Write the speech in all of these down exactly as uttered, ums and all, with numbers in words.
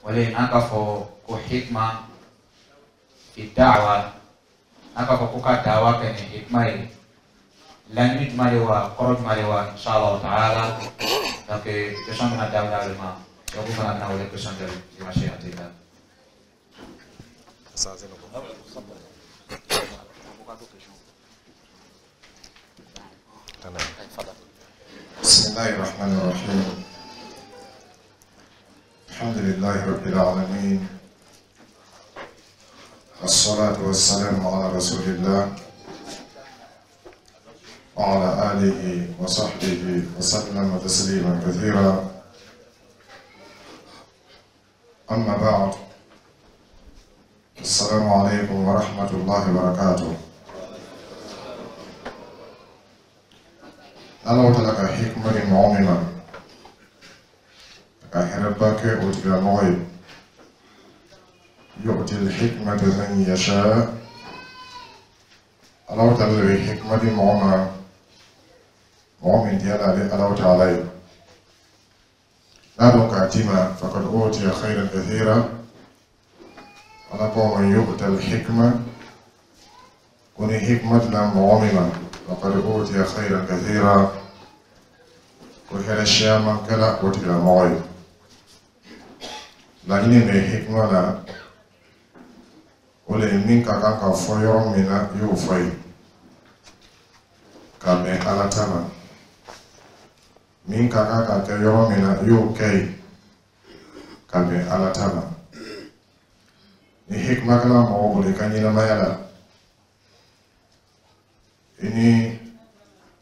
O le n'an k'a fɔ ko hikma fi da'wa, n'an k'a fɔ ko ka dawa kɛ ni hikma ye, laɲini jumɛn de wa, kɔrɔ jumɛn de wa, inshallah ta'ala. Donc question bɛna daminɛ ale ma, donc fana bɛna wele question jaabi dimanche. أستأذنكم. تمام. بسم الله الرحمن الرحيم، الحمد لله رب العالمين، الصلاة والسلام على رسول الله وعلى آله وصحبه وسلم تسليما كثيرا، أما بعد، السلام عليكم ورحمة الله وبركاته. Ala ta'ala ka hikma di mɔgɔ min ma, ka hɛrɛba kɛ o tigilamɔgɔ ye. يؤتي الحكمة من يشاء. Ala ta'ala de bɛ hikma di mɔgɔ ma, mɔgɔ min diyara ale Ala ta'ala ye. N'a dɔn k'a d'i ma, فقد أوتي خيرا كثيرا. Ala ko من يؤت الحكمة, ko ni hikma dila mɔgɔ min ma, فقد أوتي خيرا كثيرا, ko hɛrɛ siyaman kɛla o tigilamɔgɔ ye. Laɲini bɛ hikma la, o le ye min ka kan ka fɔ yɔrɔ min na, i y'o fɔ ye ka bɛn Ala ta ma. Min ka kan ka kɛ yɔrɔ min na, i y'o kɛ yen ka bɛn Ala ta ma. Ni hikma kɛla mɔgɔ bolo i ka ɲɛnamaya la, i ni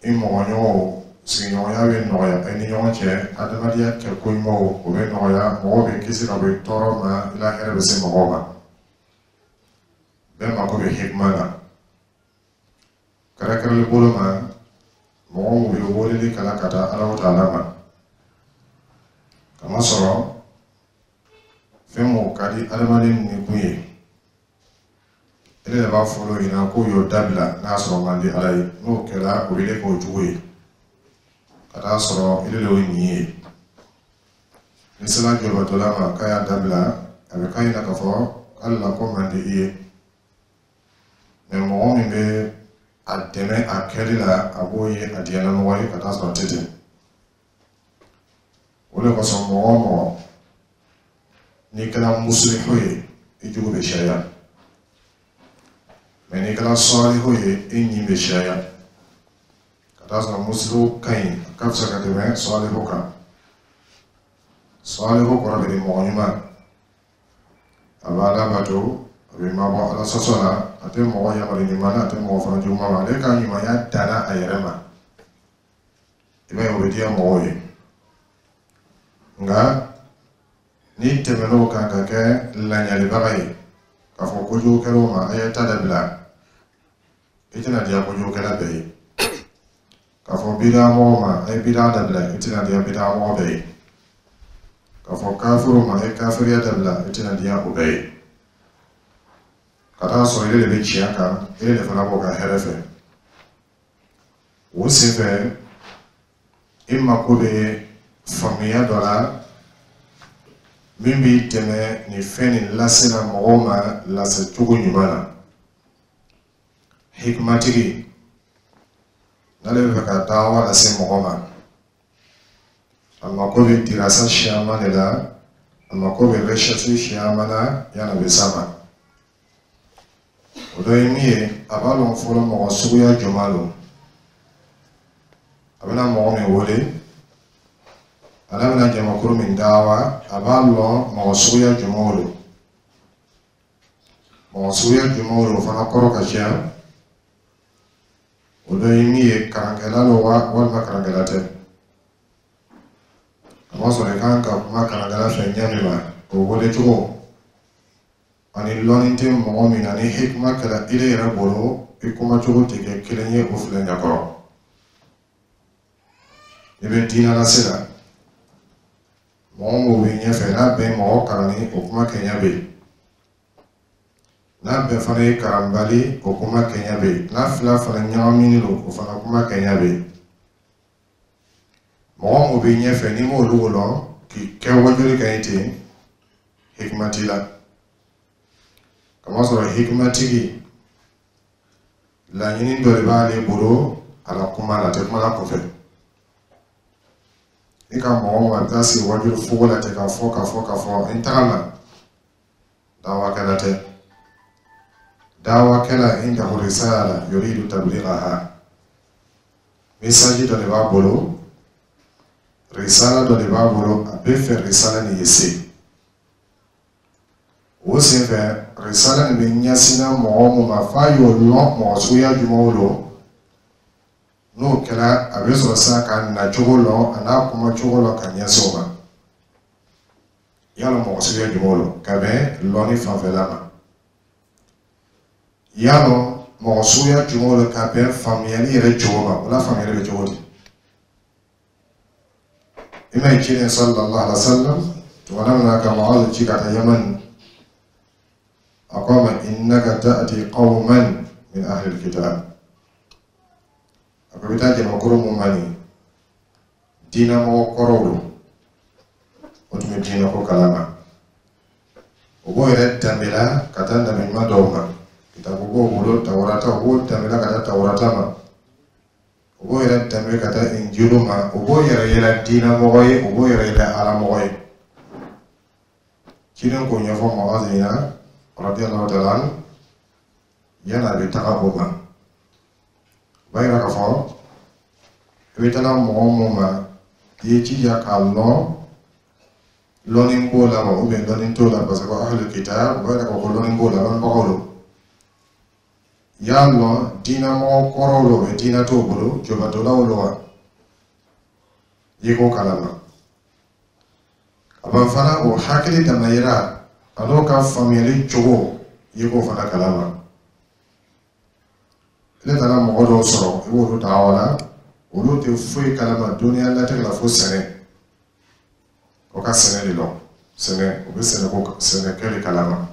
i mɔgɔɲɔgɔnw sigiɲɔgɔnya bɛ nɔgɔya i ni ɲɔgɔn cɛ, adamadenya kɛ ko ɲumanw o bɛ nɔgɔya, mɔgɔw bɛ kisi ka bɔ i tɔɔrɔ ma, i la hɛrɛ bɛ se mɔgɔw ma. Bɛɛ mako bɛ hikma la, kɛrɛnkɛrɛnli bolo ma mɔgɔ mun bɛ weleli kɛla ka taa Ala ta'ala ma, kamasɔrɔ fɛn mun ka di adamaden ni kun ye, e de b'a fɔlɔ ɲɛna k'o y'o dabila. N'a sɔrɔ man di Ala ye, n'o kɛra, o bɛ k'o jugu ye, ka taa sɔrɔ e de y'o ɲin ye. Ni sera jɔbatɔla ma k'a y'a dabila, a bɛ k'a ɲɛna k'a fɔ k'ale la ko man di i ye. Mɛ mɔgɔ min bɛ a dɛmɛ a kɛli la, a b'o ye a diyanamɔgɔ ye, ka taa sɔrɔ a tɛ ten. O de kosɔn, mɔgɔ o mɔgɔ n'i kɛra musilihu ye, i jugu bɛ caya, mɛ n'i kɛra sɔlihu ye, i ɲin bɛ caya, ka taa sɔrɔ musilihu ka ɲi, a ka fisa ka tɛmɛ sɔlihu kan. Sɔlihu kɔrɔ bɛ di mɔgɔ ɲuman, a b'a bato, a bɛ mabɔ Ala sɔsɔ la, a tɛ mɔgɔ yamaru ɲuman na, a tɛ mɔgɔ fana juguman ma, ale ka ɲumanya danna a yɛrɛ ma. I b'a ye, o bɛ diya mɔgɔw ye. Nka n'i tɛmɛn'o kan ka kɛ laɲalibaga ye, k'a fɔ kojugukɛlaw ma a ye ta dabila, i tɛna diya kojugukɛla bɛɛ ye. K'a fɔ bidamɔgɔw ma a ye bida dabila, i tɛna diya bidamɔgɔ bɛɛ ye. K'a fɔ kafiru ma a ye kafiriya dabila, i tɛna diya o bɛɛ ye. Ka taa sɔrɔ ile de bɛ tiɲɛ kan, ile de fana b'o ka hɛrɛ fɛ. O senfɛ, i mako bɛ faamuya dɔ la min b'i dɛmɛ nin fɛn nin lase la mɔgɔw ma lase cogo ɲuman na. Hikimatigi n'ale bɛ fɛ ka dawa lase mɔgɔ ma, a mako bɛ dirasa siyaman de la, a mako bɛ recherche siyaman na yanni a bɛ s'a ma. O dɔ ye min ye, a b'a lɔn fɔlɔ mɔgɔ suguya jumɛn don, a bɛna mɔgɔ min wele, ale bɛna jamakulu min dawa, a b'a lɔn mɔgɔ suguya jumɛnw don. Mɔgɔ suguya jumɛnw don, o fana kɔrɔ ka ca. O dɔ ye min ye, karankɛla don wa, walima karankɛla tɛ? A b'a sɔrɔ i kan ka kuma karankɛla fɛ ɲɛ min ma, o wele cogo ani lɔnni tɛ mɔgɔ min na, ni hikima kɛra ile yɛrɛ bolo, i kuma cogo tɛ kɛ kelen ye o filɛ ɲɛkɔrɔ. I bɛ diinɛ lase la, mɔgɔ mun bɛ ɲɛfɛ, n'a bɛɛ ye mɔgɔ kalanni, o kuma kɛɲɛ bɛ yen. N'a bɛɛ fana ye karanbali, o kuma kɛɲɛ bɛ yen. N'a fila fana ɲagaminen don, o fana kuma kɛɲɛ bɛ yen. Mɔgɔ mun bɛ ɲɛfɛ, n'i m'olu lɔn k'i kɛ wajuli kɛ ye ten, Hikima t'i la, kamasɔrɔ hikimatigi, laɲini dɔ de b'ale bolo a la kuma la, a tɛ kuma la kɔfɛ. I ka mɔgɔ ma bɛ taa sigi wajulu fogo la ten, ka fɔ, ka fɔ, ka fɔ, n taga ma dawakɛla tɛ. Dawakɛla indahu risala yuridu tablighaha, message dɔ de b'a bolo, risala dɔ de b'a bolo, a bɛ fɛ risala nin ye se. O senfɛ, risala nin bɛ ɲɛsinna mɔgɔ mun ma, f'a y'o lɔn mɔgɔ suguya jumɛnw don. N'o kɛra, a bɛ sɔrɔ sisan ka nacogo lɔn, a n'a kuma cogo lɔn, ka ɲɛsin o ma. Yala mɔgɔ suguya jumɛnw don ka bɛn lɔnni fanfɛla ma? Yalɔ mɔgɔ suguya jumɛnw don ka bɛn faamuyali yɛrɛ cogo ma? O la, faamuyali bɛ cogo di? I ma ye, ciden sallallahu alaihi wa sallam, tuma min na ka Mu'adh ci ka taa Yaman, a ko a ma: innaka ta'ti qawman min ahli alkitab. A ko i bɛ taa jamakulu mun ma, nin diinɛmɔgɔ kɔrɔw don, o tun bɛ diinɛ ko kalama, o b'o yɛrɛ danbela ka taa nabi ɲuman dɔw ma, kitabu b'o bolo, Tawurata, o b'o danbela ka taa Tawurata ma, o b'o yɛrɛ danbe ka taa Injilu ma, o b'o yɛrɛ yira diinɛmɔgɔ ye, o b'o yɛrɛ yira alamɔgɔ ye. Ciden k'o ɲɛfɔ Mu'adh ɲɛna radiyallahu ta'ala anhu, yanni a bɛ taga o ma. O b'a yira k'a fɔ i bɛ taga mɔgɔ mun ma, i ye jija k'a lɔn lɔnni b'o la wa, ou bien lɔnni t'o la, parce que ahlul kitab, o b'a yira k'a fɔ ko lɔnni b'o la, lɔnnibagaw don. I y'a lɔn diinɛmɔgɔ kɔrɔw don, mɛ diinɛ t'o bolo, jobatolaw don wa, i k'o kalama. A ban fana, o hakili damayira a n'o ka faamuyali cogo, i k'o fana kalama. Ne taara mɔgɔ dɔw sɔrɔ, i b'olu ta aw la, olu tɛ foyi kalama duniya latigɛ la fo sɛnɛ. O ka sɛnɛ de lɔn, sɛnɛ, o bɛ sɛnɛ ko, sɛnɛkɛ de kalama.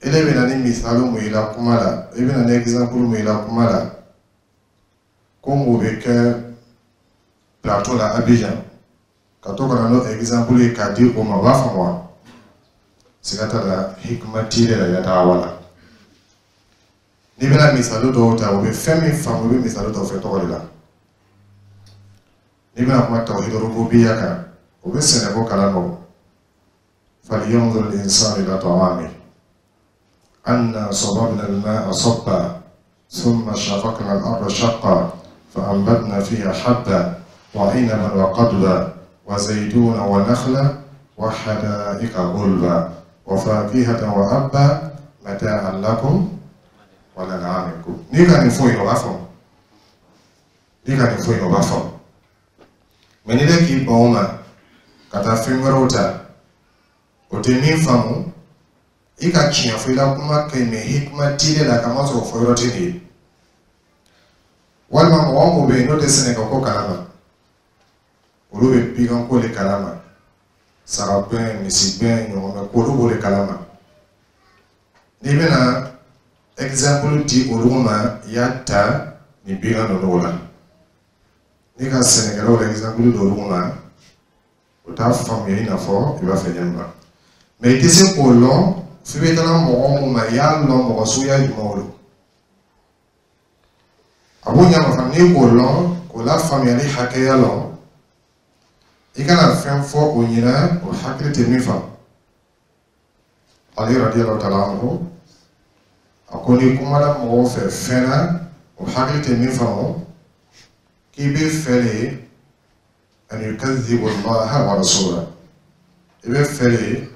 Ele bɛ na ni misali mun ye la kuma la, i bɛ na ni exemple mun ye la kuma la, ko mun bɛ kɛ plateau la Abidjan, ka to ka na n'o exemple ye k'a di o ma, o b'a faamu wa? Siga t'a la, hikima t'i la i ka daawa la. N'i bɛna misali dɔw ta, o bɛ fɛn min faamu, i bɛ misali dɔw fɛ tɔgɔ de la. N'i bɛna kuma tawhid rububiyya kan, o bɛ sɛnɛko kalama. O falyanzur al-insanu ila ta'amihi anna sababna al-ma'a sabba thumma shaqaqna al-arda shaqqa فأنبتنا فيها حبا وعنبا وقضبا وزيتونا ونخلا وحدائق غلبا وفاكهة وأبا متاعا لكم ولأنعامكم. N'i ka nin fɔ yen, o b'a faamu. N'i ka nin fɔ yen, o b'a faamu. Mɛ n'i bɛ k'i ban o ma ka taa fɛn wɛrɛw ta, o tɛ min faamu, i ka tiɲɛ fɔ i la kuma kɛ, mɛ hikima t'i la, ka masɔrɔ fɔ yɔrɔ tɛ nin ye. Walima mɔgɔ mun bɛ yen n'o tɛ sɛnɛkɛ ko kalama, olu bɛ bigan ko de kalama, sagagɛn, misigɛn, ɲɔgɔmɛ ko, olu b'o de kalama. N'i bɛna exemple di olu ma, i y'a ta nin bigan ninnu la. N'i ka sɛnɛkɛlaw la exemple di olu ma, o t'a faamuya i n'a fɔ i b'a fɛ ɲɛ min ma. Mɛ i tɛ se k'o lɔn f'i bɛ taga mɔgɔ mun ma, i y'a lɔn mɔgɔ suguya jumɛnw don. A b'o ɲɛ ma fana, n'i k'o lɔn, k'o la faamuyali hakɛya lɔn, i kana fɛn fɔ o ɲɛna, o hakili tɛ min faamu. Ali radiyallahu ta'ala anhu, a ko n'i kumana mɔgɔw fɛ fɛn na, o hakili tɛ min faamu, k'i bɛ fɛ de an yukazzibu Allaha wa rasulahu, i bɛ fɛ de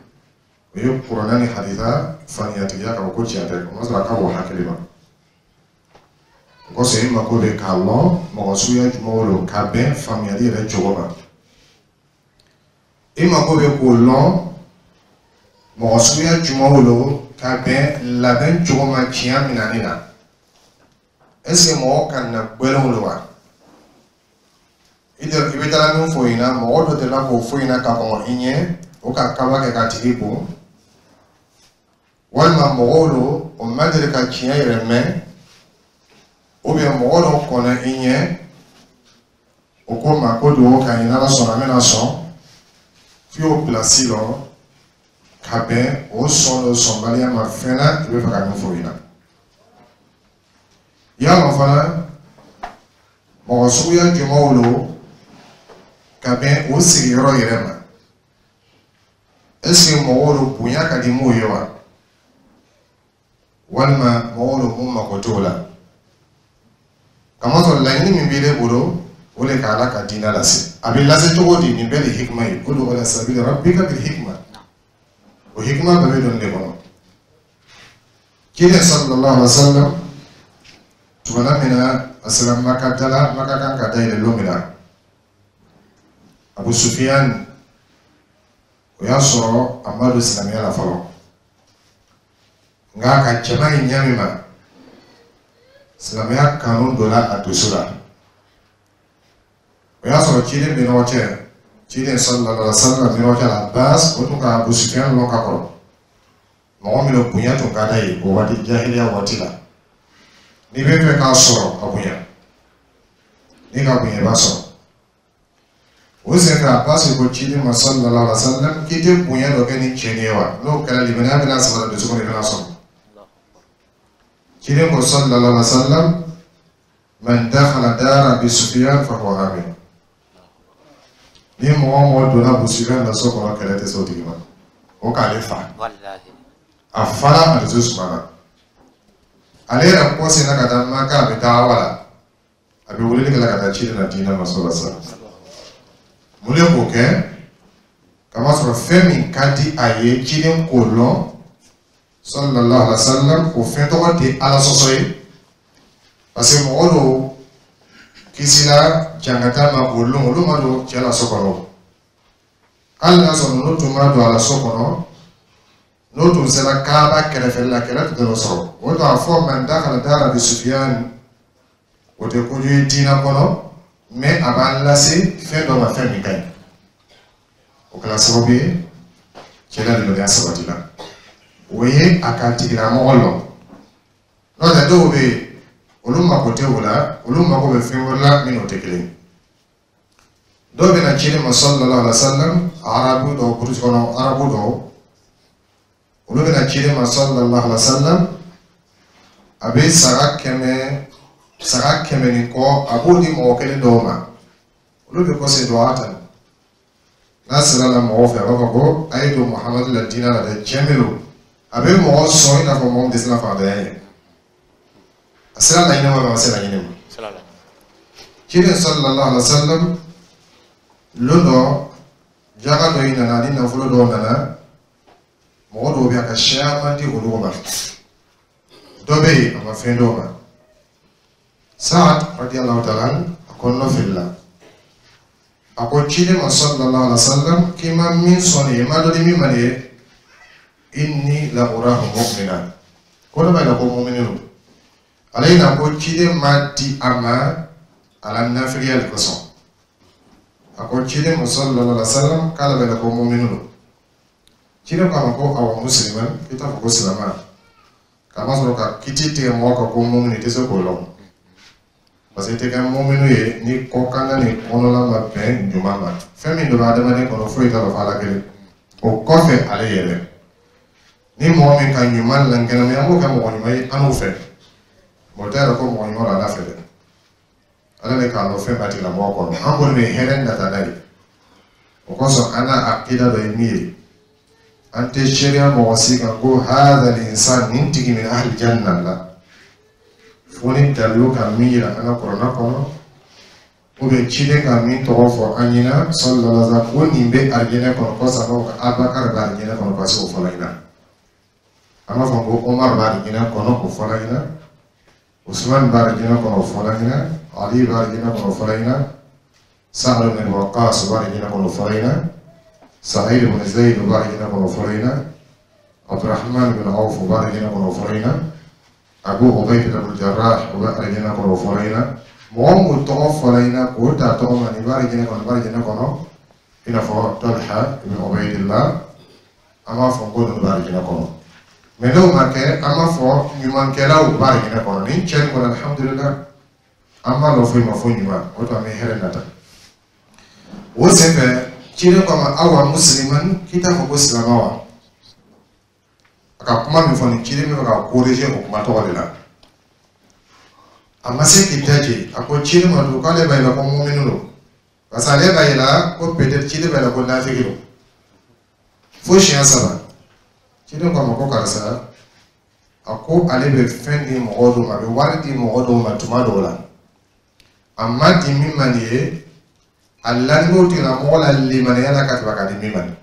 o ye kuranɛ ni hadisa faniyatigiya k'a fɔ ko tiɲɛ tɛ, o ma sɔrɔ a ka bɔ hakili ma. O kosɔn, i mako bɛ k'a lɔn mɔgɔ suguya jumɛnw don ka bɛn faamuyali yɛrɛ cogo ma. I mako bɛ k'o lɔn mɔgɔ suguya jumɛnw don ka bɛn labɛn cogo ma tiɲɛ minɛni na. Est ce que mɔgɔ ka na gbɛlɛnw don wa? I bɛ taa min fɔ ɲɛna, mɔgɔ dɔ delila k'o fɔ ɲɛna ka kɔn i ɲɛ, o ka kaba kɛ k'a tigi bon, walima mɔgɔw don, o ma deli ka tiɲɛ yɛrɛ mɛn, ou bien mɔgɔ dɔ kɔnna i ɲɛ, o ko ma ko dugawu ka ɲi, n'Ala sɔnna, n bɛna sɔn f'i y'o pilasi lɔ. Ka bɛn o sɔn o sɔnbaliya ma fɛn na i bɛ fɛ ka min fɔ o ɲɛna. I y'a lɔn fana mɔgɔ suguya jumɛnw lo ka bɛn o sigiyɔrɔ yɛrɛ ma. Est ce que mɔgɔw lo bonya ka di m'o ye wa? Walima mɔgɔw lo mun mako t'o la? Kamasɔrɔ laɲini min b'ile bolo o de ka Ala ka diinɛ lase. A bɛ lase cogo di? Nin bɛɛ de hikima ye. Udu ila sabili rabbika bil hikma. O hikima bɛɛ bɛ don nin de kɔnɔ. Ciden sallallahu alaihi wa sallam tumana min na a sera Maka da la, Maka kan ka dayɛlɛ don min na, Abu Sufiyan o y'a sɔrɔ a ma don silamɛya la fɔlɔ, nka a ka jama ye ɲɛ min ma, silamɛya kanu donna a dusu la. O y'a sɔrɔ ciden bɛ ɲɔgɔn cɛ, ciden sallallahu alaihi wa sallam bɛ ɲɔgɔn cɛ la Abbas, o tun ka Abu Sufiyan lɔn ka kɔrɔ. Mɔgɔ min don bonya tun ka d'a ye o waati, jahiliya waati la. N'i bɛ fɛ k'a sɔrɔ, a bonya. N'i ka bonya, i b'a sɔrɔ. O senfɛ Abbas ko ciden ma sallallahu alaihi wa sallam k'i tɛ bonya dɔ kɛ ni cɛ nin ye wa? N'o kɛra, limaniya bɛna sabati dusu kɔnɔ, i bɛna sɔrɔ. Ciden ko sallallahu alaihi wa sallam: man dakhala dara Abi Sufyan fa huwa amin. Ni mɔgɔ o mɔgɔ donna Abu Sufyan na so kɔnɔ, kɛlɛ tɛ se o tigi ma. O k'ale fa. A fara a dusu sumana. Ale yɛrɛ kɔ senna ka taa Maka, a bɛ taa wa la, a bɛ weleli kɛ la ka taa ciden na diinɛ ma sallallahu alaihi wa sallam. Mun de k'o kɛ? Kamasɔrɔ fɛn min ka di a ye ciden k'o lɔn sallallahu alaihi wa sallam, o fɛn tɔgɔ tɛ Ala sɔsɔ ye, parce que mɔgɔ dɔw kisila jangata ma k'o lɔn, olu ma don cɛ la so kɔnɔ. Hali n'a sɔrɔ ninnu tun ma don a la so kɔnɔ, n'o tun sera Kaaba kɛrɛfɛla la, kɛlɛ tun tɛ sɔrɔ. O to a fɔ man dakhala dara Abi Sufyan, o tɛ kojugu ye diinɛ kɔnɔ, mais a b'an lase fɛn dɔ ma, fɛn min ka ɲi. O kɛra sababu ye cɛ la limaniya sabati la. O ye a ka tigilamɔgɔ lɔn. N'o tɛ, dɔw bɛ yen, olu mako tɛ o la, olu mako bɛ fɛn wɛrɛ la min n'o tɛ kelen ye. Dɔw bɛ na ciden ma sallallahu alaihi wa sallam, arabu dɔw, burusi kɔnɔ arabu dɔw, olu bɛ na ciden ma sallallahu alaihi wa sallam, a bɛ saga kɛmɛ, saga kɛmɛ ni kɔ, a b'o di mɔgɔ kelen dɔw ma. Olu bɛ kɔse duwa ta n'a sera la mɔgɔw fɛ, a b'a fɔ ko a ye don Muhamadu la diinɛ la dɛ, tiɲɛ min don. A bɛ mɔgɔ sɔn i n'a fɔ mɔgɔ min tɛ siran fantanya ye. A sera laɲini ma, a ma se laɲini ma. Ciden sallallahu alaihi wa sallam, lon dɔ jaga dɔ in nana ni nafolo dɔw nana, mɔgɔ dɔw bɛ yen, a ka siyaman di olu ma. Dɔ bɛ yen, a ma fɛn d'o ma. Saad radiyallahu ta'ala a kɔnɔna filila. A ko ciden ma sallallahu alaihi wa sallam k'i ma min sɔn nin ye, i ma dɔ di min ma nin ye, inni la urahu mu'mina, ko ne b'a yira ko mumini don. Ale na ko ciden ma di a ma a la nafigiya de kosɔn. A ko ciden ma sallallahu alaihi wa sallam k'ale b'a yira ko mumini don. Ciden ko a ma ko awa musliman, k'i t'a fɔ ko silama. Kamasɔrɔ ka kiti tigɛ mɔgɔ kan ko mumini, i tɛ se k'o lɔn, parce que i tɛ kɛ muminu ye ni kɔkanna ni kɔnɔla ma bɛn ɲuman ma. Fɛn min donna adamaden kɔnɔ, foyi t'a dɔn fɔ Ala kelen. O kɔfɛ, ale yɛrɛ ni mɔgɔ min ka ɲuman lankɛnɛmaya, an b'o kɛ mɔgɔ ɲuman ye an n'u fɛ. Mɔgɔ tɛ yɛrɛ ko mɔgɔ ɲuman don Ala fɛ dɛ, Ala de k'a lɔn fɛn b'a tigilamɔgɔ kɔnɔ. An kɔni bɛ hɛrɛ nata n'a ye. O kosɔn an n'a akida dɔ ye min ye, an tɛ seereya mɔgɔ si kan ko hadha l'insan, nin tigi min ahli janna la, fo ni dalilu ka min yira an ka kuranɛ kɔnɔ, ou bien ciden ka min tɔgɔ fɔ an ɲɛna sallallahu alaihi wa sallam ko nin bɛ arijinɛ kɔnɔ. Kɔsa b'a fɔ ko Abubakar bɛ arijinɛ kɔnɔ, parce que o fɔla ɲɛna. An b'a fɔ ko Omar bɛ arijinɛ kɔnɔ, o fɔla ɲɛna. Usman bɛ arijinɛ kɔnɔ, o fɔla ɲɛna. Ali bɛ arijinɛ kɔnɔ, o fɔla ɲɛna. Sa'ad ibn Abi Waqqas bɛ arijinɛ kɔnɔ, o fɔla ɲɛna. Sa'id ibn Zayd bɛ arijinɛ kɔnɔ, o fɔla ɲɛna. Abdurrahman ibn Awf bɛ arijinɛ kɔnɔ, o fɔla ɲɛna. Abu Ubayda ibn Jarrah bɛ arijinɛ kɔnɔ, o fɔla ɲɛna. Mɔgɔ mun tɔgɔ fɔla ɲɛna k'o ta tɔgɔ ma, nin bɛ arijinɛ kɔnɔ, nin bɛ arijinɛ kɔnɔ, i n'a fɔ Talha ibn Ubaydillah, an b'a fɔ ko ninnu bɛ arijinɛ kɔnɔ. Mais n'o ma kɛ, an b'a fɔ ɲumankɛlaw bɛ arijinɛ kɔnɔ. Nin cɛ nin kɔnɔ, alhamdulillah, an b'a lɔn foyi ma fo ɲuman. O to an bɛ hɛrɛ nata. O senfɛ ciden ko a ma awa musliman, k'i t'a fɔ ko silama wa? A ka kuma min fɔ nin, ciden bɛ fɛ ka corriger o kuma tɔgɔ de la. A ma se k'i daje, a ko ciden ma tugun k'ale b'a yira ko muminu don, parce que ale b'a yira ko peut-être ciden b'a yira ko nafiki don. Fo siɲɛ saba, ciden ko a ma ko karisa, a ko ale bɛ fɛn di mɔgɔ dɔw ma, a bɛ wari di mɔgɔ dɔw ma tuma dɔw la, a ma di min ma nin ye, a lanin'o tigilamɔgɔ la limaniya la ka tɛmɛ ka di min ma nin.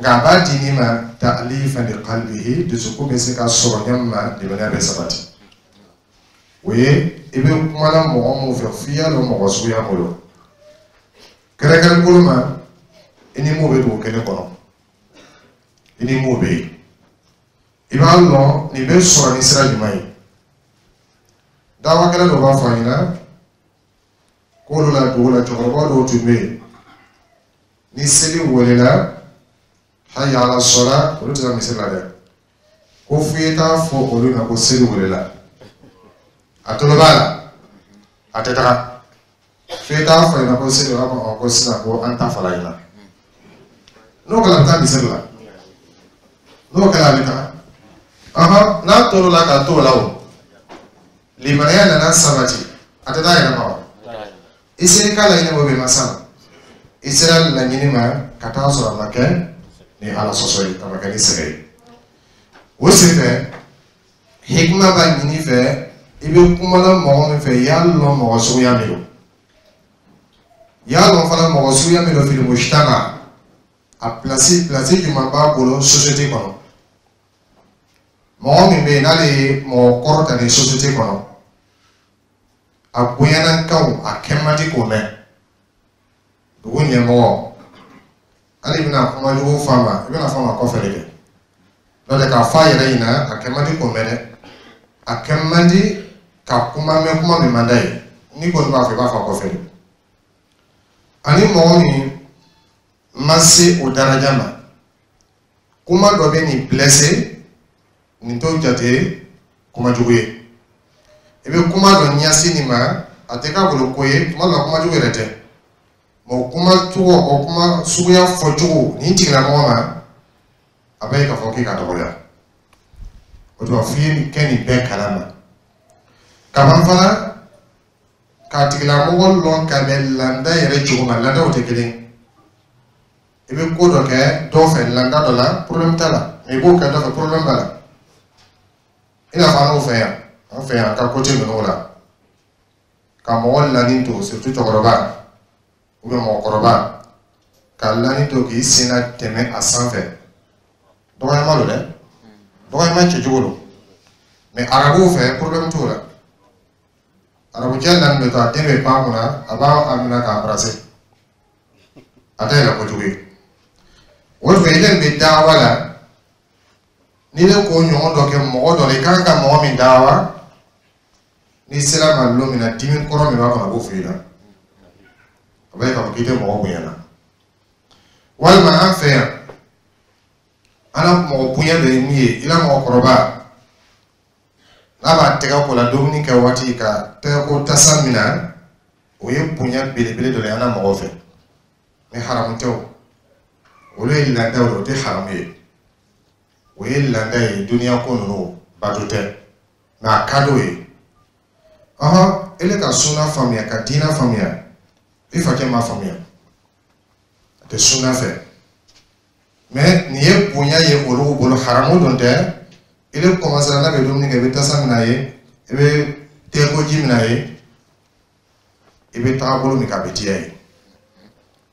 Nka a b'a di min ma ta'lifan li qalbihi, dusukun bɛ se ka sɔrɔ ɲɛ min ma, limaniya bɛ sabati. O ye i bɛ kuma la mɔgɔ mun fɛ, f'i y'a dɔn mɔgɔ suguya bolo. Kɛrɛnkɛrɛn bolo ma, i ni mun bɛ dugu kelen kɔnɔ, i ni mun bɛ yen, i b'a lɔn nin bɛ sɔrɔ ni sira jumɛn ye. Dawakɛla dɔ b'a fɔ a ɲɛna k'olu la dugu la, cɛkɔrɔba dɔw tun bɛ yen, ni seli welela, hayya ala sɔla, olu tɛ taa misiri la dɛ, ko f'i ye taa fɔ olu ma ko seli welela. A tolo b'a la, a tɛ taga, f'i t'a fɔ ɲɛna ko seli, b'a fɔ ko sisan ko an ta fara ɲɛna. N'o kɛra, a bɛ taa misiri la. N'o kɛra, a bɛ taga. Ɔhɔn, n'a tor'o la ka t'o la, o limaniya nana sabati, a tɛ taa yɛrɛ ma wa? I sera i ka laɲini o bɛ ma sa, i sera laɲini ma ka taa sɔrɔ a ma kɛ ni Ala sɔsɔ ye, a ma kɛ ni sɛgɛn ye. O senfɛ, hikima b'a ɲini fɛ, i bɛ kuma la mɔgɔ min fɛ, i y'a lɔn mɔgɔ suguya min don, i y'a lɔn fana mɔgɔ suguya min don fil mujtama, a place place jumɛn b'a bolo société kɔnɔ. Mɔgɔ min bɛ yen n'ale ye mɔgɔ kɔrɔ ta ni société kɔnɔ, a bonyana kanw, a kɛ man di k'o mɛn. Dugu ɲɛmɔgɔ, hali i bɛna kuma jugu f'a ma, i bɛna f'a ma kɔfɛ de kɛ. N'o tɛ, k'a fɔ a yɛrɛ ɲɛna, a kɛ man di k'o mɛn dɛ. A kɛ man di ka kuma mɛn, kuma min man d'a ye. N'i kɔni b'a fɔ, i b'a fɔ a kɔfɛ de. Ani mɔgɔ min ma se o daraja ma, kuma dɔ bɛ nin blessé, nin t'o jate kuma jugu ye. I bɛ kuma dɔ ɲɛsin nin ma, a tɛ k'a bolo ko ye. Tuma dɔ la, kuma jugu yɛrɛ tɛ, mɛ o kuma cogo, o kuma suguya fɔcogo nin tigilamɔgɔ ma, a bɛ ye k'a fɔ k'i ka dɔgɔya. O tuma, f'i ye nin kɛ nin bɛɛ kalama kaban fana, k'a tigilamɔgɔ lɔn ka bɛn landa yɛrɛ cogo ma. Landaw tɛ kelen. I bɛ ko dɔ kɛ dɔ fɛ landa dɔ la, problème t'a la, mɛ i b'o kɛ dɔ fɛ, problème b'a la. I n'a fɔ an n'o fɛ yan, an fɛ yan, an ka côté ninnu la, ka mɔgɔ lani to, surtout cɛkɔrɔba ou bien mɔgɔkɔrɔba, ka lani to k'i sen na tɛmɛ a sanfɛ, dɔgɔyama don dɛ, dɔgɔyama cɛcogo don. Mɛ arabuw fɛ, problème t'o la. Arabucɛ lani bɛ to, a den bɛ pan kunna, a b'a a minɛ k'a embrasser, a tɛ yɛlɛ kojugu ye. O tuma, i bɛ dawa la, n'i bɛ k'o ɲɔgɔn dɔ kɛ mɔgɔ dɔ la, i kan ka mɔgɔ min dawa, n'i sera ma lon min na, dimi kɔrɔ min b'a kɔnɔ, a b'o f'i ɲɛna. A b'a ye k'a fɔ k'i tɛ mɔgɔ bonya na. Walima an fɛ yan, an ka mɔgɔ bonya dɔ ye min ye, i la mɔgɔkɔrɔba n'a b'a tɛgɛ ko la dumuni kɛ waati, ka tɛgɛ ko tasa minɛ, o ye bonya belebele dɔ ye an ka mɔgɔw fɛ. Mɛ haramu tɛ o, olu ye laadaw ye, o tɛ haramu ye, o ye laada ye. Duniya ko ninnu bato tɛ, mɛ a ka d'o ye. Ɔhɔn, ele ka sunna faamuya, ka diinɛ faamuya, i fakɛ m'a faamuya, a tɛ sunna fɛ, mɛ nin ye bonya ye olu bolo, haramu don tɛ. Ele commencé n'a bɛ dumuni kɛ, i bɛ tasa minɛ a ye, i bɛ tɛgɛkoji minɛ a ye, i bɛ taga bolo min kan, a bɛ diya ye.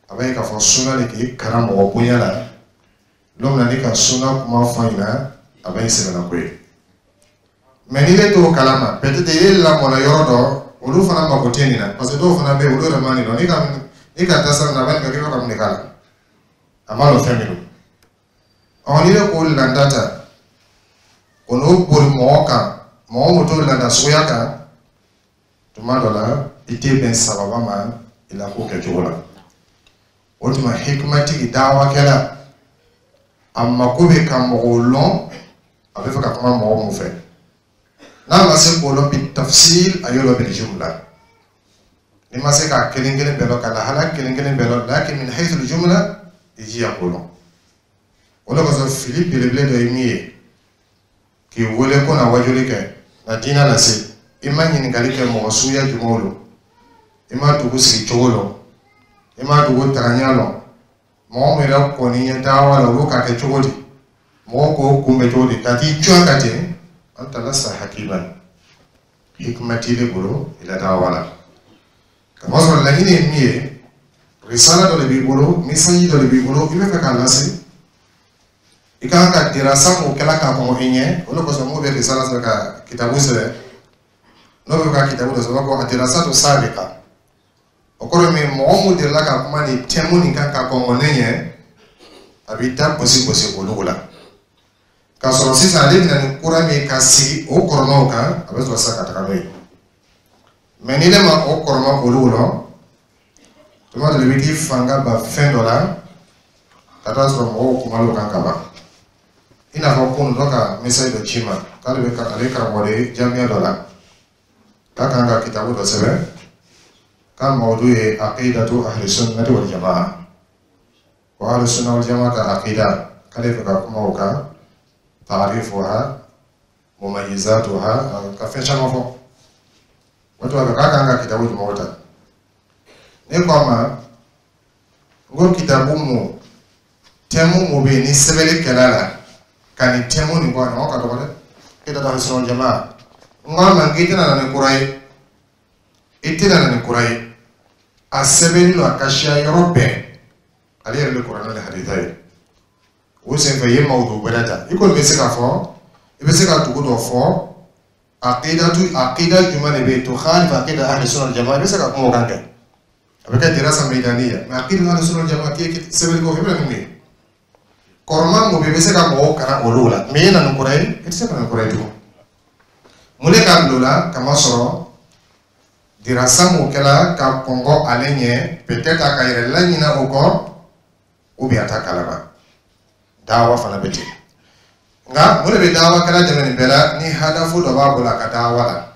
A b'a ye k'a fɔ sunna de k'i kalan mɔgɔ bonya la. Don min na n'i ka sunna kuma fɔ a ɲɛna, a bɛ sɛbɛnna ko ye. Mɛ n'i bɛ t'o kalama, peut-être i ye lamɔna yɔrɔ dɔ, olu fana mako tɛ nin na, parce que dɔw fana bɛ yen, olu yɛrɛ ma nin dɔn. N'i ka n'i ka tasa minɛ, a b'a ɲininka k'i bɛ ka mun de k'a la, a m'a dɔn fɛn min don. Ɔ, n'i bɛ k'o landa ta, o n'o boli mɔgɔ kan, mɔgɔ mun t'o landa suguya kan, tuma dɔ la i tɛ bɛn sababa ma i la ko kɛcogo la. O tuma, hikimatigi dawakɛla, a mako bɛ ka mɔgɔw lɔn, a bɛ fɛ ka kuma mɔgɔ mun fɛ. N'a ma se k'o lɔn bi tafsil, a y'o lɔn bil jumla. N'i ma se k'a kelen kelen bɛɛ lɔn, ka lahala kelen kelen bɛɛ lɔn, lakin min haythu jumla, i jija k'o lɔn. O de kosɔn, fili belebele dɔ ye min ye. K'i wele ko na wajuli kɛ, na diinɛ lase, i ma ɲininkali kɛ mɔgɔ suguya jumɛnw don, i ma dugu sigi cogo lɔn, i ma dugu tagaɲɛ lɔn, mɔgɔ min yɛrɛ kɔni ye dawa la, olu ka kɛ cogo di, mɔgɔw k'o kunbɛ cogo di, ka t'i cuwa ka ten. Anta lasta hakiman, hikma t'i bolo i la dawa la. Kamasɔrɔ laɲini ye min ye, risala dɔ de b'i bolo, message dɔ de b'i bolo, i bɛ fɛ k'a lase, i kan ka dirasa mun kɛla k'a kɔn i ɲɛ. O de kosɔn mun bɛ risala sɛbɛn, ka kitabu sɛbɛn, n'o bɛ ka kitabu dɔ sɛbɛn ko a dirasatu sabiqa, o kɔrɔ min, mɔgɔ mun delila ka kuma nin thème nin kan ka kɔn ne ɲɛ, a b'i da gosi gosi olu la. K'a sɔrɔ sisan ale bɛna ni kura min ka sigi o kɔrɔmaw kan, a bɛ sɔrɔ sisan ka taga n'o ye. Mɛ ni ne ma o kɔrɔma olu lɔn, tuma dɔ la i bɛ t'i fanga ban fɛn dɔ la ka taa sɔrɔ mɔgɔw kumala o kan ka ban. I n'a fɔ kunun, dɔ ka message dɔ ci ma k'ale bɛ ale ye karamɔgɔ de ye jamiya dɔ la, k'a kan ka kitabu dɔ sɛbɛn, k'a mawudu ye aqidatu ahli sunnati wal jamaa, ko ahli sunna wal jamaa ka aqida, k'ale fɛ ka kuma o kan, taarifuha, mumayizatuha, ka fɛn caman fɔ. O tuma fɛ k'a kan ka kitabu jumɛnw ta. Ne ko a ma n ko kitabu mu thème mu bɛ yen ni sɛbɛnni kɛla la ka nin thème nin bɔ a ɲɔgɔn ka dɔgɔ dɛ, aqidatu ahli sunna wal jamaa. N ko a ma n k'i tɛna na ni kura ye, i tɛna na ni kura ye, a sɛbɛnni don, a ka siya yɔrɔ bɛɛ, ale yɛrɛ de kuranɛ ni hadisa ye. O senfɛ i ye mawudu wɛrɛ ta, i kɔni bɛ se k'a fɔ, i bɛ se ka dugu dɔ fɔ, aqidatu, aqida jumɛn de bɛ yen tukhalifu aqida ahli sunna wal jamaa, i bɛ se ka kuma o kan kɛ, a bɛ kɛ dirasa maidaniya. Mɛ aqida ahli sunna wal jamaa, k'i ye sɛbɛnni kɛ, i bɛ na ni mun ye? Kɔrɔma mun bɛ yen, i bɛ se ka mɔgɔw kalan olu la, mɛ i na ni kura ye, i tɛ se ka na ni kura ye tugun. Mun de k'a bila o la? Kamasɔrɔ dirasa mun kɛla ka kɔngɔ ale ɲɛ, peut-être a ka yɛrɛ laɲina o kɔ, ou bien a t'a kalama. Dawa fana bɛ ten. Nka mun de bɛ dawa kɛla dɛmɛ nin bɛɛ la? Ni hadafu dɔ b'a bolo a ka dawa la,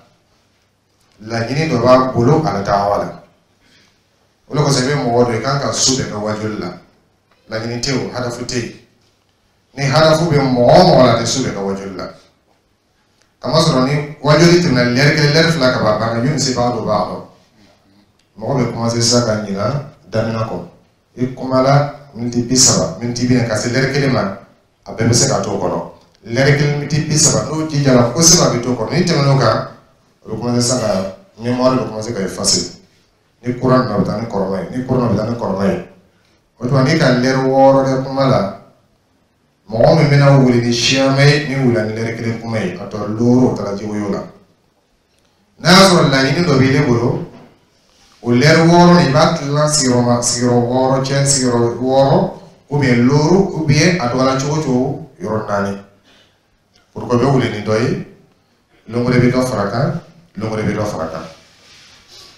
laɲini dɔ b'a bolo a la dawa la. O de kosɔn i bɛ mɔgɔ dɔ i kan ka su bɛɛ kɛ wajuli la, laɲini tɛ o, hadafu tɛ yen. Ni hadafu bɛ mɔgɔ o mɔgɔ la, a tɛ su bɛɛ kɛ wajuli la. Kamasɔrɔ ni wajuli tɛmɛna lɛri kelen, lɛri fila ka ban, a banna. Yunisi b'a dɔn, b'a dɔn, mɔgɔ bɛ commencer sisan ka ɲina daminɛ kɔ. I kumala miniti bi saba, miniti bi naani, ka se lɛri kelen ma, a bɛɛ bɛ se ka to o kɔnɔ. Lɛri kelen, miniti bi saba, n'o jijara kosɛbɛ, a bɛ to o kɔnɔ. Ni tɛmɛn'o kan, o bɛ commencer sisan ka mémoire bɛ commencer ka effacer. Ni courant nana, a bɛ taa ni kɔrɔma ye, ni courant nana, a bɛ taa ni kɔrɔma ye. O tuma n'i ka lɛri wɔɔrɔ kɛ kuma la, mɔgɔ min bɛna wuli ni siyama ye, min wulila ni lɛri kelen kuma ye, a tɔ looro, o taara jiwoyo la. N'a y'a sɔrɔ laɲini dɔ b'i bolo, o lɛri wɔɔrɔ nin, i b'a tilan sigiyɔrɔma sigiyɔrɔ wɔɔrɔ cɛ, sigiyɔrɔ wɔɔrɔ ou bien looro, ou bien a dɔgɔyara cogo o cogo yɔrɔ naani, pour que bɛ wuli ni dɔ ye, lon wɛrɛ bɛ dɔ fara kan, lon wɛrɛ bɛ dɔ fara kan.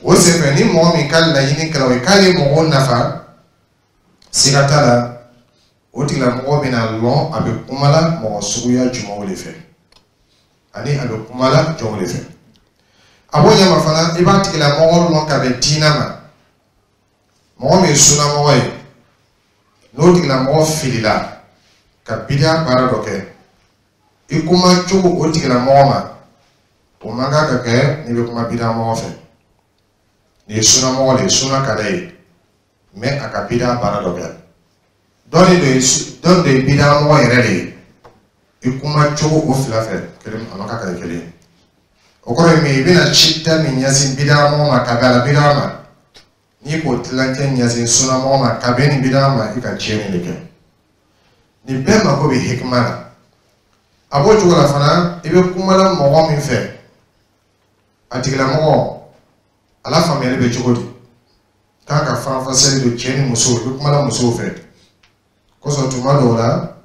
O senfɛ, ni mɔgɔ min ka laɲini kɛra o ye k'ale mɔgɔw nafa, siga t'a la, o tigilamɔgɔ bɛna lɔn a bɛ kuma la mɔgɔ suguya jumɛnw de fɛ, ani a bɛ kuma la jɔnw de fɛ. A b'o ɲɛma fana, i b'a tigilamɔgɔ lɔn ka bɛn diinɛ ma. Mɔgɔ min ye sunnamɔgɔ ye, n'o tigilamɔgɔ filila ka bidiya baara dɔ kɛ, i kuma cogo o tigilamɔgɔ ma, o man kan ka kɛ n'i bɛ kuma bidiya mɔgɔ fɛ. Nin ye sunnamɔgɔ de ye, sunna ka d'a ye, mɛ a ka bidiya baara dɔ kɛ. Dɔ de ye, dɔ de ye bidiya mɔgɔ yɛrɛ de ye, i kuma cogo o fila fɛ kelen, a man kan ka kɛ kelen ye. O kɔrɔ ye min ye, i bɛna cida min ɲɛsin bidiya mɔgɔ ma ka bɛn a la bidiya ma, n'i k'o tilancɛ ɲɛsin sunnamɔgɔ ma ka bɛn nin bidiya ma, i ka tiɲɛni de kɛ. Nin bɛɛ mako bɛ hikima la. A b'o cogo la fana, i bɛ kuma la mɔgɔ min fɛ, a tigilamɔgɔ a la faamuyali bɛ cogo di k'a ka faranfasiyali don cɛ ni muso, i bɛ kuma la musow fɛ kosɔn. Tuma dɔw la,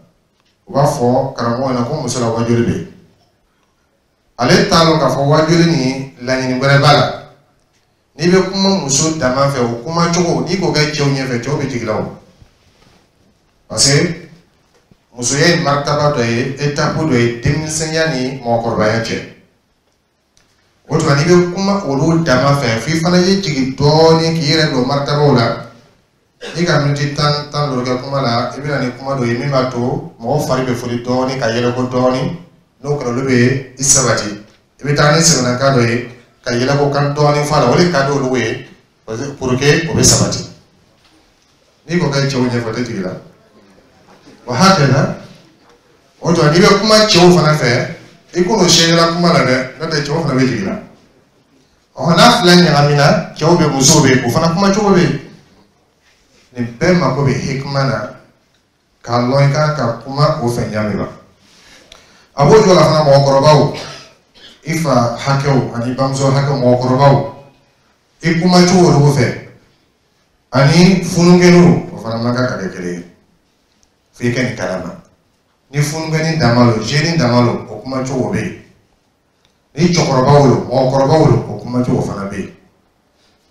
u b'a fɔ karamɔgɔ ɲɛna ko muso la wajuli bɛ yen, ale t'a lɔn k'a fɔ wajuli ni laɲini wɛrɛ b'a la. N'i bɛ kuma muso dama fɛ, o kuma cogo, n'i k'o kɛ cɛw ɲɛfɛ, cɛw bɛ jigin la o, parce que musoya ye maritaba dɔ ye, étape dɔ ye denmisɛnya ni mɔgɔkɔrɔbaya cɛ. O tuma n'i bɛ kuma olu dama fɛ, f'i fana ye jigin dɔɔnin k'i yɛrɛ don maritabaw la. N'i ka miniti tan, tan duuru kɛ kuma la, i bɛ na ni kuma dɔ ye min b'a to mɔgɔ fari bɛ foli dɔɔnin ka yɛlɛko dɔɔnin. N'o kɛra, olu bɛ i sabati. I bɛ taa ni sɛbɛnnakan dɔ ye ka yɛlɛko kan dɔɔnin fɔ a la, o de ka di olu ye pour que o bɛ sabati. N'i ko k'e cɛw ɲɛfɔ, tɛ jigin la o hakɛ la. O tuma, n'i bɛ kuma cɛw fana fɛ, i ko n'o sɛyɛla kuma la dɛ, n'o tɛ cɛw fana bɛ jigin la. Ɔ, n'a fila ɲagamina, cɛw bɛ, musow bɛ, o fana kuma cogo bɛ yen. Nin bɛɛ mako bɛ hikima na k'a lɔn i kan ka kuma o fɛ ɲa min ma. A b'o cogo la fana, mɔgɔkɔrɔbaw, i fa hakɛw ani bamuso hakɛw, mɔgɔkɔrɔbaw, i kuma cogo olu fɛ ani fununkɛninw, o fana man kan ka kɛ kelen ye. F'i ka nin kalama. Ni fununkɛnin dama lo, jeune dama lo, o kuma cogo bɛ yen. Ni cɛkɔrɔbaw lo, mɔgɔkɔrɔbaw lo, o kuma cogo fana bɛ yen.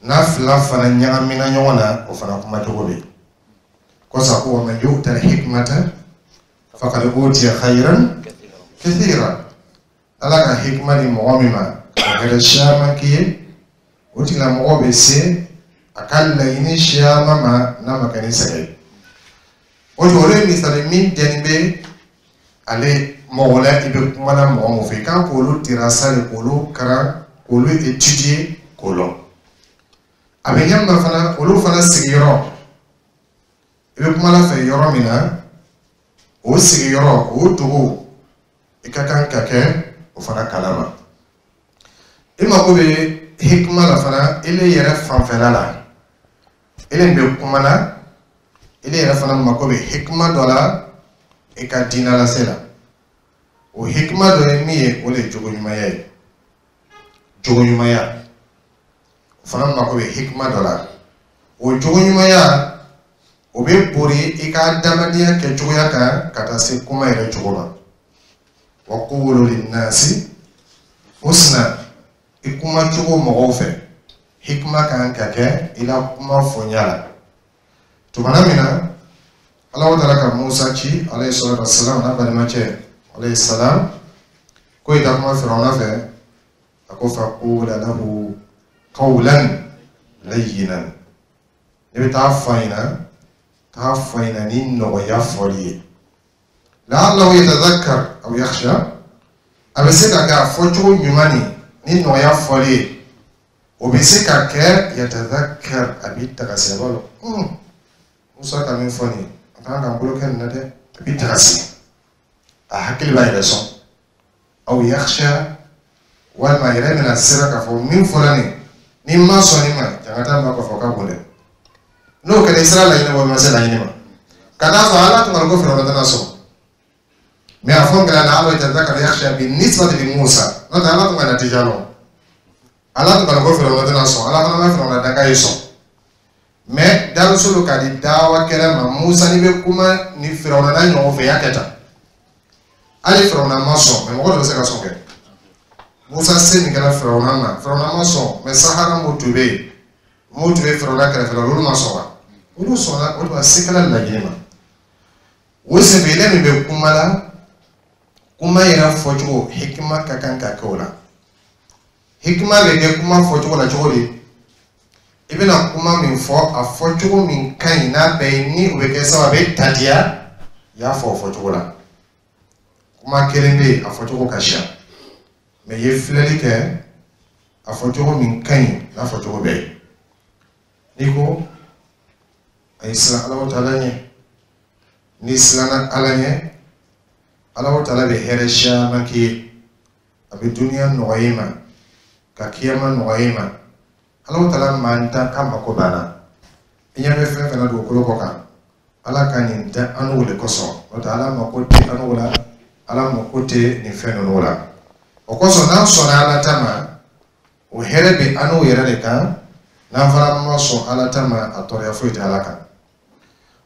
N'a fila fana ɲagamina ɲɔgɔn na, o fana kuma cogo bɛ yen. Kosa ko wa man yu'ta al-hikmata faqad utiya khayran kathira. Ala ka hikma di mɔgɔ min ma, o hɛrɛ caman k'i ye. O tigilamɔgɔ bɛ se a ka laɲini caman ma n'a ma kɛ ni sɛgɛn ye. O tuma, olu ye misali min dɛnni bɛ ale mɔgɔ la, i bɛ kuma na mɔgɔ min fɛ, i kan k'olu tirasa de, k'olu karan, k'olu étudier, k'o lɔn. A bɛ ɲɛ min fana, olu fana sigiyɔrɔ, i bɛ kuma la fɛ yɔrɔ min na, o sigiyɔrɔ, o dugu, i ka kan ka kɛ o fana kalama. I mako bɛ hikima la fana ile yɛrɛ fanfɛla la, ile bɛ kuma na, ile yɛrɛ fana mako bɛ hikima dɔ la i ka diinɛ lase la. O hikima dɔ ye min ye, o de ye jogo ɲumanya ye. Jogo ɲumanya, o fana mako bɛ hikima dɔ la. O jogo ɲumanya, o bɛ bori i ka adamadenya kɛcogoya kan ka taa se kuma yɛrɛ cogo ma. Wa qulu linnasi husna. I kuma cogo mɔgɔw fɛ, hikima kan ka kɛ i la kuma fɔnya la. Tumana min na Ala taala ka Musa ci, alayhi salatu wassalam, n'a balimacɛ, alayhi salam, ko i ta kuma Firawuna fɛ, a ko faqula lahu qawlan layyinan. Ne bɛ taa fɔ a ɲɛna, taa fɔ a ɲɛna ni nɔgɔya fɔli ye. La'allahu yatadhakkar aw yakhsha. A bɛ se ka kɛ a fɔcogo ɲuman ni ni nɔgɔya fɔli ye, o bɛ se ka kɛ yatadhakkar, a b'i tagasi, a b'a dɔn Musa ka min fɔ nin ye, a kan k'an bolo kɛ nin na dɛ. A b'i tagasi, a hakili b'a yɛrɛ sɔn. Aw yakhsha, walima a yɛrɛ bɛna sira k'a fɔ min fɔra nin, ni ma sɔn nin ma, jangata ma kɔfɛ, o ka bon dɛ. N'o kɛra, i sera laɲini ma, o ma se laɲini ma. Ka d'a sɔrɔ Ala tun ka ko Firawuna tɛna sɔn, mɛ a fɔ ngala la ala yatadhakkar yakhsha bi nisbati li Musa. N'o tɛ, Ala tun ka natija lɔn. Ala tun ka ko Firawuna tɛna sɔn, Ala fana ma Firawuna danga ye sɔn. Mɛ darusu don ka di dawa kɛlɛ ma. Musa, n'i bɛ kuma ni Firawuna n'a ɲɔgɔn fɛ, i y'a kɛ tan. Hali Firawuna ma sɔn, mɛ mɔgɔ dɔ bɛ se ka sɔn kɛ. Musa se min kɛra Firawuna ma, Firawuna ma sɔn, mɛ sahara mun tun bɛ yen, mun tun bɛ Firawuna kɛrɛfɛ la, olu ma sɔn wa? Olu sɔnna. O tuma, se kɛra laɲini ma. O senfɛ, ile min bɛ kuma la, kuma yɛrɛ fɔcogo, hikima ka kan ka kɛ o la. Hikima bɛ kɛ kuma fɔcogo la cogo di? I bɛna kuma min fɔ, a fɔcogo min ka ɲi n'a bɛɛ ye, ni o bɛ kɛ sababu a bɛ tadiya, i y'a fɔ o fɔcogo la. Kuma kelen bɛ yen, a fɔcogo ka siya, mɛ i ye filɛli kɛ, a fɔcogo min ka ɲi n'a fɔcogo bɛɛ ye. N'i ko a ye siran Alahu taala ɲɛ, n'i siranna Ala ɲɛ, Alahu taala bɛ hɛrɛ caman k'i ye. A bɛ duniya nɔgɔya i ma, ka kiyama nɔgɔya i ma. Alahu taala man dan k'a mako banna. I ɲɛ bɛ fɛn fɛn na dugukolo kɔ kan, Ala ka nin dan an n'o de kosɔn. N'o tɛ, Ala mako tɛ an n'o la, Ala mako tɛ nin fɛn ninnu la. O kosɔn, n'an sɔnna Ala ta ma, o hɛrɛ bɛ an n'o yɛrɛ de kan. N'an fana ma sɔn Ala ta ma, a tɔɔrɔya foyi tɛ Ala kan.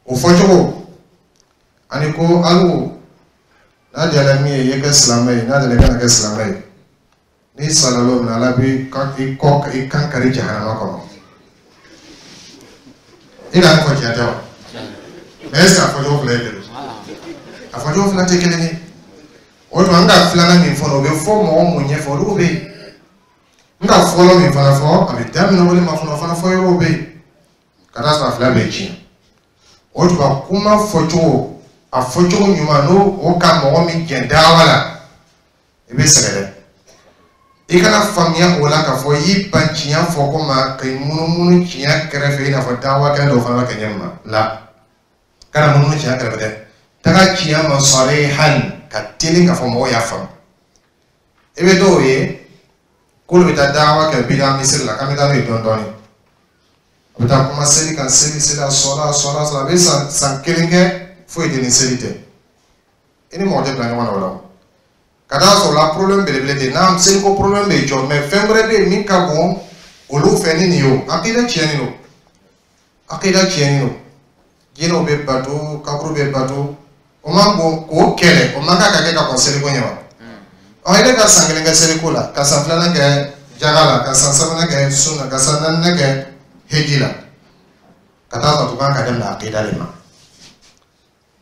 O fɔcogo ani ko alu n'a diyara min ye, i ye kɛ silamɛ ye, n'a diyara i kana kɛ silamɛ ye, n'i sara don min na, Ala b'i i kɔ i kan kari jahanama kɔnɔ. I n'a fɔ tiɲɛ tɛ wa? Mɛ est ce que a fɔcogo fila ye kelen? A fɔcogo fila tɛ kelen ye. O tuma, n ka filanan min fɔ, o bɛ fɔ mɔgɔ mun ɲɛfɛ, olu bɛ yen. N ka fɔlɔ min fana fɔ, a bɛ daminɛ o de ma fɔlɔ, o fana fɔ yɔrɔw bɛ yen ka taa sɔrɔ a fila bɛɛ ye tiɲɛ. O tuma, kuma fɔcogo, a fɔcogo ɲuman, n'o o ka mɔgɔ min jɛn dawa la. I bɛ sɛgɛn dɛ. I kana faamuya o la k'a fɔ i y'i ban tiɲɛ fɔ ko ma k'i munumunu tiɲɛ kɛrɛfɛ, i n'a fɔ dawakɛla dɔw fana b'a kɛ ɲɛ ma la. Kana munumunu tiɲɛ kɛrɛfɛ dɛ, taga tiɲɛ ma sarihan ka teli k'a fɔ mɔgɔw y'a faamu. I bɛ dɔw ye k'olu bɛ taa dawa kɛ bida misiri la, k'an bɛ taa n'o ye dɔɔnin dɔɔnin. A bɛ taa kuma seli kan, seli seli, a sɔrɔ a sɔrɔ a sɔrɔ, a bɛ san san kelen kɛ, foyi tɛ ni seli tɛ. I ni mɔgɔ tɛ bila ɲɔgɔn na o la o. Ka taa sɔrɔ la, problème belebele tɛ n'a seliko problème bɛ jɔ, mais fɛn wɛrɛ bɛ yen min ka bon olu fɛ ni nin ye. O akida tiɲɛni don, akida tiɲɛni don. Jinɛw bɛ bato, kaburu bɛ bato, o man bon k'o kɛlɛ, o man kan ka kɛ ka kɔn seliko ɲɛ wa. Ɔ, i bɛ ka san kelen kɛ seliko la, ka san filanan kɛ jaga la, ka san sabanan kɛ sun na, ka san naaninan kɛ heji la, ka taa sɔrɔ tugun ka daminɛ akida de ma.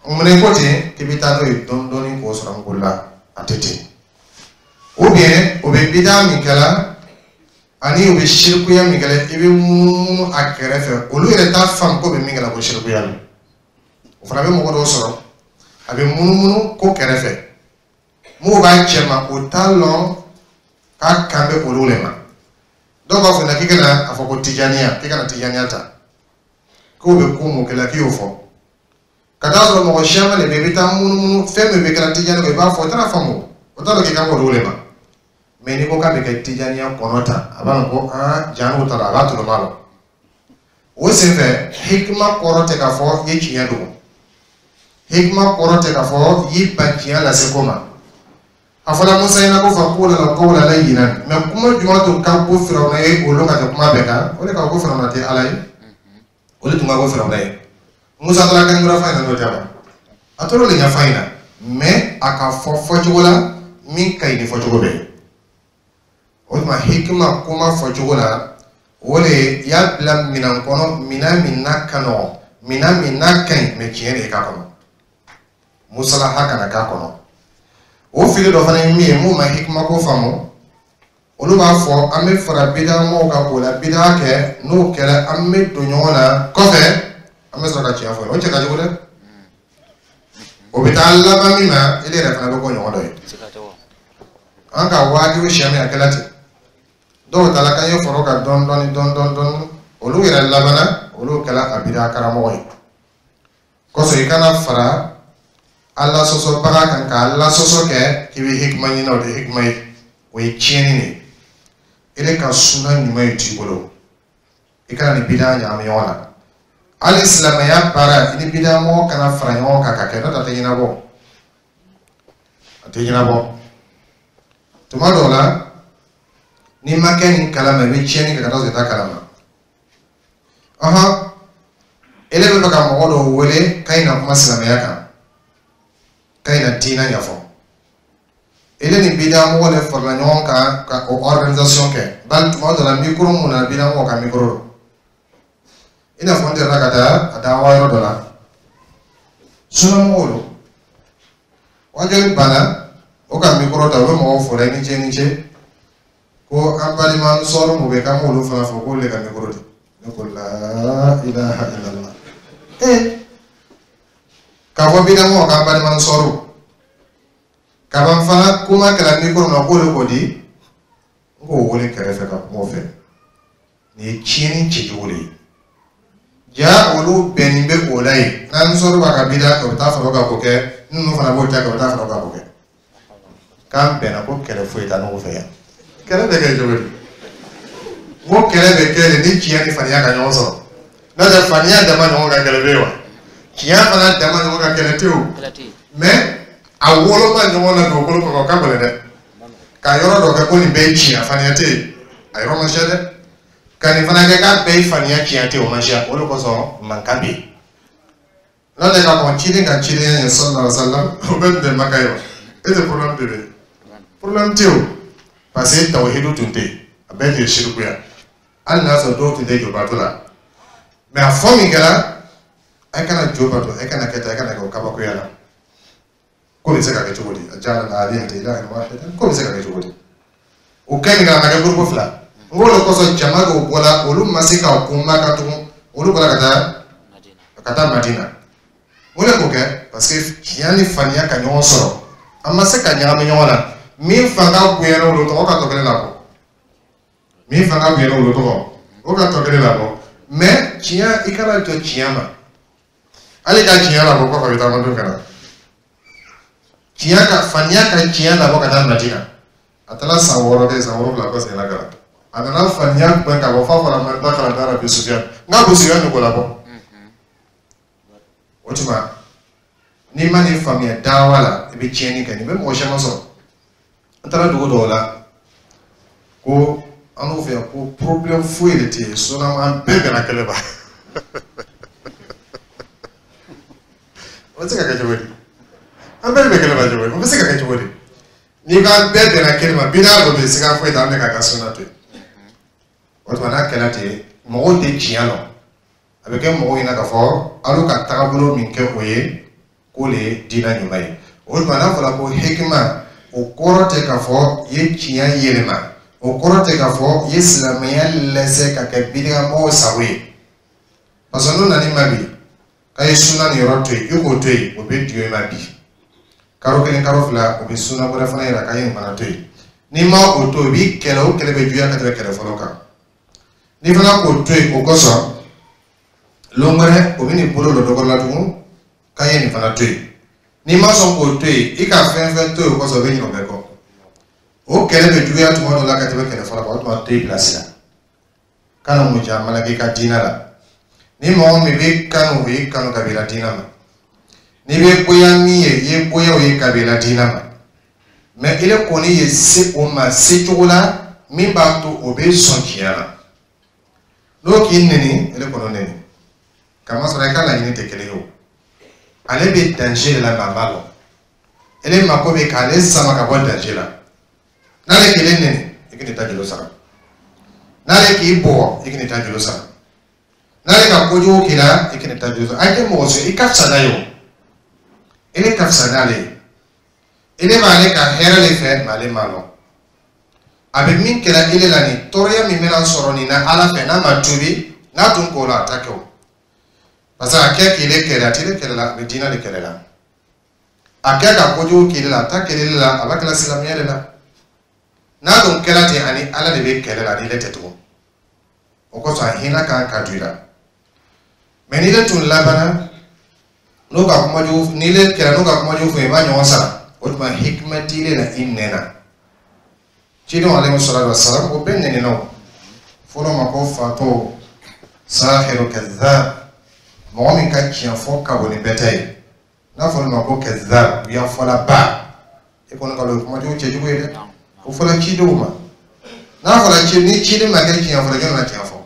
Munna i ko ten k'i bɛ taa n'o ye dɔɔni dɔɔni k'o sɔrɔ n la? A tɛ ten. Ou bien o bɛ bida min kɛla ani o bɛ sirikuya min kɛla, i bɛ munumunu a kɛrɛfɛ, olu yɛrɛ t'a faamu ko bɛ min kɛla ko sirikuya don. O fana bɛ mɔgɔ dɔw sɔrɔ, a bɛ munumunu ko kɛrɛfɛ, m'o b'a cɛ ma, o t'a lɔn k'a kan bɛ olu de ma. Dɔw b'a fɔ k'i kana a fɔ ko tijaniya, k'i kana tijaniya ta, k'o bɛ ko mun kɛla k'i y'o fɔ. Ka taa sɔrɔ mɔgɔ siyaman de bɛ yen, i bɛ taa munumunu fɛn min bɛ kɛra tijani kɔ, i b'a fɔ o tɛna faamu, o t'a dɔn k'i kan k'o de ma. Mais n'i ko k'a bɛ kɛ tijaniya kɔnɔ tan, a b'a dɔn ko aa ja n'o taara, a b'a tɔnɔma la. O senfɛ, hikima kɔrɔ tɛ k'a fɔ i ye tiɲɛ dogo, hikima kɔrɔ tɛ k'a fɔ i y'i ban tiɲɛ lase ko ma. A fɔra Musa ɲɛna ko fa ko la ko la layyinan, mais kuma jumɛn tun ka ko Firawuna ye olu ka tɛ kuma bɛɛ kan? O de ka ko Firawuna tɛ Ala ye, o de tun ka ko Firawuna ye. Musa taara kan wɛrɛ f'a ɲɛna, n'o tɛ wa, a tor'o de ɲɛf'a ɲɛna, mais a ka fɔ fɔcogo la min ka ɲi ni fɔcogo bɛɛ ye. O tuma, hikima kuma fɔcogo la, o de y'a bila minɛn kɔnɔ, minɛn min n'a ka nɔgɔn, minɛn min n'a ka ɲi, mais tiɲɛ de ye k'a kɔnɔ, musalaha kana k'a kɔnɔ. O fili dɔ fana ye min ye, mun ma hikima ko faamu, olu b'a fɔ an bɛ fara bidamɔgɔw kan k'o la bida kɛ, n'o kɛra an bɛ don ɲɔgɔn na kɔfɛ, an bɛ sɔrɔ ka tiɲɛ fɔ. O cɛ ka jugu dɛ. O bɛ taa laban min ma, e yɛrɛ fana bɛ k'o ɲɔgɔn dɔ ye. An ka wajibi siyɛn min a kɛla ten, dɔw taara k'an ye foro ka dɔɔni dɔɔni dɔɔni dɔɔni dɔɔni, olu yɛrɛ labanna olu kɛla a bida karamɔgɔ ye. Kɔsɔn i kana fara Ala sɔsɔbaga kan ka Ala sɔsɔ kɛ k'i bɛ hikima ɲini, o tɛ hikima ye, o ye tiɲɛni de ye. E ka suna ɲuman ye t'i bolo, i kana ni bida ɲagami ɲɔgɔn na. Hali silamɛya baara, i ni bida mɔgɔ kana fara ɲɔgɔn kan ka kɛ, n'o tɛ a tɛ ɲɛnabɔ, a tɛ ɲɛnabɔ. Tuma dɔw la, n'i ma kɛ nin kalama, i bɛ tiɲɛni kɛ ka taa sɔrɔ i t'a kalama. Ɔhɔn, ele bɛ fɛ ka mɔgɔ dɔw wele k'a na kuma silamɛya kan, k'a na diinɛ ɲɛfɔ, ele ni bida mɔgɔ de farala ɲɔgɔn kan ka o organisation kɛ. Bali tuma dɔ la, micro mun na, bida mɔgɔ ka micro don. I n'a fɔ n delila ka taa a dawa yɔrɔ dɔ la, sunamɔgɔw don, wajuli banna, o ka micro ta, u bɛ mɔgɔw fo la, i ni ce, i ni ce, ko an balima sɔrɔ mun bɛ, k'an b'olu fana fɔ k'olu de ka micro di. Ne ko la ilaha illallah. Ee, k'a fɔ bida mɔgɔ k'an balima sɔrɔ kaban fana, kuma kɛra micro na k'o de k'o di. N k'o wele kɛrɛfɛ ka kuma o fɛ. Nin ye tiɲɛni cɛcogo de ye. Ja olu bɛnnin bɛ o la yen, n'an sɔrɔ b'a ka bida kɛ, o bɛ taa fara o kan k'o kɛ, ninnu fana b'o ta kɛ, o bɛ taa fara o kan k'o kɛ. K'an bɛnna ko kɛlɛ foyi t'a n'o fɛ yan. Kɛlɛ bɛ kɛ cogo di? N ko kɛlɛ bɛ kɛ de ni tiɲɛ ni faniya ka ɲɔgɔn sɔrɔ. N'o tɛ, faniya dama ɲɔgɔn ka kɛlɛ bɛ yen wa? Tiɲɛ fana dama ɲɔgɔn ka kɛlɛ tɛ o. Mais a woloma ɲɔgɔn na dugukolo kɔ kan, o ka gɛlɛn dɛ. Ka yɔrɔ dɔ kɛ ko nin bɛɛ ye tiɲɛ, faniya tɛ yen, a yɔrɔ ma siya dɛ. Ka nin fana kɛ k'a bɛɛ ye faniya, tiɲɛ tɛ yen, o ma siya. O de kosɔn mankan bɛ yen. N'o tɛ, ka kɔn ciden ka cidenya ɲɛ sallallahu alaihi wa sallam, o bɛɛ tun tɛ Maka ye wa? E tɛ problème de bɛ yen? Problème tɛ o, parce que tawhidu tun tɛ yen, a bɛɛ tun ye sirikuya, hali n'a sɔrɔ dɔw tun tɛ jobato la. Mais a fɔ min kɛra, a kana jo bato, a kana kɛ tan, a kana kɛ o kabakoya la. Ko bɛ se ka kɛ cogo di? A jala la alihata ilahan wahidan, ko bɛ se ka kɛ cogo di? O kɛ min kɛra, a ma kɛ groupe fila. N ko o de kosɔn jama dɔw bɔra, olu ma se ka kun Maka tugun, olu bɔra ka taa ka taa Madina. Mun de k'o kɛ? Parce que tiɲɛ ni faniya ka ɲɔgɔn sɔrɔ, an ma se ka ɲagami ɲɔgɔn na. Min fanga bonyana olu tɔgɔ, o ka tɔ kelen labɔ. Min fanga bonyana olu tɔgɔ, o ka tɔ kelen labɔ. Mais tiɲɛ, i kana jɔ tiɲɛ ma. Hali ka tiɲɛ labɔ kɔfɛ, a bɛ taa mando ka na. Tiɲɛ ka faniya ka tiɲɛ labɔ ka taa Madina. A taara san wɔɔrɔ kɛ, san wolonwula kɔ seginna ka na. A nana faniya gbɛn ka bɔ f'a fɔra ma da kalan da Abi Sufiyan. N k'a Abu Sufiyan de k'o labɔ. O tuma, n'i ma nin faamuya dawa la, i bɛ tiɲɛni kɛ. Nin bɛ mɔgɔ caman sɔrɔ. An taara dugu dɔw la ko an n'u fɛ yan ko problème foyi de tɛ yen, sinon an bɛɛ bɛnna kɛlɛ ma. O bɛ se ka kɛ cogo di? An bɛɛ bɛ kɛlɛ ma cogo di? O bɛ se ka kɛ cogo di? N'i ko an bɛɛ bɛnna kɛlɛ ma, bidaa dɔ bɛ yen, siga foyi t'a la, an bɛ k'a ka sunna to yen. O tuma, n'a kɛra ten, mɔgɔw tɛ tiɲɛ lɔn. A bɛ kɛ mɔgɔw ɲɛna k'a fɔ alu ka tagabolo min kɛ, o ye k'o le ye diinɛ ɲuman ye. O tuma, n'a fɔra ko hikima, o kɔrɔ tɛ k'a fɔ i ye tiɲɛ yɛlɛma, o kɔrɔ tɛ k'a fɔ i ye silamɛya lɛsɛ ka kɛ bidagamɔgɔw sago ye. Parce que n'o nan'i ma bi k'a ye sunna nin yɔrɔ to yen, i k'o to yen, o bɛ diyo i ma bi. Karo kelen, karo fila, o bɛ sunna wɛrɛ fana yira k'a ye nin fana to yen. N'i ma o to yen, o b'i kɛlɛ, o kɛlɛ bɛ juguya ka tɛmɛ kɛlɛ fɔlɔ kan. N'i fana k'o to yen, o kosɔn lon wɛrɛ o bɛ n'i bolo don dɔ kɔrɔ la tugun k'a ye nin fana to yen. N'i ma sɔn k'o to yen, i ka fɛn fɛn to yen, o kosɔn o bɛ ɲinɛ o bɛɛ kɔ. O kɛlɛ bɛ juguya tuma dɔ la ka tɛmɛ kɛlɛ fɔlɔ kan. O tuma, to i bilasira, kana mujamala k'i ka diinɛ la. Ni mɔgɔ min bɛ kanu, o y'i kanu ka b'i la diinɛ ma. N'i bɛ bonya min ye, i ye bonya o ye ka b'i la diinɛ ma. Mais ile kɔni ye se o ma se cogo la min b'a to o bɛ sɔn tiɲɛ la. N'o k'i neni, ele kɔnɔ neni. Kamasɔrɔ i ka laɲini tɛ kelen ye o. Ale bɛ danger de la, mais a b'a lɔn. Ele mako bɛ k'ale sama ka bɔ danger la. N'ale k'ele neni, i k'i ta juru sara. N'ale k'i bugɔ, i k'i ta juru sara. N'ale ka kojugu k'i la, i k'i ta juru sara. A tɛ mɔgɔ sɔrɔ i ka fisa n'a ye o. Ele ka fisa n'ale ye. Ele b'ale ka hɛrɛ de fɛ, mais ale m'a lɔn. A bɛ min kɛra ele la, nin tɔɔrɔya min bɛna sɔrɔ nin na Ala fɛ, n'a ma tuubi, n'a tun k'o la, a t'a kɛ o. Parce que a kɛ k'ele kɛlɛ, a t'ele kɛlɛ la, a bɛ diinɛ de kɛlɛ la. A kɛ ka kojugu k'ele la, a t'a kɛlɛ la, a b'a kɛla silamɛya de la. N'a dun kɛra ten, ani Ala de bɛ kɛlɛ la, ani ile tɛ tugun. O kosɔn, a hinɛ kan ka don i la. Mais n'ile tun labanna n'o ka kuma jugu, n'ile kɛra n'o ka kuma jugu fɔ, i b'a ɲɔgɔn sara. O tuma, hikima t'ile la i nɛn na. Cidenw alayhi salatu wa salam, o bɛɛ nɛnina o. Fɔlɔ ma ko fatɔ sahiru kadhab, mɔgɔ min ka tiɲɛ fɔ ka bon ni bɛɛ ta ye. N'a fɔra ma ko kadhab, u y'a fɔla ba. E kɔni ka dɔn o ye kuma jugu cɛjugu ye dɛ. O fɔra cidenw ma. N'a fɔra ci ni ciden ma kɛ tiɲɛ fɔla, jɔn na tiɲɛ fɔ?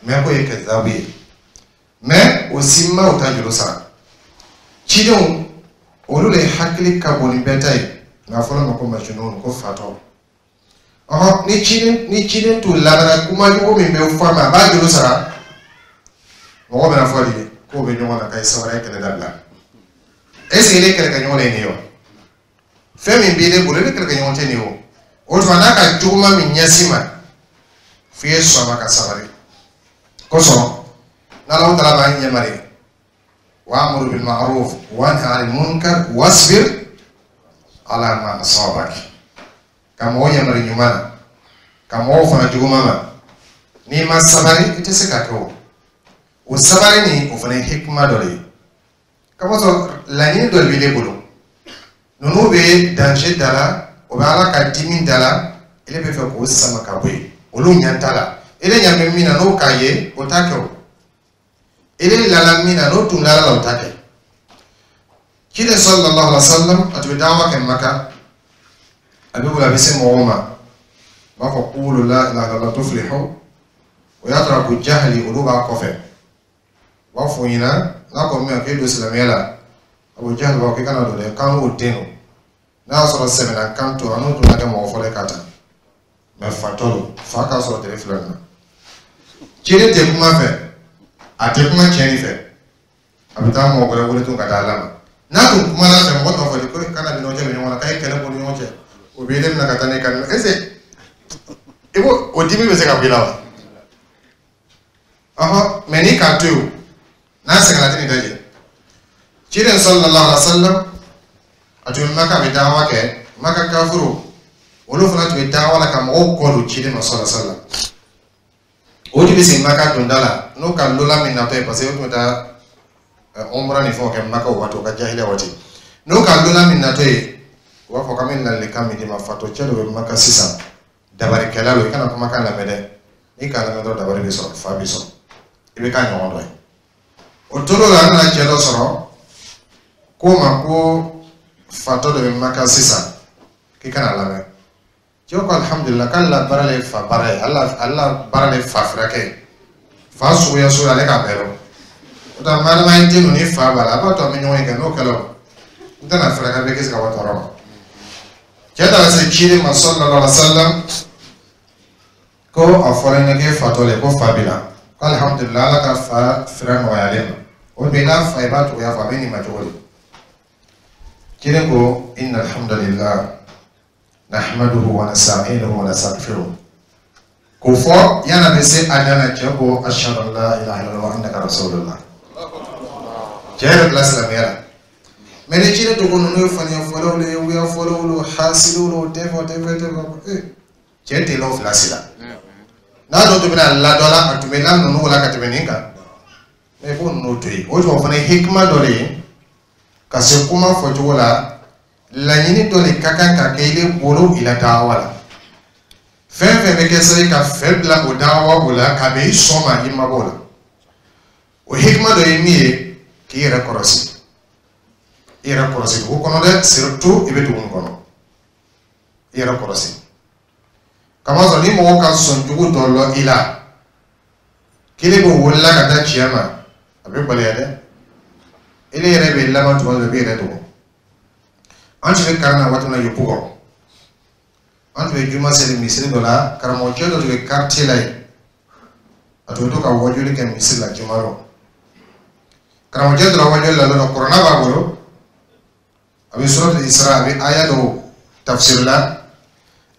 Mais k'o ye kadhabu ye. Mais o si ma o ta juru sara. Cidenw olu de hakili ka bon ni bɛɛ ta ye. Nka a fɔra ma ko majnun, ko fatɔ. Ɔhɔn, ni ciden ni ciden tun labanna kuma jugu min bɛ fɔ a ma, a b'a juru sara. Mɔgɔ bɛna fɔ de k'o bɛ ɲɔgɔn na, k'a ye sabali, kɛlɛ dabila. Est ce que ile kɛlɛkɛɲɔgɔn de ye nin ye wa? Fɛn min b'i bolo, ile kɛlɛkɛɲɔgɔn tɛ nin ye o. O tuma, n'a ka juguman min ɲɛsin ma, f'i ye sɔn a ma ka sabali. Kosɔn n'Alahu taala b'an ɲɛmari wa'mur bil ma'ruf wanha 'anil munkar wasbir ala ma asabak, ka mɔgɔ ɲamari ɲuman na, ka mɔgɔw fana juguman ma. N'i ma sabali, i tɛ se k'a kɛ o. O sabali nin, o fana ye hikima dɔ de ye. Kamasɔrɔ laɲini dɔ de b'i bolo. Ninnu bɛ danger da la, o bɛ Ala ka dimi da la, ele bɛ fɛ k'o sama ka bɔ yen. Olu ɲɛ t'a la. Ele ɲɛ bɛ min na, n'o k'a ye, o t'a kɛ o. Ele lala min na, n'o tun lala la, o t'a kɛ. Ciden sallallahu alaihi wa sallam, a tun bɛ dawa kɛ Maka. A bɛ wuli, a bɛ se mɔgɔw ma, a b'a fɔ qulu la ilaha illallah tuflihu. O y'a sɔrɔ Abu Jahali olu b'a kɔfɛ. U b'a fɔ o ɲɛna n'a ko min ma k'e don silamɛya la, Abu Jahali b'a fɔ k'i kana don dɛ, k'an k'o den don. N'a y'a sɔrɔ sɛbɛnna kan to, an n'o tun na kɛ mɔgɔ fɔlɔ ye ka ta. Mais fatɔ don, fa k'a sɔrɔ tile fila nin na. Ciden tɛ kuma fɛ, a tɛ kuma tiɲɛni fɛ, a bɛ taa mɔgɔ wɛrɛ wele tun ka taa ala ma. N'a tun kumana fɛ, mɔgɔ t'a fɔ de ko kana ni ɲɔgɔn cɛ bɛ ɲɔgɔn na, k'a ye kɛlɛ bɔ ni ɲɔgɔn cɛ. O bɛ ne minɛ ka taa ne ka est ce que i ko o dimi bɛ se ka bɔ i la wa? Ɔhɔn, mais n'i k'a to yen o, n'a sɛgɛnna, a tɛ nin dajɛ. Ciden sallallahu alaihi wa sallam, a tun bɛ Maka, a bɛ dawa kɛ. Maka kafuru olu fana tun bɛ daawa la ka mɔgɔw kɔ don ciden ma sɔlɔ sɔlɔ. O tun bɛ sigi Maka donda la n'o ka lola min natɔ ye, parce que o tun bɛ taa umra ni fɛnw kɛ Maka o waati, o ka jahiliya waati. N'o ka lola min natɔ ye, u b'a fɔ k'an bɛ ladilikan min d'i ma, fatɔ cɛ dɔ bɛ Maka sisan, dabarikɛla don, i kana kumakan lamɛn dɛ, n'i k'a lamɛn dɔrɔn dabari bɛ sɔrɔ, fa bɛ sɔrɔ, i bɛ k'a ɲɔgɔn dɔ ye. O tor'o la, an nana cɛ dɔ sɔrɔ k'o ma ko fatɔ dɔ bɛ Maka sisan, k'i kana lamɛn. Cɛw ko alihamudulila, k'ale la baara le ye fa baara ye, ale la baara le ye fa furakɛ ye, fa suguya suguya ale k'a bɛɛ dɔn. O tɛ madama ye den ni fa b'a la, a b'a to an bɛ ɲɔgɔn ye kɛ, n'o kɛra o n tɛna furakɛ, bɛ kisi ka bɔ tɔɔrɔ ma. Cɛ taara se ciden ma sallallahu alaihi wa sallam, ko a fɔra n ye k'e fatɔ le, ko fa b'i la, ko alihamudulila, ala ka fa fira nɔgɔyalen ma. O bɛ n'a fa, i b'a cogoya fɔ, a bɛ nin ma cogo di? Ciden ko inna alhamdulillah nahmaduhu wa nasta'inuhu wa nastaghfiruh. K'o fɔ yan'a bɛ se a dan na, cɛ ko ashhadu an la ilaha illallah wa annaka rasulullah. Cɛ yɛrɛ bila silamɛya la. Mɛ ni ciden to ko ninnu ye faniya fɔlaw le ye, wuya fɔlaw le, hasidiw le, o tɛ fɛ, o tɛ fɛ, o tɛ fɛ. Ee, cɛ tɛ l'o fila si la. N'a dun tun bɛna ladɔ la, a tun bɛ la ninnu la ka tɛmɛ nin kan. Mɛ i b'o ninnu to yen. O tuma fana ye hikima dɔ de ye ka se kuma fɔcogo la. Laɲini dɔ de ka kan ka kɛ i bolo i la daawa la. Fɛn fɛn bɛ kɛ sababu ka fɛn bila o daawa o la, ka bɛn i sɔn ma, i mabɔ o la. O hikima dɔ ye min ye, k'i yɛrɛ kɔlɔsi, i yɛrɛ kɔlɔsi dugu kɔnɔ dɛ, surtout i bɛ dugu min kɔnɔ, i yɛrɛ kɔlɔsi. Kamasɔrɔ ni mɔgɔ ka sɔn jugu dɔ lɔ i la, kelen bɛ wolola ka taa tiɲɛ ma, a bɛ gɛlɛya dɛ. Ele yɛrɛ bɛ laban tuma dɔ, i bɛ yɛrɛ dogo. An tun bɛ kalan na waati min na Yopougon, an tun bɛ juma seli misiri dɔ la. Karamɔgɔcɛ dɔ tun bɛ quartier la yen, a tun bɛ to ka wajuli kɛ misiri la juma dɔ. Karamɔgɔcɛ tora wajuli la lɔ, kuranɛ b'a bolo, a bɛ suratul Isra, a bɛ aya dɔw tafsir la.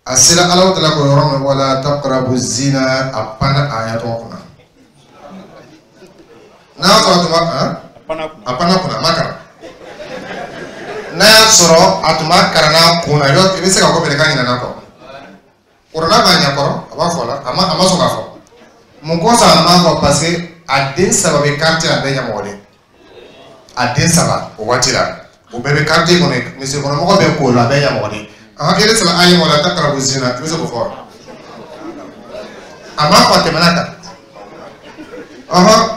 A sera Alahu taala ko yɔrɔ min, wala taqrabu zina, a panna aya tɔgɔ kunna. N'a y'a sɔrɔ a tun b'a a panna kunna, a ma kalan. N'a y'a sɔrɔ a tun b'a kalan n'a kun na, i bɛ se ka ko bɛrɛ k'a ɲinɛ n'a kɔ. Kuranɛ b'a ɲɛkɔrɔ, a b'a fɔ la, a ma a ma sɔn k'a fɔ. Mun kosɔn a ma fɔ? Parce que a den saba bɛ quartier la, a bɛɛ ɲɛmɔgɔden. A den saba o waati la, o bɛɛ bɛ quartier kɔnɔ, misiri kɔnɔmɔgɔ bɛɛ k'o la, a bɛɛ ɲɛmɔgɔden. Ahan, e saba a ye wala taqrabu zina, i bɛ se k'o fɔ wa? A ma fɔ, a tɛmɛna kan. Ɔhɔn,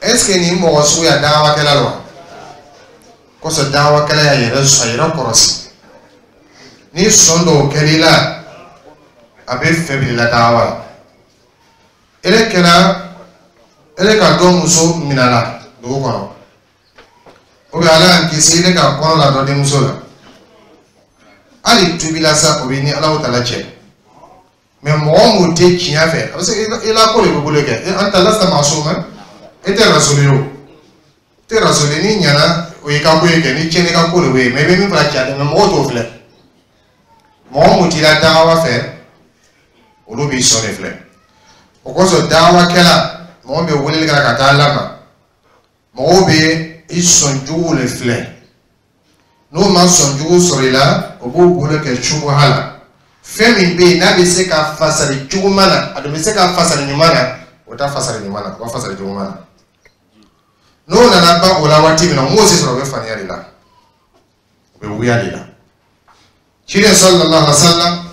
est ce que nin mɔgɔ sugu ya dawakɛla la wa? Kosɔn dawakɛla y'a yɛrɛ a yɛrɛ kɔlɔsi. Ni sɔn dɔw kɛr'i la, a bɛ fɛ bila i la dawa la. Ele kɛra ele ka dɔ muso minɛ la dugu kɔnɔ, o bɛ Ala y'an kisi, ele ka kɔnɔ la dɔ denmuso la, hali tubi la sa, o bɛ ni Alahu taala cɛ. Mɛ mɔgɔ mun tɛ tiɲɛ fɛ, a bɛ se i la ko de bɛ bolo kɛ. An ta lasta maasuma, e tɛ rasuli ye o, e tɛ rasuli. N'i ɲɛna, o y'i ka ko ye kɛ, ni tiɲɛni ka ko de bɛ yen. Mɛ i bɛ min fana cɛ, mɛ mɔgɔw t'o filɛ. Mɔgɔ mun t'i la dawa fɛ, olu b'i sɔn de filɛ. O kosɔn dawakɛla, mɔgɔ bɛ weleli kɛ ka taa Ala ma, mɔgɔw bɛ i sɔn juguw de filɛ. N'o ma sɔn jugu sɔrɔ i la, o b'o bolo kɛ subuha la. Fɛn min bɛ yen n'a bɛ se ka fasari juguman na, a dun bɛ se ka fasari ɲuman na, o t'a fasari ɲuman na, o b'a fasari juguman na. N'o nana ban o la waati min na, o m'o se sɔrɔ, o bɛ faniya de la, o bɛ wuya de la. Ciden sallallahu alaihi wa sallam,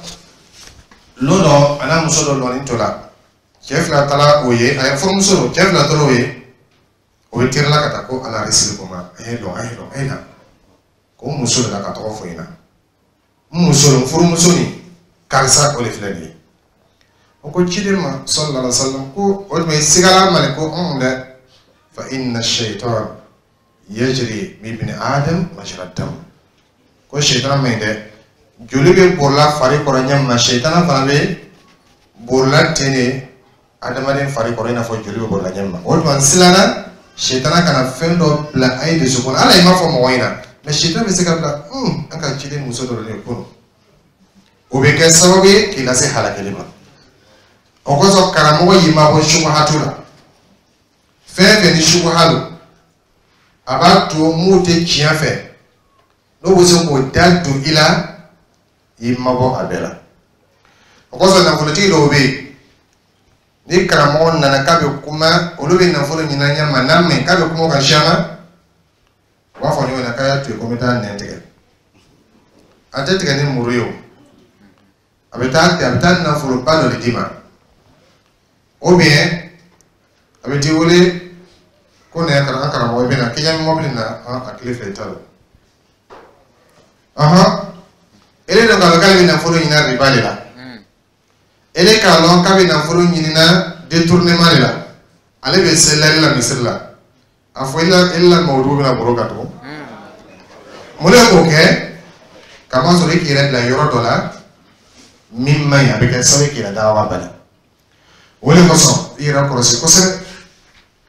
lon dɔ, a n'a muso dɔ lɔni to la, cɛ fila taara o ye, a ye furumuso don, cɛ fila taara o ye, o ye terila ka taa ko ala resili ko ma, an ye lɔ, an ye lɔ, an ye na ko muso de la ka tɔgɔ fɔ ɲɛna, n muso don, furumuso nin karisa, o de filɛ nin ye. O ko ciden ma sallallahu alaihi wa sallam ko o tuma i sigala ma de? Ko un dɛ, fa inna shaitan yajri min ibni adam majra dam. Ko shaitan man ɲi dɛ, joli bɛ borila fari kɔrɔ ɲɛ min na, shaitan fana bɛ borila ten de adamaden fari kɔrɔ, i n'a fɔ joli bɛ borila ɲɛ min na. O tuma n siranna shaitan kana fɛn dɔ bila a ye dusukun na. Ala i m'a fɔ mɔgɔ ɲɛna, mɛ shaitan bɛ se ka bila un an ka ciden muso dɔ de kunun, o bɛ kɛ sababu ye k'i lase halakili ma. O kosɔn karamɔgɔ y'i mabɔ subuhatu la. Fɛn fɛn ni subuha don, a b'a to mun tɛ tiɲɛ fɛ, n'o bɛ se k'o da don i la. I mabɔ a bɛɛ la. O kosɔn nafolotigi dɔw bɛ yen, ni karamɔgɔ nana k'a bɛ kuma, olu bɛ nafolo ɲini an ɲɛ ma, n'a mɛn k'a bɛ kuma o kan siyaman, u b'a fɔ ɲɔgɔn ɲɛna k'a y'a to yen ko n bɛ taa nɛn tigɛ. A tɛ tigɛ ni muru ye o, a bɛ taa a bɛ taa nafoloba dɔ de d'i ma, ou bien a bɛ t'i wele ko nin ye an karamɔgɔ, i bɛ na k'i ɲɛ bɛ mɔbili na, a tile fila i t'a dɔn. Ɔhɔn, ele dun k'a lɔn k'ale bɛ nafolo ɲini riba de la, ele k'a lɔn k'a bɛ nafolo ɲinina détournement de la, ale bɛ selɛri la misiri la, a fɔ e la e la mawudu bɛna baro kan tugun. Mun de k'o kɛ? Kamasɔrɔ i k'i yɛrɛ bila yɔrɔ dɔ la min man ɲi, a bɛ kɛ sababu ye k'i yɛrɛ dawa bali. O de kosɔn i yɛrɛ kɔlɔsi kosɛbɛ,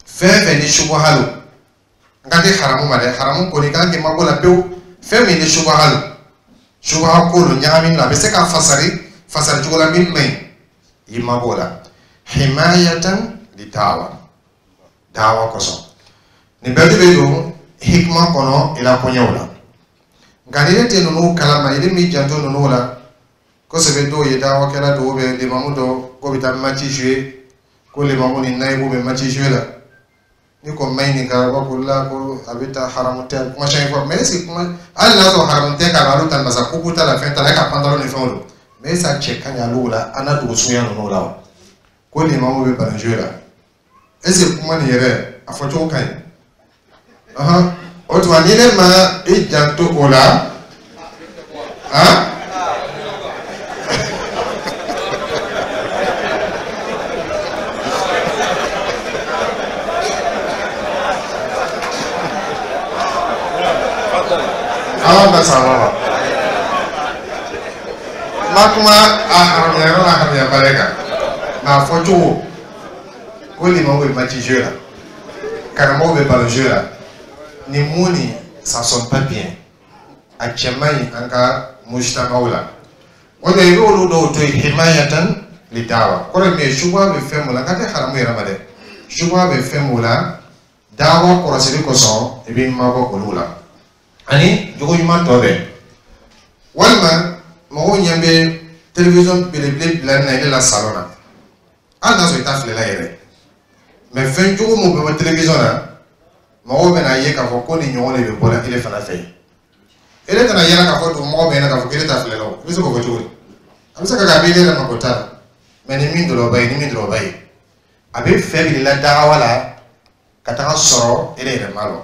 fɛn fɛn ni subaha lo, n ka tɛ haramu ma dɛ, haramu kɔni kan k'i mabɔ la pewu. Fɛn min ni subaha lo, subaha ko lo, ɲagami lo, a bɛ se ka fasari fasari cogo la min man ɲi, i mabɔ o la. Himayatan li dawa, dawa kosɔn nin bɛɛ de bɛ don hikima kɔnɔ i la koɲɛw la. Nka ni ne tɛ ninnu kalama, i m'i janto ninnu la kosɛbɛ. Dɔw ye dawakɛla dɔw bɛ limamu dɔ ko bɛ taa match jouer, ko limamu ni nayibu bɛ match jouer la, ni ko ma ɲininka, ba ko la ko a bɛ taa haramu tɛ, kuma caman fɔ. Mais est ce que kuma, hali n'a sɔrɔ haramu tɛ k'a la, olu ta masa kuku t'a la, fɛn t'a la, e ka pantalon ni fɛnw don, mais est ce que a cɛ ka ɲi olu la, an n'a dogo suguya ninnu la wa? Ko limamu bɛ ballon jouer la, est ce que kuma nin yɛrɛ a fɔcogo ka ɲi? Ɔhɔn, o tuma ni ne ma i janto o la, han. Ala bɛ sa wa ma kuma a haramuya yɔrɔ la, haramuya bali kan, nka a fɔcogo ko limamu bɛ match jouer la, karamɔgɔ bɛ ballon jouer la, nin mun nin, ça sonne pas bien, a cɛ man ɲi an ka mujtamaw la. O de i bɛ olu dɔw to yen himayatan li dawa, kɔrɔ ye min ye, subaha bɛ fɛn mun la, n ka tɛ haramu yɛrɛ ma dɛ, subaha bɛ fɛn mun la, dawa kɔlɔsili kosɔn i b'i mabɔ olu la. Ani jogo ɲuman tɔ bɛɛ, walima mɔgɔw ɲɛ bɛ télévision belebele bila na ile la salon na, hali n'a sɔrɔ i t'a filɛla yɛrɛ, mais fɛn jugu mun bɛ bɔ télévision na, mɔgɔw bɛna ye k'a fɔ ko nin ɲɔgɔn de bɛ bɔra ele fana fɛ yen. Ele tɛna yala k'a fɔ dugumɔgɔw bɛ ɲɛna k'a fɔ k'ele t'a filɛla o, i bɛ se k'o fɔ cogo di? A bɛ se ka kɛ a bɛ ele yɛrɛ mako t'a la, mais ni min dɔrɔn ba ye, ni min dɔrɔn ba ye, a bɛ fɛ bila la dagawa la ka taga sɔrɔ ele yɛrɛ ma lɔn.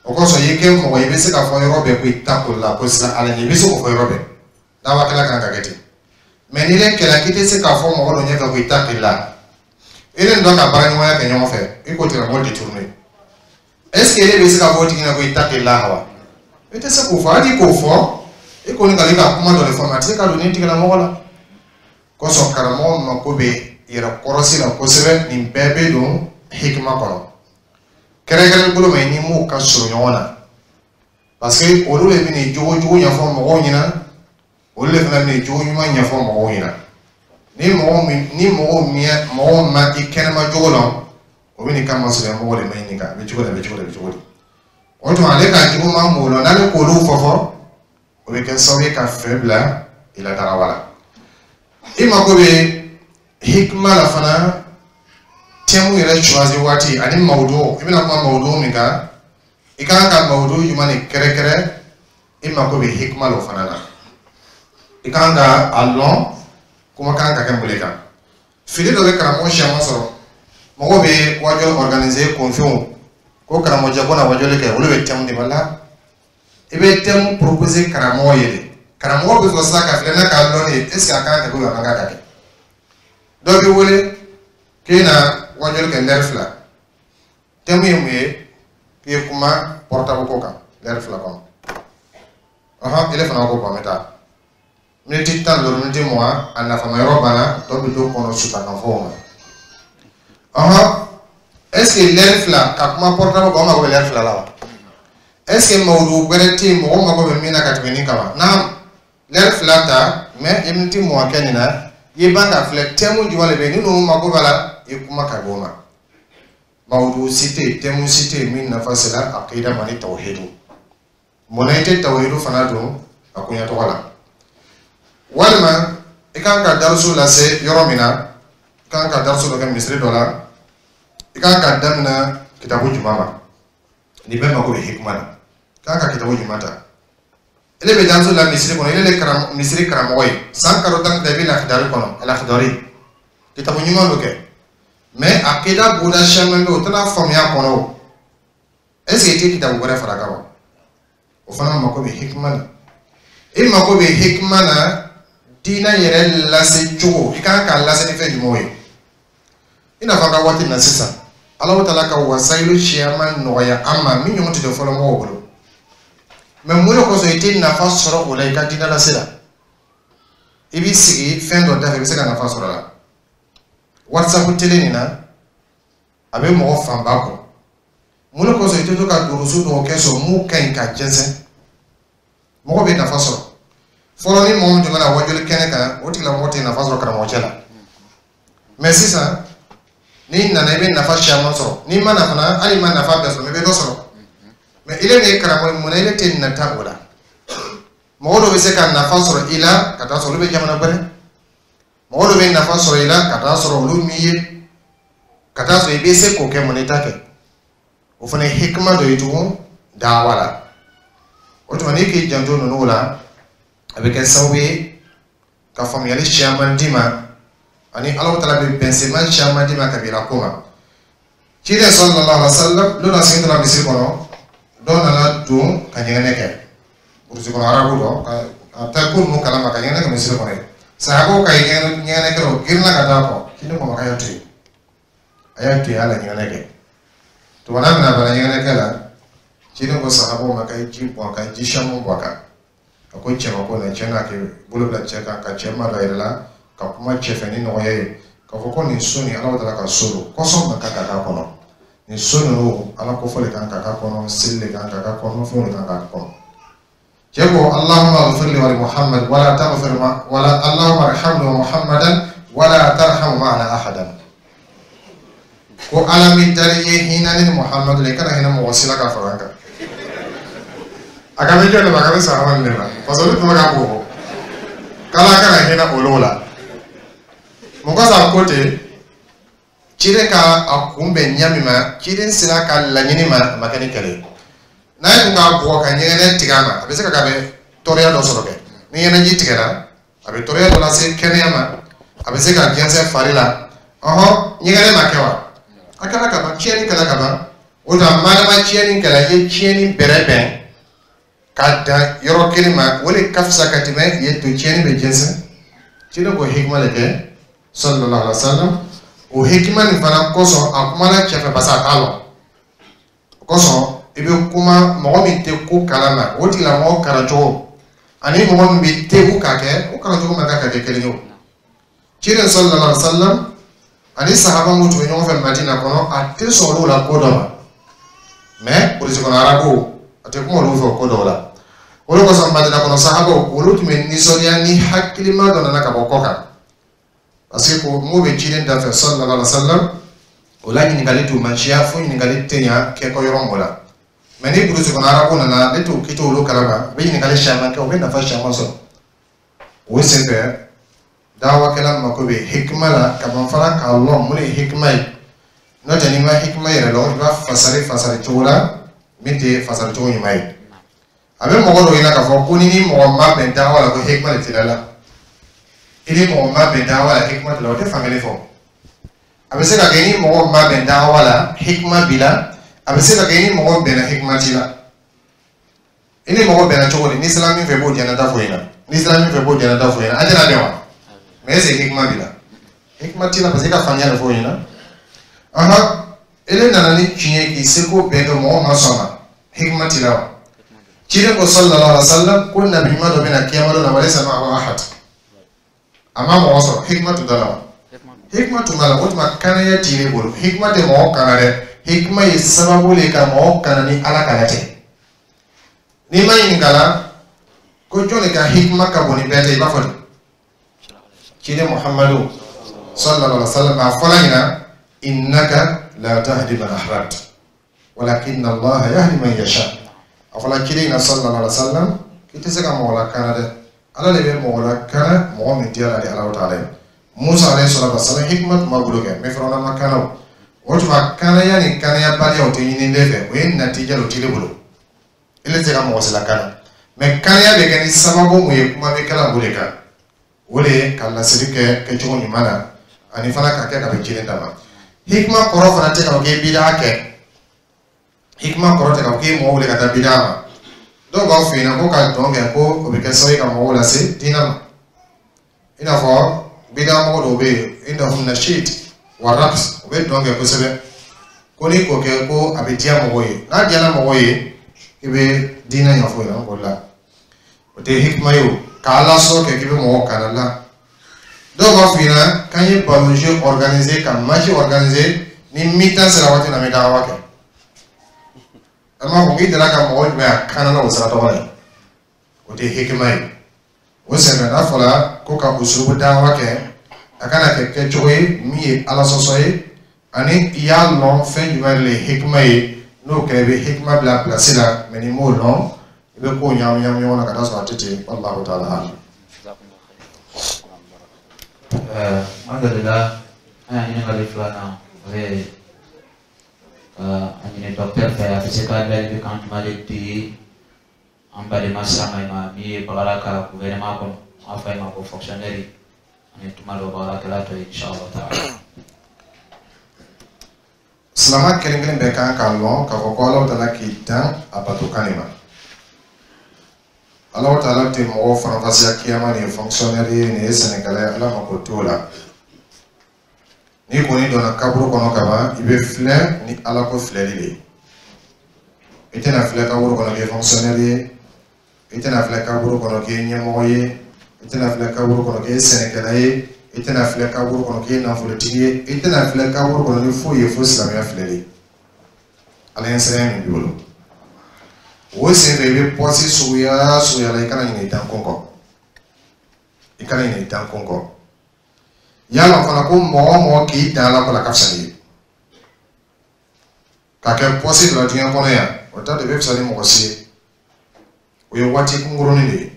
O kosɔn i kɛ mɔgɔ i bɛ se k'a fɔ yɔrɔ bɛɛ ko i ta ko la ko siran Ala ɲɛ, i bɛ se k'o fɔ yɔrɔ bɛɛ, dawakɛla kan ka kɛ ten. Mais n'i yɛrɛ kɛlɛ k'i tɛ se k'a fɔ mɔgɔ dɔ ɲɛfɛ ko i ta k'i la, i ni dɔ ka baara ɲɔgɔnya kɛ ɲɔgɔn fɛ, i k'o tigilamɔgɔ détourner, est ce que e bɛ se k'a fɔ o tigi ɲɛna ko i ta k'i la wa? I tɛ se k'o fɔ. Hali k'o fɔ, i kɔni ka i ka kuma dɔ de fɔ, a tɛ se ka don nin tigilamɔgɔ la. Kosɔn karamɔgɔ mako bɛ yɛrɛ kɔrɔsi la kosɛbɛ, nin bɛɛ bɛ don hikima kɔnɔ. Kɛrɛnkɛrɛn bolo ma i ni m'u ka surun ɲɔgɔn na, parce que olu de bɛ nin jogo jugu ɲɛfɔ mɔgɔw ɲɛna, olu de fana bɛ nin jogo ɲuman ɲɛfɔ mɔgɔw ɲɛna. Ni mɔgɔ min ni mɔgɔw min mɔgɔw ma i kɛnɛma jogo lɔn, o bɛ nin kama sɔrɔ mɔgɔ de ma ɲininka a bɛ cogo di, a bɛ cogo di, a bɛ cogo di. O tuma ale ka juguman m'o la, n'ale k'olu fɔ fɔ, o bɛ kɛ sababu ye ka fɛn bila i la dagawa la. I mako bɛ hikima la fana, thème yɛrɛ choisi waati ani mawudu, i bɛna kuma mawudu min kan, i kan ka mawudu jumɛn de kɛrɛkɛrɛ, i mako bɛ hikima la o fana na. I kan ka a lɔn kuma kan ka kɛ mun de kan. Fili dɔ bɛ karamɔgɔ siyaman sɔrɔ, mɔgɔw bɛ wajuli organiser kunfinw ko karamɔgɔcɛ ko na wajuli kɛ, olu bɛ thème de la. I bɛ thème proposer karamɔgɔ ye de, karamɔgɔ bɛ sɔrɔ sisan ka filɛ n'a k'a lɔn de, est ce que a kan ka kɛ ou a man kan ka kɛ. Dɔ bɛ wele k'e na wajuli kɛ lɛri fila, thème ye mun ye? K'i ye kuma portable ko kan lɛri fila kɔnɔ. Ɔhɔn, ele fana ko bon, an bɛ taa miniti tan ni duuru, miniti mugan, a nafama yɔrɔ banna, tɔ bɛ don kɔnɔ sutakanfɔw ma. Ɔhɔn, est ce que lɛri fila ka kuma portable kan, o mako bɛ lɛri fila la wa? Est ce que mawudu wɛrɛ tɛ yen mɔgɔ mako bɛ min na ka tɛmɛ nin kan wa? Naam, lɛri fila ta, mais i miniti mugan kɛ nin na, i ban ka filɛ thème jumɛn de bɛ yen ni ninnu mako b'a la, i kuma ka bɔ o ma. Mawudu si tɛ yen, thème si tɛ yen min nafa sera akida ma ni tawhidu. Munna i tɛ tawhidu fana don a koɲɛ tɔgɔ la? Walima i kan ka darisu lase yɔrɔ min na, i kan ka darisu dɔ kɛ misiri dɔ la, i kan ka daminɛ kitabu jumɛn ma? Nin bɛɛ mako bɛ hikima na. I kan ka kitabu jumɛn ta? Ele bɛ darisu la misiri kɔnɔ, ele le karam misiri karamɔgɔ ye san kalo tan ta, i bɛ lakidari kɔnɔ, alakidari kitabu ɲuman dɔ kɛ, mais akida bonda caman bɛ yen, o tɛna faamuya kɔnɔ. O est ce que i tɛ kitabu wɛrɛ fara a kan wa? O fana mako bɛ hikima na. I mako bɛ hikima na diinɛ yɛrɛ lase cogo, i kan k'a lase ni fɛn jumɛnw ye? I n'a fɔ an ka waati na sisan, Alahu taala ka wasayilu caman nɔgɔya an ma min ɲɔgɔn tɛ tɛ fɔlɔ mɔgɔw bolo. Mais mun de kosɔn i tɛ nafa sɔrɔ o la i ka diinɛ lase la? I b'i sigi fɛn dɔ da fɛ, i bɛ se ka nafa sɔrɔ a la. WhatsApp tele nin na, a bɛ mɔgɔ fanba kɔ. Mun de kosɔn i tɛ to ka durusu dɔw kɛ sɔrɔ mun ka ɲi ka jɛnsɛn? Mɔgɔ bɛ nafa sɔrɔ. Fɔlɔ, ni mɔgɔ min tun bɛna wajuli kɛnɛ kan, o tigilamɔgɔ tɛ nafa sɔrɔ karamɔgɔcɛ la. Mais sisan, n'i nana, i bɛ nafa caman sɔrɔ. N'i ma na fana, hali i ma nafa bɛɛ sɔrɔ, i bɛ dɔ sɔrɔ. Mais ile de ye karamɔgɔ ye, munna ile tɛ nata o la? Mɔgɔ dɔ bɛ se ka nafa sɔrɔ i la ka taa sɔrɔ olu bɛ jamana wɛrɛ. Mɔgɔ dɔ bɛ nafa sɔrɔ i la ka taa sɔrɔ olu m'i ye, ka taa sɔrɔ i bɛ se k'o kɛ, mun i t'a kɛ? O fana ye hikima dɔ ye tugun dawa la. O tuma, n'i k'i janto ninnu la, a bɛ kɛ sababu ye ka faamuyali caman d'i ma, ani Alahu taala bɛ bɛnsenma caman d'i ma kabila ko ma. Ciden sallallahu alaihi wa sallam, n'o na sen tora misiri kɔnɔ, dɔ nana don ka ɲɛgɛnɛ kɛ burusi kɔnɔ, arabu dɔ ka a tɛ ko ninnu kalama, ka ɲɛgɛnɛ kɛ misiri kɔnɔ yen. Sahabaw ka ɲɛgɛnɛ kɛ, o girinna ka taa kɔ. Ciden ko ma k'a y'a to yen, a y'a to yen, a la ɲɛgɛnɛ kɛ. Tuma n'a bɛna bana ɲɛgɛnɛ kɛ la, ciden ko sahabaw ma k'a ye ji bɔn a kan, ji caman bɔn a kan. A ko cɛ ma ko na cɛ n'a kɛ bolo bila cɛ kan, ka cɛ ma da yɛrɛ la, ka kuma cɛ fɛ ni nɔgɔya ye, k'a fɔ ko nin so nin, Ala taala ka so don kɔsɔn ma kan ka k'a kɔnɔ. Nin so ninnu, Ala ko fɔ de kan ka k'a kɔnɔ, seli de kan ka k'a kɔnɔ, fɛnw de kan ka k'a kɔnɔ. Cɛ ko: "Allahumma ighfir li wa li Muhammad wala taghfir ma wala Allahumma arhamni wa Muhammadan wala tarham ma'ana ahadan." Ko Ala min dari ye hinɛ ni Muhammadu la, i kana hinɛ mɔgɔ si la ka fara an kan. A ka bɛ jɔn de ma? A ka bɛ sahaba de ma, parce que olu tun bɛ ka bɔ k'Ala kana hinɛ olu la. Mun kosɔn a ko ten? Ciden ka a kunbɛn ɲɛ min ma, ciden sera ka laɲini ma, a ma kɛ ni kɛlɛ ye. N'a ye kun k'a bugɔ ka ɲɛgɛnɛ tigɛ a ma, a bɛ se ka kɛ a bɛ tɔɔrɔya dɔ sɔrɔ kɛ. Ni ɲɛnɛji tigɛra, a bɛ tɔɔrɔya dɔ lase kɛnɛya ma, a bɛ se ka jɛnsɛn fari la. Ɔhɔn, ɲɛgɛnɛ ma kɛ wa? A kɛra ka ban, tiɲɛni kɛra ka ban. O la, madama tiɲɛni kɛra, i ye tiɲɛni bɛrɛ bɛn ka dan yɔrɔ kelen ma, o de ka fisa ka tɛmɛ i ye to tiɲɛni bɛ jɛnsɛn. Ciden k'o hikima de kɛ sallallahu alaihi wa sallam. O hikima nin fana kosɔn, a kumana cɛ fɛ, parce que a t'a lɔn. O kosɔn, i bɛ kuma mɔgɔ min tɛ ko kalama, o tigilamɔgɔ kalancogo ani mɔgɔ min bɛ tewu k'a kɛ, o kalancogo man kan ka kɛ kelen ye. O ciden sallallahu alaihi wa sallam ani sahaba minnu tun bɛ ɲɔgɔn fɛ Madina kɔnɔ, a tɛ sɔn olu la ko dɔ ma. Mais burusi kɔnɔ arabu, a tɛ kuma olu fɛ ko dɔw la. O de kosɔn, Madina kɔnɔ sahabaw, olu tun bɛ nisɔndiya ni hakilima dɔ nana ka bɔ kɔ kan, parce que ko mun bɛ ciden da fɛ sallallahu alaihi wa sallam, o la ɲininkali tun man siya fo ɲininkali tɛ ɲa kɛ kɔ yɔrɔ mɔ la. Mais ni burusi kɔnɔ arabu nana, ne t'o k'i t'olu kalama, u bɛ ɲininkali caman kɛ, u bɛ nafa caman sɔrɔ. O senfɛ, dawakɛla mako bɛ hikima la ka ban fana k'a lɔn mun de ye hikima ye. N'o tɛ, n'i ma hikima yɛrɛ lɔn, i b'a fasari fasari cogo la min tɛ fasari cogo ɲuman ye. A bɛ mɔgɔ dɔw ɲɛna k'a fɔ ko ni ni mɔgɔ ma bɛn dawa la, ko hikima de t'i la. I ni mɔgɔ ma bɛn dawa la, hikima t'i la, o tɛ fankelen fɔ. A bɛ se ka kɛ ni mɔgɔ ma bɛn dawa la, hikima b'i la. A bɛ se ka kɛ ni mɔgɔ bɛnna, hikima t'i la. I ni mɔgɔ bɛnna cogo di? N'i sera min fɛ, i b'o jɛnɛta fɔ ɲɛna. N'i sera min fɛ, i b'o jɛnɛta fɔ ɲɛna. An tɛna bɛn wa? Mais est ce que hikima b'i la? Hikima t'i la, parce que i ka faamuya de fɔ o ɲɛna. Ahan, ele nana ni tiɲɛ ye k'i seko bɛɛ kɛ, mɔgɔ ma sɔn a ma, hikima t'i la wa? Ciden ko sallallahu alaihi wa sallam ko nabi ɲuman dɔ bɛ na kiyama don na, walaysa ma'ahu ahad, a ma mɔgɔ sɔrɔ. Hikima tun t'a la wa? Hikima tun b'a la. O tuma, kanaya t'i ne bolo. Hikima tɛ mɔgɔ kana dɛ, hikima ye sababu le ka mɔgɔ kana ni Ala kana cɛ. N'i ma ɲininka la ko jɔn de ka hikima ka bon ni bɛɛ tɛ, i b'a fɔ di? Ciden Muhammadu sallallahu alaihi wa sallam a fɔla ɲina: "Innaka la tahdi man ahbabta walakinna Allaha yahdi man yasha." A fɔla ciden ɲina sallallahu alaihi wa sallam k'i tɛ se ka mɔgɔ lakana dɛ. Ala de bɛ mɔgɔ lakana mɔgɔ min diyara ale Alahu taala ye. Musa alayhi salatu wasalam, hikima tun b'a bolo kɛ, mais Firawuna ma kana o. O tuma kanaya ni kanayabaliya, o tɛ ɲini ne fɛ, o ye natija de, o t'i bolo. Ele tɛ se ka mɔgɔ si lakana, mais kanaya bɛ kɛ ni sababu mun ye, kuma bɛ kɛla o de kan. O de ye ka laseli kɛ kɛcogo ɲuman na, ani fana ka kɛ ka bɛn jiri ta ma. Hikima kɔrɔ fana tɛ ka fɔ k'e bidaa kɛ. Hikima kɔrɔ tɛ ka fɔ k'e mɔgɔ wele ka taa bidaa ma. Dɔw b'a f'i ɲɛna ko ka dɔn kɛ, ko o bɛ kɛ sababu ye ka mɔgɔw lase diinɛ ma. I n'a fɔ bidaa mɔgɔ dɔw bɛ yen, innahum nashid wa raqs, u bɛ dɔn kɛ kosɛbɛ, ko n'i k'o kɛ, ko a bɛ diya mɔgɔw ye. N'a diyara mɔgɔw ye, i bɛ diinɛ ɲɛfɔ ɲɛna o la, o tɛ hikima ye. O ka ala sɔrɔ kɛ k'i bɛ mɔgɔw kana la. Dɔw b'a f'i ɲɛna k'an ye ballon jeu organiser, ka match organiser, ni mi-temps sera waati min na, an bɛ dawa kɛ. An b'a fɔ k'i delila ka mɔgɔ jumɛn a kana na o sira tɔgɔ la, o tɛ hikima ye. O senfɛ, n'a fɔra ko ka usulubu dawa kɛ, a kana kɛ kɛcogo ye min ye ala sɔsɔ ye, ani i y'a lɔn fɛn jumɛn de ye hikima ye. N'o kɛra, i bɛ hikima bila place la, mais n'i m'o lɔn, i bɛ kow ɲagami ɲagami ɲɔgɔn na ka taa sɔrɔ a tɛ ten. Wallahu taala alam. Alhamdulillah, an y'a ɲininkali filanan, o ye ka a ɲini docteur fɛ, a bɛ se ka ladilikan jumɛn de di an balima silamɛ ma min ye bagara ka gouvernement kɔnɔ, an f'a ma ko fonctionnaire, ani tuma dɔ baarakɛla tɔ ye, inshallah taala? Silama kelen kelen bɛɛ kan k'a lɔn k'a fɔ ko Alahu taala k'i dan a bato kan de ma. Alahu taala tɛ mɔgɔw faranfasiya kiyama, nin ye fonctionnaire ye, nin ye sɛnɛkɛla ye, Ala mako t'o la. N'i kɔni donna kaburu kɔnɔ ka ban, i bɛ filɛ ni Ala ko filɛli de ye. I tɛna filɛ kaburu kɔnɔ k'i ye fonctionnaire ye, i tɛna filɛ kaburu kɔnɔ k'i ye ɲɛmɔgɔ ye, i tɛna filɛ kaburu kɔnɔ k'i ye sɛnɛkɛla ye, i tɛna filɛ kaburu kɔnɔ k'i ye nafolotigi ye, i tɛna filɛ kaburu kɔnɔ ni foyi ye fo silamɛya filɛli. Ala ye sɛbɛn min b'i bolo, o senfɛ, i bɛ poste suguya suguya la, i kana ɲinɛ i dankun kɔ, i kana ɲinɛ i dankun kɔ. Yala fana ko mɔgɔ o mɔgɔ k'i dan Ala ko la, ka fisa n'i ye ka kɛ poste dɔ la diɲɛ kɔnɔ yan, o ta de bɛ fisa ni mɔgɔ si ye. O ye waati kunkurunin de ye.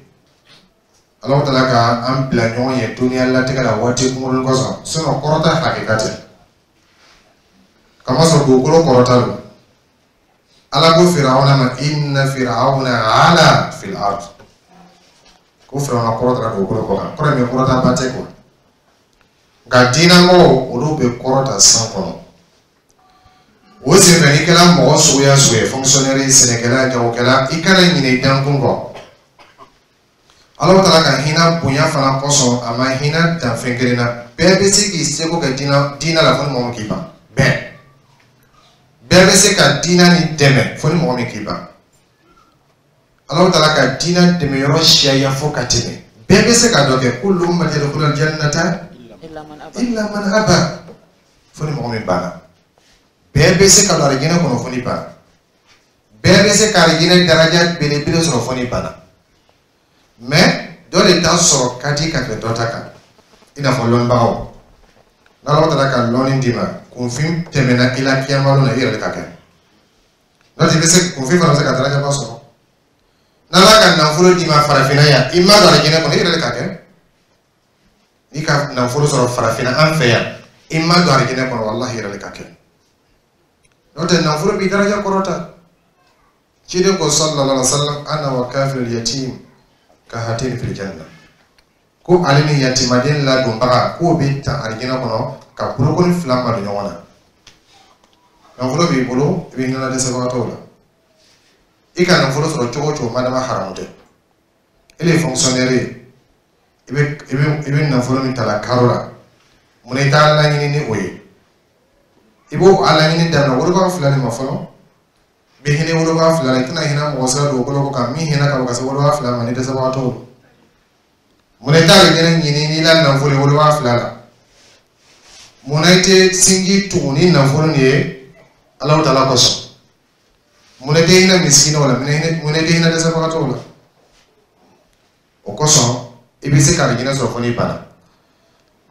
Ala taala ka an bila ɲɔgɔn ye duniya latigɛ la waati kunkurunin kosɔn, sinon kɔrɔta hakika tɛ. Kamasɔrɔ dugukolo kɔrɔta don. Ala ko Firawuna ma: inna firawuna ala fil ard. Ko Firawuna kɔrɔtara dugukolo kɔ kan, kɔrɔ min kɔrɔta ba tɛ kuwa. Nka diinɛmɔgɔw, olu bɛ kɔrɔta san kɔnɔ. O senfɛ, n'i kɛra mɔgɔ suguya suguya ye, fonctionnaire ye, sɛnɛkɛla, jagokɛla, i kana ɲinɛ i dankun kɔ. Ala taala ka hinɛ bonya fana kosɔn, a ma hinɛ dan fɛn kelen na. Bɛɛ bɛ se k'i seko kɛ diinɛ diinɛ la, fo ni mɔgɔ min k'i ban. Bɛɛ bɛɛ bɛ se ka diinɛ ni dɛmɛ, fo ni mɔgɔ min k'i ban. Ala taala ka diinɛ dɛmɛ yɔrɔ siyaya fo ka tɛmɛ. Bɛɛ bɛ se ka dɔ kɛ. Kullu ummati yadkhuluna jannata illa man aba, fo ni mɔgɔ min banna. Bɛɛ bɛ se ka don alijinɛ kɔnɔ, fo ni banna. Bɛɛ bɛ se ka alijinɛ daraja belebele sɔrɔ, fo ni banna. Mais dɔ de ta sɔrɔ ka di ka tɛmɛ dɔ ta kan, i n'a fɔ lɔnnibagaw. N'Ala taala ka lɔnni d'i ma, kunfin tɛmɛna i la kiyama don na, i yɛrɛ de ka kɛ. N'o tɛ, i bɛ se kunfin fana bɛ se ka darajaba sɔrɔ. N'Ala ka nafolo d'i ma farafinna yan, i ma don alijinɛ kɔnɔ, i yɛrɛ de ka kɛ. N'i ka nafolo sɔrɔ farafinna an fɛ yan, i ma don alijinɛ kɔnɔ, walahi, i yɛrɛ de ka kɛ. N'o tɛ, nafolo b'i daraja kɔrɔta. Ciden ko sallallahu alaihi wa sallam: ana wa kafilul yatim ka hatini fil janna. Ko ale ni yatimaden ladonbaga, k'o bɛ ta alijinɛ kɔnɔ ka bolokoli fila madon ɲɔgɔn na. Nafolo b'i bolo, i bɛ hinɛ dɛsɛbagatɔw la. I ka nafolo sɔrɔ cogo o cogo, madama haramu tɛ. E de ye fonctionnaire ye, i bɛ i bɛ i bɛ nafolo min ta la karo la, munna i t'a laɲini ni o ye? I b'o a laɲini daminɛ woloba fila de ma fɔlɔ. I bɛ hinɛ woloba fila la, i tɛna hinɛ mɔgɔ sira dugukolo kɔ kan min hinɛ ka bon ka se woloba fila ma ni dɛsɛbagatɔw don. Munna i t'a ɲini ɲini n'i la nafolo ye woloba fila la? Munna i tɛ sinji tugu ni nafolo nin ye Alahu taala kosɔn? Munna i tɛ hinɛ misikinaw la? Munna i tɛ hinɛ dɛsɛbagatɔw la? O kosɔn, i bɛ se ka alijinɛ sɔrɔ fo n'i banna.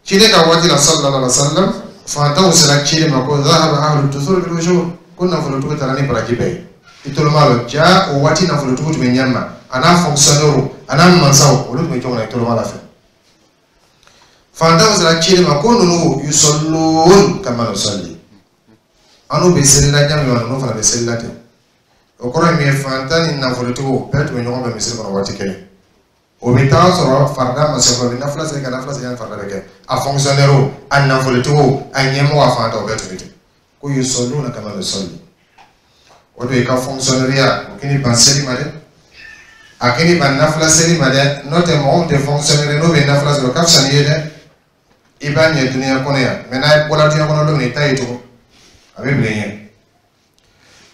Ciden ka waati la, sallallahu alaihi wa sallam, fantanw sera ciden ma ko zahaba ahlu dusur bil ujur, ko nafolotigi taara ni baraji bɛɛ ye. I tolo m'a lɔ ja, o waati nafolotigi tun bɛ ɲɛ ma, a n'a fonctionnaire. a n'a mansaw, olu tun bɛ cogo min na i toloma la fɛ. Fantanw sera cili ma ko ninnu yusallun kama nusalli, an n'u bɛ seli la ɲa min ma, ninnu fana bɛ seli la ten. O kɔrɔ ye min ye, fantan ni nafolotigiw bɛɛ tun bɛ ɲɔgɔn fɛ misiri kɔnɔ waati kelen. O bɛ taa sɔrɔ farida ma se fɔlɔ, u bɛ nafila seli ka nafila seli yanni farida bɛ kɛ. A fonctionnaire, a nafolotigiw, a ɲɛmɔgɔ, a fantan, o bɛɛ tun bɛ ten. Ko yusalluna kama nusalli. O de ye ka fonctionnaire o k'i ban seli ma dɛ, a k'i ban nafila seli ma dɛ. N'o tɛ, mɔgɔ min tɛ fonctionnaire, n'o bɛ nafila seli, o ka fisa n'i ye dɛ. I b'a ɲɛ dunuya kɔnɔ yan, mɛ n'a bɔra dunuya kɔnɔ don min, i t'a ye tugun, a bɛ bila i ɲɛ.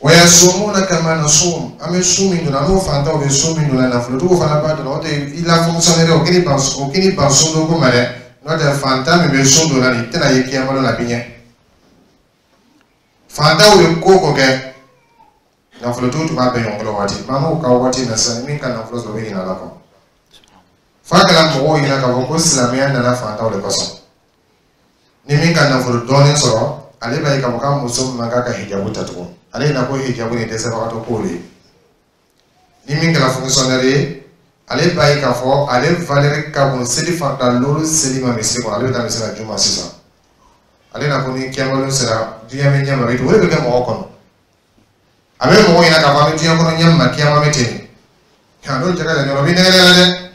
Wa yasumuna kama nasum, an bɛ sun min donna, n'o fantanw bɛ sun min donna, nafolotigiw fana b'a donna. O tɛ i la fonctionnaire, o k'i ban o k'i ban sun don ko ma dɛ. N'o tɛ, fantan min bɛ sun donna nin tɛna ye kiyama don na, a bɛ ɲɛ. Fantanw bɛ ko o ko kɛ, nafolotigiw tun b'a bɛɛ ɲɔgɔn bolo waati. Maa n'o ka waati na sisan, min ka nafolo sɔrɔ, o bɛ ɲinɛ ala kɔ. F'a kɛra mɔgɔw ɲɛna k'a fɔ ko silamɛya nana fantanw de kosɔn. Ni min ka nafolo dɔɔnin sɔrɔ, ale b'a ye k'a fɔ k'a muso man kan ka hijabu ta tugun. Ale ɲɛna ko hijabu ni dɛsɛbagatɔ ko de ye. Ni min kɛra fonctionnaire ye, ale b'a ye k'a fɔ ale valeur ka bon seli farida loolu seli ma misiri kɔnɔ, ale bɛ taa misiri la juma sisan. Ale na ko ni kiyama sera, diɲɛ bɛ ɲɛ ma, o de bɛ kɛ mɔgɔ kɔnɔ. A bɛ mɔgɔ ɲɛna k'a fɔ an bɛ diɲɛ kɔnɔ ɲɛ ma, kiyama bɛ ten. Nka n'o cɛ ka jan ɲɔgɔn, o bɛ nɛgɛ nɛgɛ la dɛ,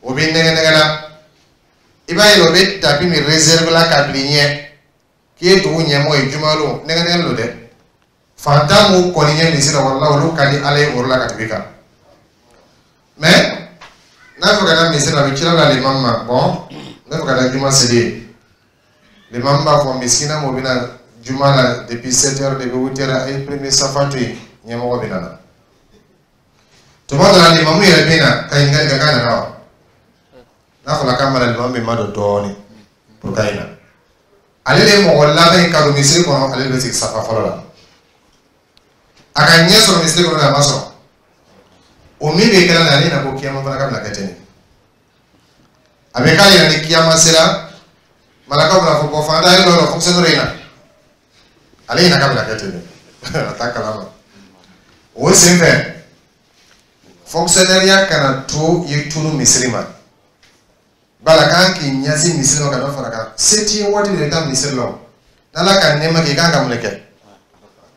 o bɛ nɛgɛ nɛgɛ la. I b'a ye o bɛ tapis min réserve la ka bila i ɲɛ k'i ye dugu ɲɛmɔgɔ ye jumalon, nɛgɛ nɛgɛ don dɛ. Fantan m'u kɔni ɲɛ misiri la, walahi, olu ka di ala ye o la ka tɛmɛ i kan. Mɛ n'a fɛ ka taa misiri la, a bɛ cila la limami ma. Bɔn, ne fɛ ka taa juma seli ye, limami b'a fɔ misikina m'o bɛna juma la depuis sept heures, depuis huit heures, a ye premier safa to yen, ɲɛmɔgɔ bɛ na. Tuma dɔ la, limamu yɛrɛ bɛ na ka ɲininkali kɛ k'a nana wa. N'a fɔra k'a mana, limamu bɛ ma don dɔɔnin pour k'a ɲina. Ale de ye mɔgɔ laban ye ka don misiri kɔnɔ, ale de bɛ sigi safa fɔlɔ la. A ka ɲɛ sɔrɔ misiri kɔnɔ, a ma sɔrɔ o min bɛ kɛra la, ale na ko kiyama fana ka bɛna kɛ ten de. A bɛ k'a yɛrɛ ni kiyama sera, malakaw bɛna fɔ bɔn, fantan ye dɔ yɔrɔ fonctionnaire in na, ale ɲina k'a bɛna kɛ ten de, a t'a kalama. O sen fɛ, fonctionnaire kana to i tunu misiri ma bala kan k'i ɲɛsin misiri ma ka dɔ fara kan. Se t'i ye waati de i taa misiri la o. N'ala ka nɛɛma kɛ, i kan ka mun de kɛ?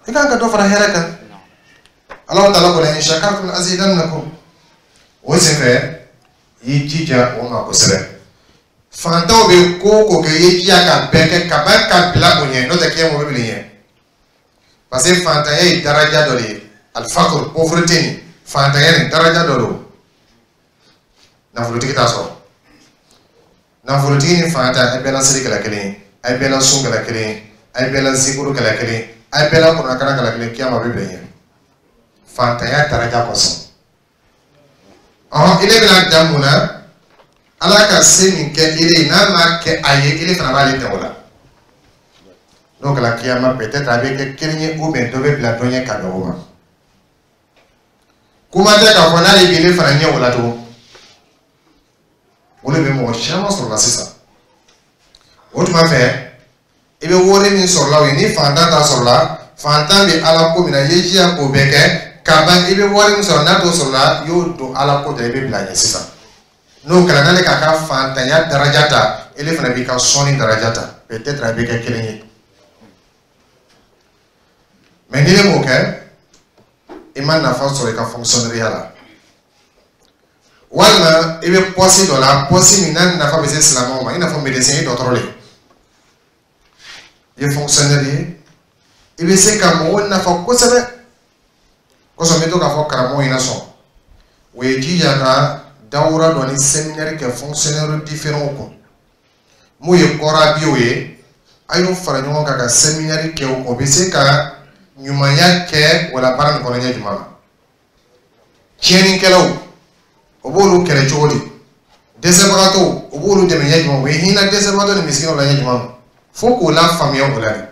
I kan ka dɔ fara hɛrɛ kan. Alahu taala ko la in shakartum la azidannakum. O sen fɛ, i y'i jija o ma kosɛbɛ. Fantanw bɛ ko o ko kɛ, i ye jija ka bɛɛ kɛ ka ban ka bila o ɲɛ. N'o tɛ, kiyama o bɛ bila i ɲɛ, parce que fantanya ye daraja dɔ de ye. Alifakuru, pauvreté nin, fantanya nin, daraja dɔ don, nafolotigi t'a sɔrɔ. Nafolotigi ni fantan, a bɛɛ la seli kɛla kelen ye, a bɛɛ la sun kɛla kelen ye, a bɛɛ la zikuru kɛla kelen ye, a bɛɛ la kuranɛ kɛla kelen ye. Kiyama bɛ bila i ɲɛ fantanya daraja kosɔn. Ɔhɔn, ile bɛna dan mun na? Ala ka se min kɛ ile ye, n'a ma kɛ a ye, ile fana b'ale tɛ o la. N'o kɛra kiyama, peut-être a bɛ kɛ kelen ye, ou bien dɔ bɛ bila dɔ ɲɛ ka bɛn o ma. Kuma tɛ k'a fɔ n'ale b'ile fana ɲɛ o la tugun. O de bɛ mɔgɔ caman sɔrɔ la sisan. O tuma fɛ, i bɛ wari min sɔrɔ la, o ye ni fantan t'a sɔrɔ la. Fantan bɛ ala ko min na, i ye jija k'o bɛɛ kɛ ka ban. I bɛ wari min sɔrɔ, n'a t'o sɔrɔ la, i y'o don ala ko da, i bɛ bila ɲɛ sisan. N'o kɛra, n'ale k'a ka fantanya daraja ta, ele fana b'i ka sɔnni daraja ta, peut-être a bɛ kɛ kelen ye. Mɛ ni ne m'o kɛ, i ma nafa sɔrɔ i ka fonctionnaire la, walima i bɛ poste dɔ la, poste min n'a nafa bɛ se silamɛw ma, i n'a fɔ médecin ye, dɔgɔtɔrɔ le i ye, fonctionnaire ye, i bɛ se ka mɔgɔw nafa kosɛbɛ kosɔn. N bɛ to k'a fɔ karamɔgɔw ɲɛna sɔn, o ye jija ka dawura dɔ ni séminaire kɛ fonctionnaire différents kun. Mun ye kɔrabiw ye, a y'o fara ɲɔgɔn kan ka séminaire kɛ o bɛ se ka ɲumanya kɛ wala baara nin kɔnɔ ɲɛ jumɛn na. Tiɲɛnikɛlaw, o b'olu kɛlɛ cogo di? Dɛsɛbagatɔw, o b'olu dɛmɛ ɲɛ jumɛn? O bɛ hinɛ dɛsɛbagatɔ ni misikinaw la ɲɛ jumɛn? Fo k'o lafaamuya o la de.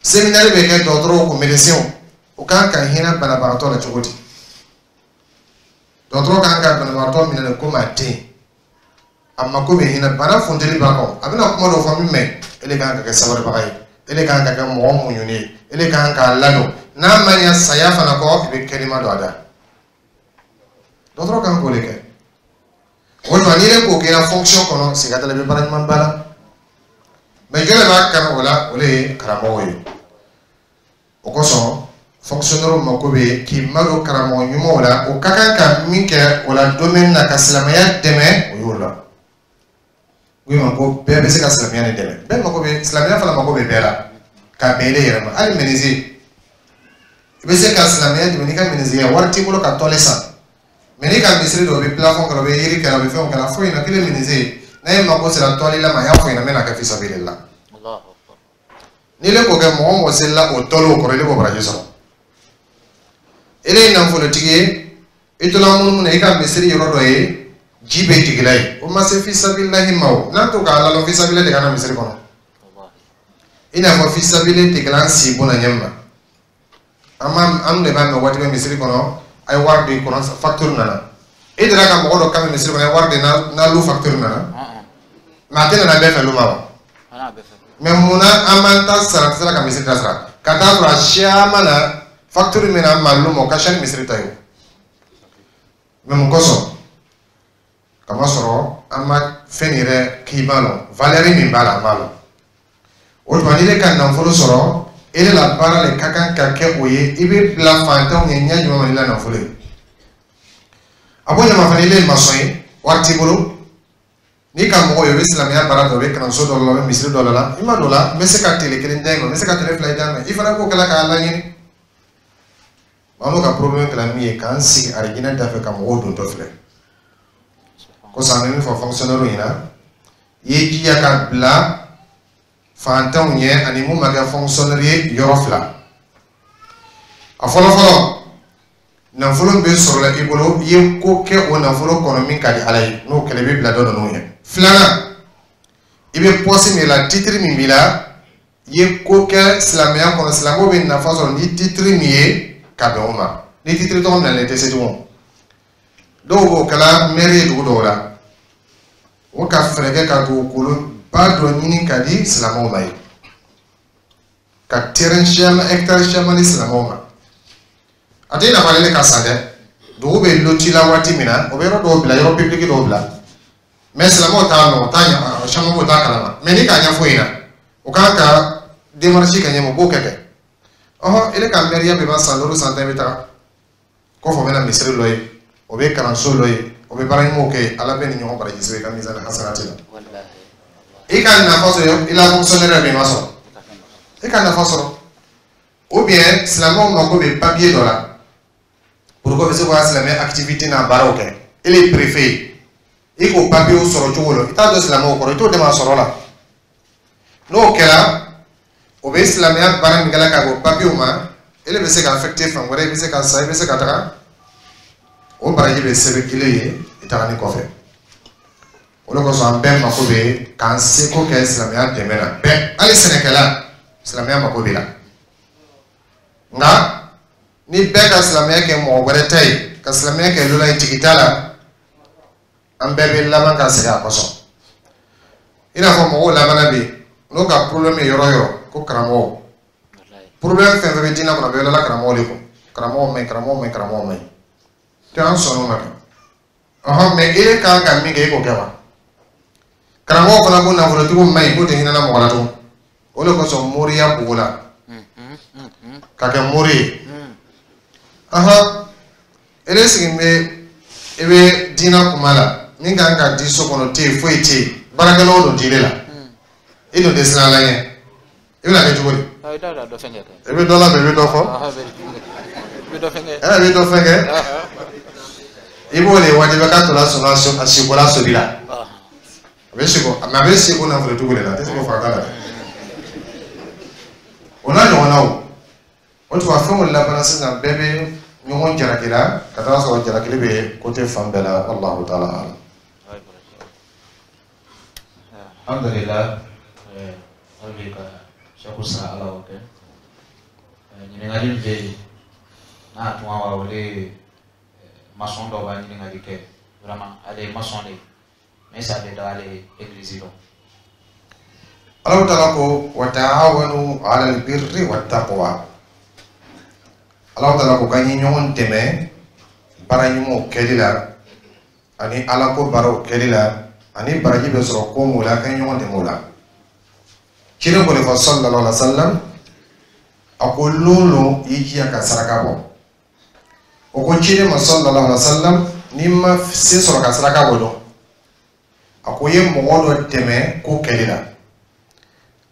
Séminaire bɛ kɛ dɔgɔtɔrɔw kun, médecins, o kan ka hinɛ banabagatɔ la cogo di? Dɔgɔtɔrɔ kan ka banabagatɔ minɛ de komi a den, a mako bɛ hinɛ, bana funteni b'a kɔ, a bɛna kuma dɔw fɔ min mɛ. E de kan ka kɛ sabalibaga ye, e de kan ka kɛ mɔgɔ muɲunen ye, e de kan k'a ladon. N'a ma ɲɛ saya fana kɔ, i bɛ kɛnɛma don a da. Dɔgɔtɔrɔ kan k'o de kɛ. O tuma n'i yɛrɛ k'o kɛ i la fonction kɔnɔ, siga t'a la, i bɛ baara ɲuman ba la. Mais jɔn de b'a kanu o la? O de ye karamɔgɔw ye. O kosɔn fonctionnaire mako bɛ k'i madon karamɔgɔ ɲumanw la. O ka kan ka min kɛ o la domaine na ka silamɛya dɛmɛ, o y'o la. O ma ko bɛɛ bɛ se ka silamɛya nin dɛmɛ. Bɛɛ mako bɛ silamɛya fana, mako bɛ bɛɛ la ka bɛn ile yɛrɛ ma. Hali menuisier, i bɛ se ka silamɛya dɛmɛ n'i ka menuisier. Wari t'i bolo ka tôle san, mais n'i ka misiri dɔ, o bɛ plafond kɛra, o bɛ yiri kɛra, o bɛ fɛnw kɛra, foyi na kelen. Menuisier n'a ye mako sera tôle la ma, a y'a fɔ ɲɛna, n bɛna kɛ fisabilila. N'i le k'o kɛ, mɔgɔ o mɔgɔ selila o tôle kɔrɔ, ile b'o baraji sɔrɔ. Ele ye nafolotigi ye, i tola munumunu na, i ka misiri yɔrɔ dɔ ye ji bɛ jigila ye, o ma se fisabililahi ma. O n'an to k'a lalɔ fisabilila de ka na misiri kɔnɔ, i n'a fɔ fisabili tɛ kɛla an si bon na ɲɛ ma. An b'a an de b'a mɛn waati bɛ misiri kɔnɔ, a ye wari di kɔnɔ, facture nana. E delila ka mɔgɔ dɔ kan misiri kɔnɔ, a ye wari di n'a lu facture nana? Mais a tɛ nana bɛɛ fɛ lu ma wa? Mais munna an b'an ta sara, tɛ se ka misiri ta sara ka taa sɔrɔ a caman na facture min na ma lu ma, o ka ca ni misiri ta ye o? Mais mun kosɔn? Kamasɔrɔ an ma fɛn yɛrɛ k'i b'a lɔn, valeur min b'a la, an b'a lɔn. O tuma n'i ka nafolo sɔrɔ, e de la baara de ka kan ka kɛ o ye. I bɛ bila fantanw ye ɲɛ jumɛn ma n'i la nafolo ye? A b'o ɲama fana, i bɛ maçon ye, wari t'i bolo, n'i ka mɔgɔ ye, o bɛ silamɛya baara dɔ, o bɛ kalanso dɔ la, o bɛ misiri dɔ la, i ma don la, n bɛ se ka tile kelen d'a ma, n bɛ se ka tile fila d'a ma, i fana k'o kɛla k'a laɲini. Maa n'o ka problème kɛra min ye, k'an sigi arijinɛ da fɛ ka mɔgɔw dontɔ filɛ. Kosɔn an bɛ min fɔ fonctionnaire ɲɛna, i ye jija ka bila fantanw ɲɛ ani mun ma kɛ fonctionnaire ye yɔrɔ fila. A fɔlɔ fɔlɔ, nafolo bɛ sɔrɔ i bolo, i ye ko kɛ o nafolo kɔnɔ min ka di Ala ye, n'o kɛra, i bɛ bila dɔ ninnu ɲɛ. Filanan, i bɛ poste min la, titre min b'i la, i ye ko kɛ silamɛya kɔnɔ, silamɛw bɛ nafa sɔrɔ ni titre min ye ka bɛn o ma. Ni titre tɔgɔ minɛlen, i tɛ se tugun. Dɔw b'o kɛla maire ye dugu dɔw la, o ka fɛɛrɛ kɛ ka dugukolo ba dɔ ɲini ka di silamɛw ma ye, ka terrain caman, hectare caman di silamɛw ma. A tɛ nafa ale ka san dɛ. Dugu bɛ loti la waati min na, o bɛ yɔrɔ dɔw bila, yɔrɔ public dɔw bila, mais silamɛw t'a lɔn, o t'a ɲɛ, caman b'o t'a kalama. Mais ni k'a ɲɛfɔ ɲɛna, o kan ka démarche kɛ ɲɛma, o b'o kɛ kɛ ɔhɔn. Ele ka mairie bɛ ban san duuru, san tan, i bɛ taga kɔfɛ, o bɛ na misiri dɔ ye, o bɛ kalanso dɔ ye, o bɛ baara ɲumanw kɛ. Ala bɛ ni ɲɔgɔn baraji sɛbɛn i ka mizani hasanati la. I ka nafa sɔrɔ i la fonctionnaire bɛ, i ma sɔrɔ, i ka nafa sɔrɔ. Ou bien silamɛw mako bɛ papier dɔ la pour que bɛ se k'o silamɛ activité n'a baaraw kɛ, e le ye préfet ye, i k'o papier sɔrɔ cogo la, i t'a dɔn silamɛw kɔrɔ, i t'o dɛmɛ a sɔrɔ la. N'o kɛra, o bɛ silamɛya baara min kɛla ka bɔ papier ma, e le bɛ se ka affecté fan wɛrɛ, i bɛ se ka sa, i bɛ se ka taga, o baraji bɛ sɛbɛn kelen ye i tagani kɔfɛ. O de kosɔn an bɛɛ mako bɛ k'an seko kɛ silamɛya dɛmɛ na. Bɛɛ, hali sɛnɛkɛla, silamɛya mako b'i la. Nka ni bɛɛ ka silamɛya kɛ mɔgɔ wɛrɛ ta ye, ka silamɛya kɛ lola ye, jigi t'a la, an bɛɛ bɛ laban ka segin a kɔsɔn. I n'a fɔ mɔgɔw labanna bi n'o ka problème ye yɔrɔ yɔrɔ ko karamɔgɔw. Problème fɛn fɛn bɛ diinɛ kɔnɔ, a bɛ yɔrɔ la karamɔgɔ de kun. Karamɔgɔ man ɲi, karamɔgɔ man ɲi, karamɔgɔ man ɲi tɛ, an sɔnn'o ma kɛ. Ɔhɔn, mais e kan ka min kɛ, e k'o kɛ wa? Karamɔgɔ fana ko nafolotigiw man ɲi, k'o tɛ hinɛ mɔgɔ la tugun. O de kosɔn moriya bugu la ka kɛ mori ye. Ɔhɔn, e sigi bɛ, i bɛ diinɛ kuma la, min kan ka di so kɔnɔ tɛ yen, foyi tɛ yen, baarakɛlaw don diinɛ la, i dun tɛ siran Ala ɲɛ, i bɛna kɛ cogo di? I bɛ dɔ labɛn, i bɛ dɔ fɔ, i bɛ dɔ fɛn kɛ, i b'o de wajibiya k'a tɔ la sɔnna a sikola sobi la, a bɛ siko, mais a bɛ siko nafolotigiw de la, a tɛ se k'o faga la dɛ. O n'a ɲɔgɔnnaw. O tuma fɛnw labanna sisan, bɛɛ bɛ ɲɔgɔn jalaki la ka taa sɔrɔ jalakili bɛ côté fan bɛɛ la. Wallahu taala alam. Alhamdulillah, hali bi ka sɛku sara, Ala k'o kɛ. Ɲininkali min bɛ yen n'a tun wa, o de ye maçon dɔ b'a ɲininkali kɛ. Vraiment, ale ye maçon de ye, mais sa bɛ da ale église dɔn. Allahu taala ko wa taawanu ala albirri wattaqwa. Allahu taala ko k'an ye ɲɔgɔn dɛmɛ. Baara ɲumanw kɛli la ani ala ko baaraw kɛli la ani baraji bɛ sɔrɔ ko mun la, a ka ɲɔgɔn dɛmɛ o la. Ciden ko de fɔ sallallahu alaihi wa sallam, a ko lon lon i jija ka saraka bɔ. O ko ciden ma sallallahu alaihi wa sallam, n'i ma se sɔrɔ ka saraka bɔ dɔn, a ko i ye mɔgɔ dɔ dɛmɛ ko kɛli la.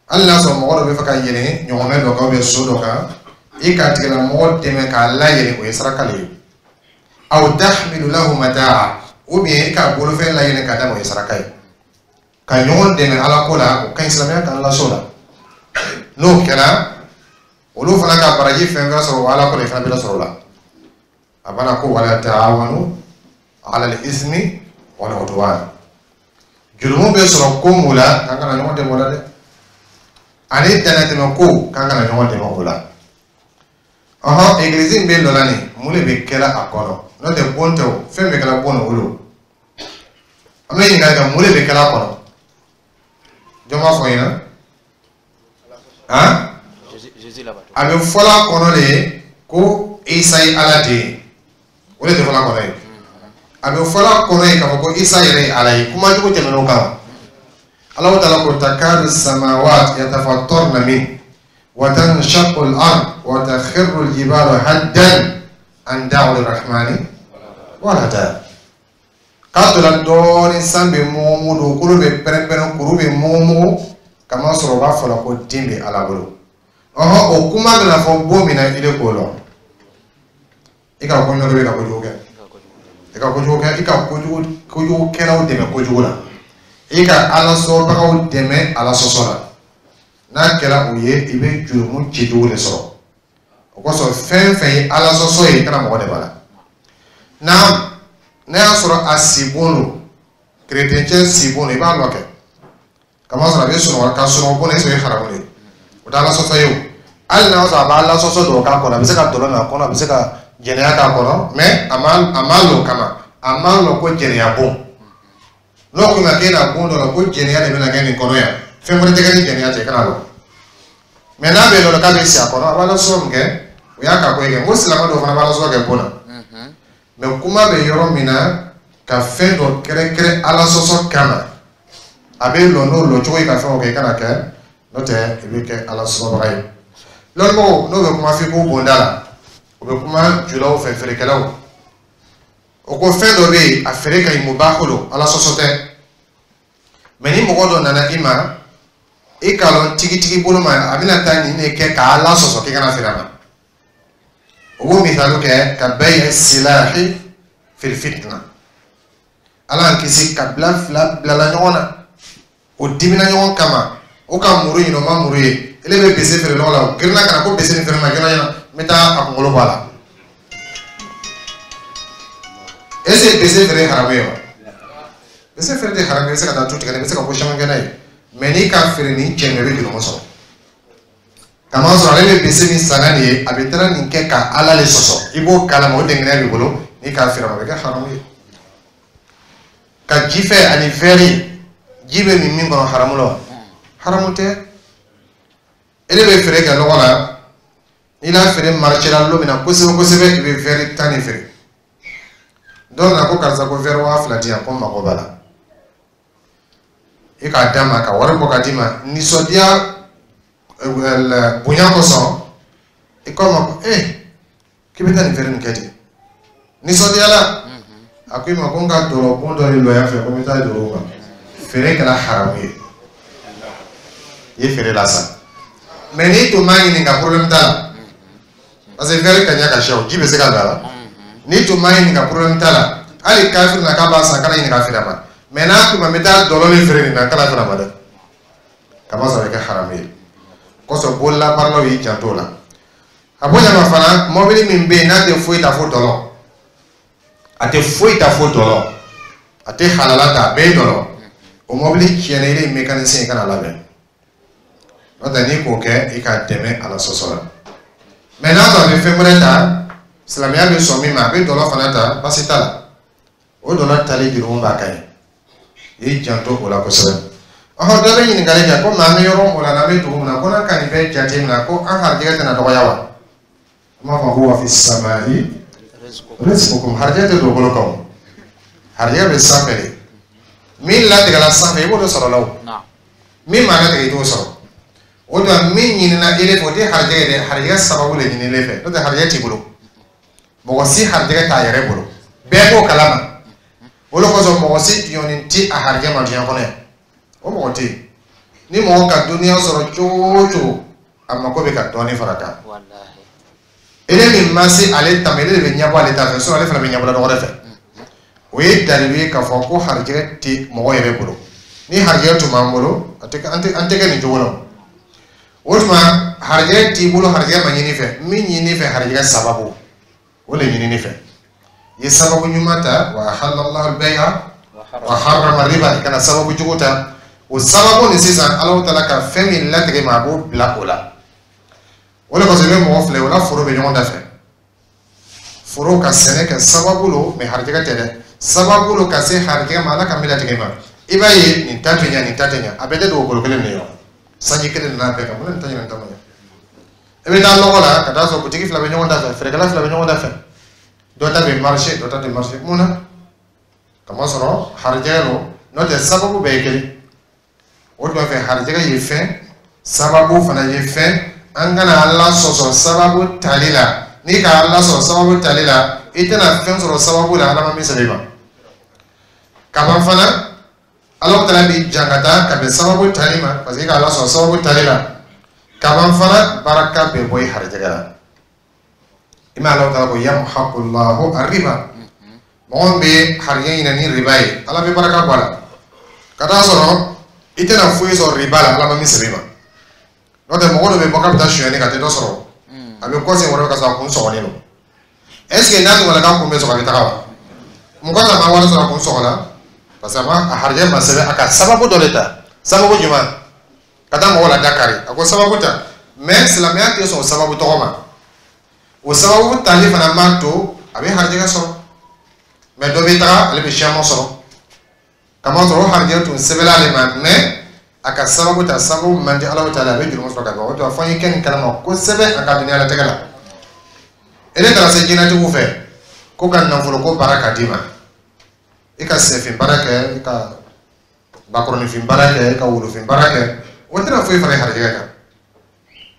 Hali n'a sɔrɔ mɔgɔ dɔ bɛ fɛ ka yɛlɛn ɲɔgɔmɛ dɔ kan, so dɔ kan, i k'a tigilamɔgɔ dɛmɛ k'a layɛlɛn, o ye saraka le ye. Aw tahmilu lahu mataa, ou bien i k'a bolofɛn layɛlɛn ka d'a ma, o ye saraka ye. Ka ɲɔgɔn dɛmɛ ala ko la, o ka ɲi, silamɛya k'an las'o la. N'o kɛra, olu fana ka baraji fɛn fɛn sɔrɔ o ala ko la, i fana bɛ dɔ sɔrɔ o la. A bana ko wala ta'awanu ala al-ismi wal udwan. Jurumu bɛ sɔrɔ ko mun la, k'an kana ɲɔgɔn dɛmɛ o la dɛ, ani dannatɛmɛ ko, k'an kana ɲɔgɔn dɛmɛ o la. Ɔhɔn, egilizi min bɛ lɔ la nin, mun de bɛ kɛla a kɔnɔ? N'o tɛ bon tɛ o, fɛn bɛ kɛla bon na, o don. An bɛ ɲininkali kɛ, mun de bɛ kɛla a kɔnɔ? Jɔn b'a fɔ n ɲɛna? Han, a bɛ fɔla a kɔnɔ de ko Isa ye Ala den ye, o de tɛ fɔla a kɔnɔ ye. A bɛ fɔla a kɔnɔ ye k'a fɔ ko Isa yɛrɛ ye Ala ye. Kuma jugu tɛmɛn'o kan. Allahu ta'ala ko takadu samawat yatafattarna min wa tanshaqqu al-ard wa takhirru al-jibalu haddan an da'u lirrahmani walada. K'a tola dɔɔnin, san bɛ mugu, dugukolo bɛ pɛrɛn-pɛrɛn, kuru bɛ mugu, kamasɔrɔ u b'a fɔ la ko den bɛ Ala bolo. Ɔhɔn, o kuma bɛna fɔ bon min na, i de k'o lɔn. I ka ko ɲɔgɔn bɛ ka kojugu kɛ, i ka kojugu kɛ, i ka kojugu kojugukɛlaw dɛmɛ kojugu la, i ka ala sɔsɔbagaw dɛmɛ ala sɔsɔ la. N'a kɛra o ye, i bɛ jurumu cijugu de sɔrɔ. O kosɔn, fɛn fɛn ye ala sɔsɔ ye, i kana mɔgɔ dɛmɛ a la. N'a n'a y'a sɔrɔ a sibon don, kerecɛn sibon don, i b'a lɔ kɛ, kamasɔrɔ a bɛ sunɔgɔ ka sunɔgɔ bon, est-ce que o ye haramu de ye? O tɛ ala sɔsɔ ye o. Hali n'a y'a sɔrɔ a b'a ala sɔsɔ dɔw k'a kɔnɔ, a bɛ se ka dɔlɔ min a kɔnɔ, a bɛ se ka jɛnɛya k'a kɔnɔ, mais a ma a ma lɔ o kama, a ma lɔ ko jɛnɛya bon. N'o ko ma k'e na bon dɔ la ko jɛnɛya de bɛna kɛ nin kɔnɔ yan, fɛn wɛrɛ tɛ kɛ ni jɛnɛya tɛ, i kana lɔ. Mais n'a bɛ lɔ k'a bɛ si a kɔnɔ, a b'a la sɔsɔ min kɛ, o y'a ka ko ye kɛ. N ko silamɛ dɔw fana b'a la sɔsɔ kɛ bon na. Mais kuma bɛ yɔrɔ min na, ka fɛn dɔ kɛrɛnkɛrɛn ala sɔsɔ kama, a bɛ lɔ n'o lɔ cogo ye ka fɛn o kɛ, i kana kɛ, n'o tɛ i bɛ kɛ ala sɔsɔbaga ye. Lɔnnibagaw n'o bɛ kuma f'i k'o bonda la, o bɛ kuma julaw fɛ, feerekɛlaw. O ko fɛn dɔ bɛ yen, a feere ka ɲi, mubahu don, ala sɔsɔ tɛ. Mais ni mɔgɔ dɔ nana i ma, i k'a lɔn tigitigi bolo ma, a bɛna taa nin de kɛ k'a sɔsɔ, k'i kana feere a ma. O b'o misali kɛ ka bay'i silahi fil fitna. Ala y'an kisi, kabila fila bilala ɲɔgɔn na, o dimina ɲɔgɔn kama, o ka muru ɲini, o ma muru ye. Ele bɛ bese feere lɔgɔ la, o girinna ka na ko bese nin feere ma joona joona, n bɛ taa a kunkolo bɔ a la. Est-ce que bese feere haramu ye wa? Bese feere tɛ haramu ye. I bɛ se ka taa tu tigɛ, i bɛ se ka ko caman kɛ n'a ye. Mais n'i ka feere nin cɛ, i bɛ jurumu sɔrɔ. Kamasɔrɔ ale bɛ bese min san nin ye, a bɛ taara nin kɛ ka Ala le sɔsɔ, i b'o kalama, o dɛngɛnɛ b'i bolo, n'i k'a feere ma, a bɛ kɛ haramu ye. Ka ji fɛ ani vɛri, ji bɛ min min kɔnɔ, haramu la wa? Haramu tɛ. E de bɛ feere kɛ lɔgɔ la, n'i y'a feere marché la lon min na kosɛbɛ kosɛbɛ, i bɛ vɛri tan de feere. Dɔw nana ko karisa, ko vɛri waa fila di yan, ko n mago b'a la. I k'a d'a ma ka wari bɔ ka d'i ma nisɔndiya bonya kosɔn. I ko a ma ko ee, k'i bɛ taa nin feere nin kɛ ten nisɔndiya la. A ko i ma ko n ka dɔlɔ bon dɔ de lɔ yan fɛ, ko n bɛ taa jɔ o kan. Feere kɛra haramu ye, i ye feere la sa. Mais n'i tun m'a ɲininka, problème t'a la, parce que verre ka ɲɛ ka siya, o ji bɛ se ka don a la. N'i tun m'a ɲininka, problème t'a la. Hali kafiri na k'a b'a san, kana ɲininka feere a ma. Mais n'a tun ma, n bɛ taa dɔlɔ min feere nin na, kana feere a ma dɛ, kamasɔrɔ a bɛ kɛ haramu ye. Kosɔn bololabaaralaw y'i janto o la. A bonya ma fana, mɔbili min bɛ yen n'a tɛ foyi ta fo dɔlɔ, a tɛ foyi ta fo dɔlɔ, a tɛ halala ta, a bɛɛ ye dɔlɔ. O mɔbili tiɲɛna, i ye mécanicien ye, kana labɛn. N'o tɛ, n'i k'o kɛ, i k'a dɛmɛ ala sɔsɔ la. Mais n'a sɔrɔ a bɛ fɛn wɛrɛ ta, silamɛya bɛ sɔn min ma, a bɛ dɔlɔ fana ta, baasi t'a la. O dɔlɔ tali jurumu b'a kan ye, i y'i janto o la kosɛbɛ. Ɔhɔn, dɔ bɛ ɲininkali kɛ ko maa, an bɛ yɔrɔ o la, n'an bɛ dugu min na, ko n'an ka nin bɛɛ jate minɛ, ko an harijɛgɛ tɛna dɔgɔya wa? An b'a fɔ ko wa fi sama'i Rizqukum, harijɛgɛ tɛ dugukolo kan o, harijɛgɛ bɛ sanfɛ de. Min latigɛla sanfɛ, i b'o de sɔrɔ la o. Min ma latigɛ, i t'o sɔrɔ. O tuma, min ɲinina ele fɛ, o tɛ harijɛgɛ ye dɛ, harijɛgɛ sababu de ɲininen fɛ, n'o tɛ harijɛgɛ t'i bolo. Mɔgɔ si harijɛgɛ t'a yɛrɛ bolo, bɛɛ b'o kalama. O de kosɔn mɔgɔ si jɔnni ti a harijɛgɛ ma diɲɛ kɔnɔ yan, o mɔgɔ tɛ yen. Ni mɔgɔ ka dɔnniya sɔrɔ cogo o cogo, a mako bɛ ka dɔɔnin fara kan. Ele min ma se ale ta ma, ele de bɛ ɲɛbɔ ale ta fɛ, sinon ale fana bɛ ɲɛbɔ dɔ wɛrɛ fɛ. O ye dalilu ye k'a fɔ ko harijɛgɛ tɛ mɔgɔ yɛrɛ bolo. Ni harijɛgɛ tun b'an bolo, a tɛ an tɛ an tɛ kɛ nin cogo la. O tuma, harijɛgɛ t'i bolo, harijɛgɛ ma ɲini fɛ. Min ɲini fɛ, harijɛgɛ sababu, o de ɲinini fɛ. I ye sababu ɲuman ta, wa ahallallahu al-bay'a wa harrama riba, i kana sababu jugu ta. O sababu nin sisan, Alahu taala ka fɛn min latigɛ ma, a b'o bila o la. O de kosɔn i bɛ mɔgɔ filɛ, o la foro bɛ ɲɔgɔn da fɛ. Foro ka sɛnɛ kɛ sababu lo, mɛ harijɛgɛ tɛ dɛ, sababu lo ka se harijɛgɛ ma, Ala ka min latigɛ ma. I b'a ye nin ta tɛ ɲɛ, nin ta tɛ ɲɛ, a bɛɛ tɛ dugukolo kelen de ye wa? Sanji kelen nana bɛɛ kan, mun na nin ta ɲɛ, nin ta ma ɲɛ? I bɛ taa lɔgɔ la ka taa sɔrɔ butigi fila bɛ ɲɔgɔn da fɛ, feerekɛla fila bɛ ɲɔgɔn da fɛ, dɔ ta bɛ marché, dɔ ta tɛ marché. Mun na? Kamasɔrɔ harijɛgɛ lo, n'o tɛ sababu bɛɛ ye kelen. O tuma fɛ, harijɛgɛ ye fɛn, sababu fana ye fɛn. An kana Ala sɔsɔ sababu tali la. N'i ka Ala sɔrɔ sababu tali la, i tɛna fɛn sɔrɔ sababu la Ala ma min sɛbɛn i ma. Kaban fana, Ala taala b'i jangata ka bɛn sababu tali ma, parce que i ka Ala sɔrɔ sababu tali la. Kaban fana, baraka bɛ bɔ i harijɛgɛ la. I ma Ala taala ko yamhaqullahu arriba. Mɔgɔ min bɛ harijɛgɛ ɲini ni riba ye, Ala bɛ baraka bɔ a la. Ka taa sɔrɔ i tɛna foyi sɔrɔ riba la Ala ma min sɛbɛn i ma. N'o tɛ, mɔgɔ dɔ bɛ bɔ k'a bɛ taa sonyali kɛ, a tɛ dɔ sɔrɔ. A bɛ kɔsegin wɛrɛ ka sɔrɔ a kun sɔgɔlen don. Est ce que n'a tun k'a kun bɛ sɔgɔ, a bɛ taga wa? Mɔgɔ n'a ma wari sɔrɔ, a kun sɔgɔla, parce que a ma a harijɛ ma sɛbɛn. A ka sababu dɔ de ta. Sababu jumɛn? Ka taa mɔgɔw la dakari, a ko sababu ta, mais silamɛya tɛ sɔn o sababu tɔgɔ ma. O sababu tali fana m'a to a bɛ harijɛgɛ sɔrɔ. Mais dɔ bɛ taga, ale bɛ siaman sɔrɔ, kamasɔrɔ o harijɛgɛ tun sɛbɛnna ale ma, mais a ka sababu ta, sababu man di Ala ta la, a bɛ jurumu sɔrɔ ka ban. O tuma, fo an ye kɛ nin kalama kosɛbɛ a ka duniɲalatigɛ la. E taara se jinɛtigiw fɛ ko ka nafolo ko baara ka d'i ma, i ka sɛfin baara kɛ, i ka bakɔrɔnifin baara kɛ, i ka wolofin baara kɛ, o tɛna foyi fara i harijɛgɛ kan.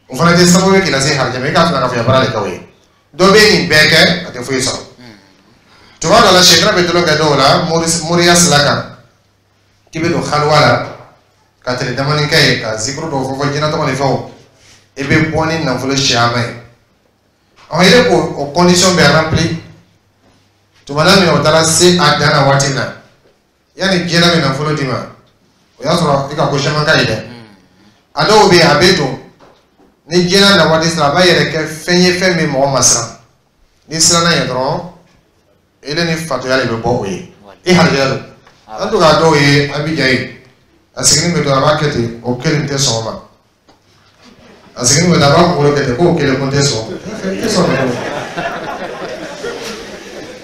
O fana tɛ sababu ye k'i lase harijɛgɛ ma. I k'a fila ka fɔ baara de kɛ o ye. Dɔ bɛ nin bɛɛ kɛ, a tɛ foyi sɔrɔ. Tuma dɔ la, sɛtana bɛ tulon kɛ dɔw la moriya sira kan, k'i bɛ don haliwa la ka tile damani kɛ yen, ka zikuru dɔw fɔ fɔ jinɛ tɔgɔ ni fɛnw, i bɛ bɔ ni nafolo siyaman ye. Ɔ, e k'o o condition bɛɛ rempli tuma na min, o taara se a dan na waati min na, yanni jinɛ bɛ nafolo d'i ma, o y'a sɔrɔ i ka ko caman ka ɲi dɛ. A dɔw bɛ yen, a bɛ don ni jinɛ na waati sera, a b'a yɛrɛ kɛ fɛn ye, fɛn min mɔgɔ ma siran. N'i siranna ɲɛ dɔrɔn, ele ni fatoya de bɛ bɔ o ye, i harijɛgɛ don. An to k'a dɔw ye Abijan ye, a sigilen bɛ to, a b'a kɛ ten, o kelen tɛ sɔn o ma. A sigilen bɛ to, a b'a kunkolo kɛ ten, k'o kelen ko tɛ sɔn, tɛ sɔn o.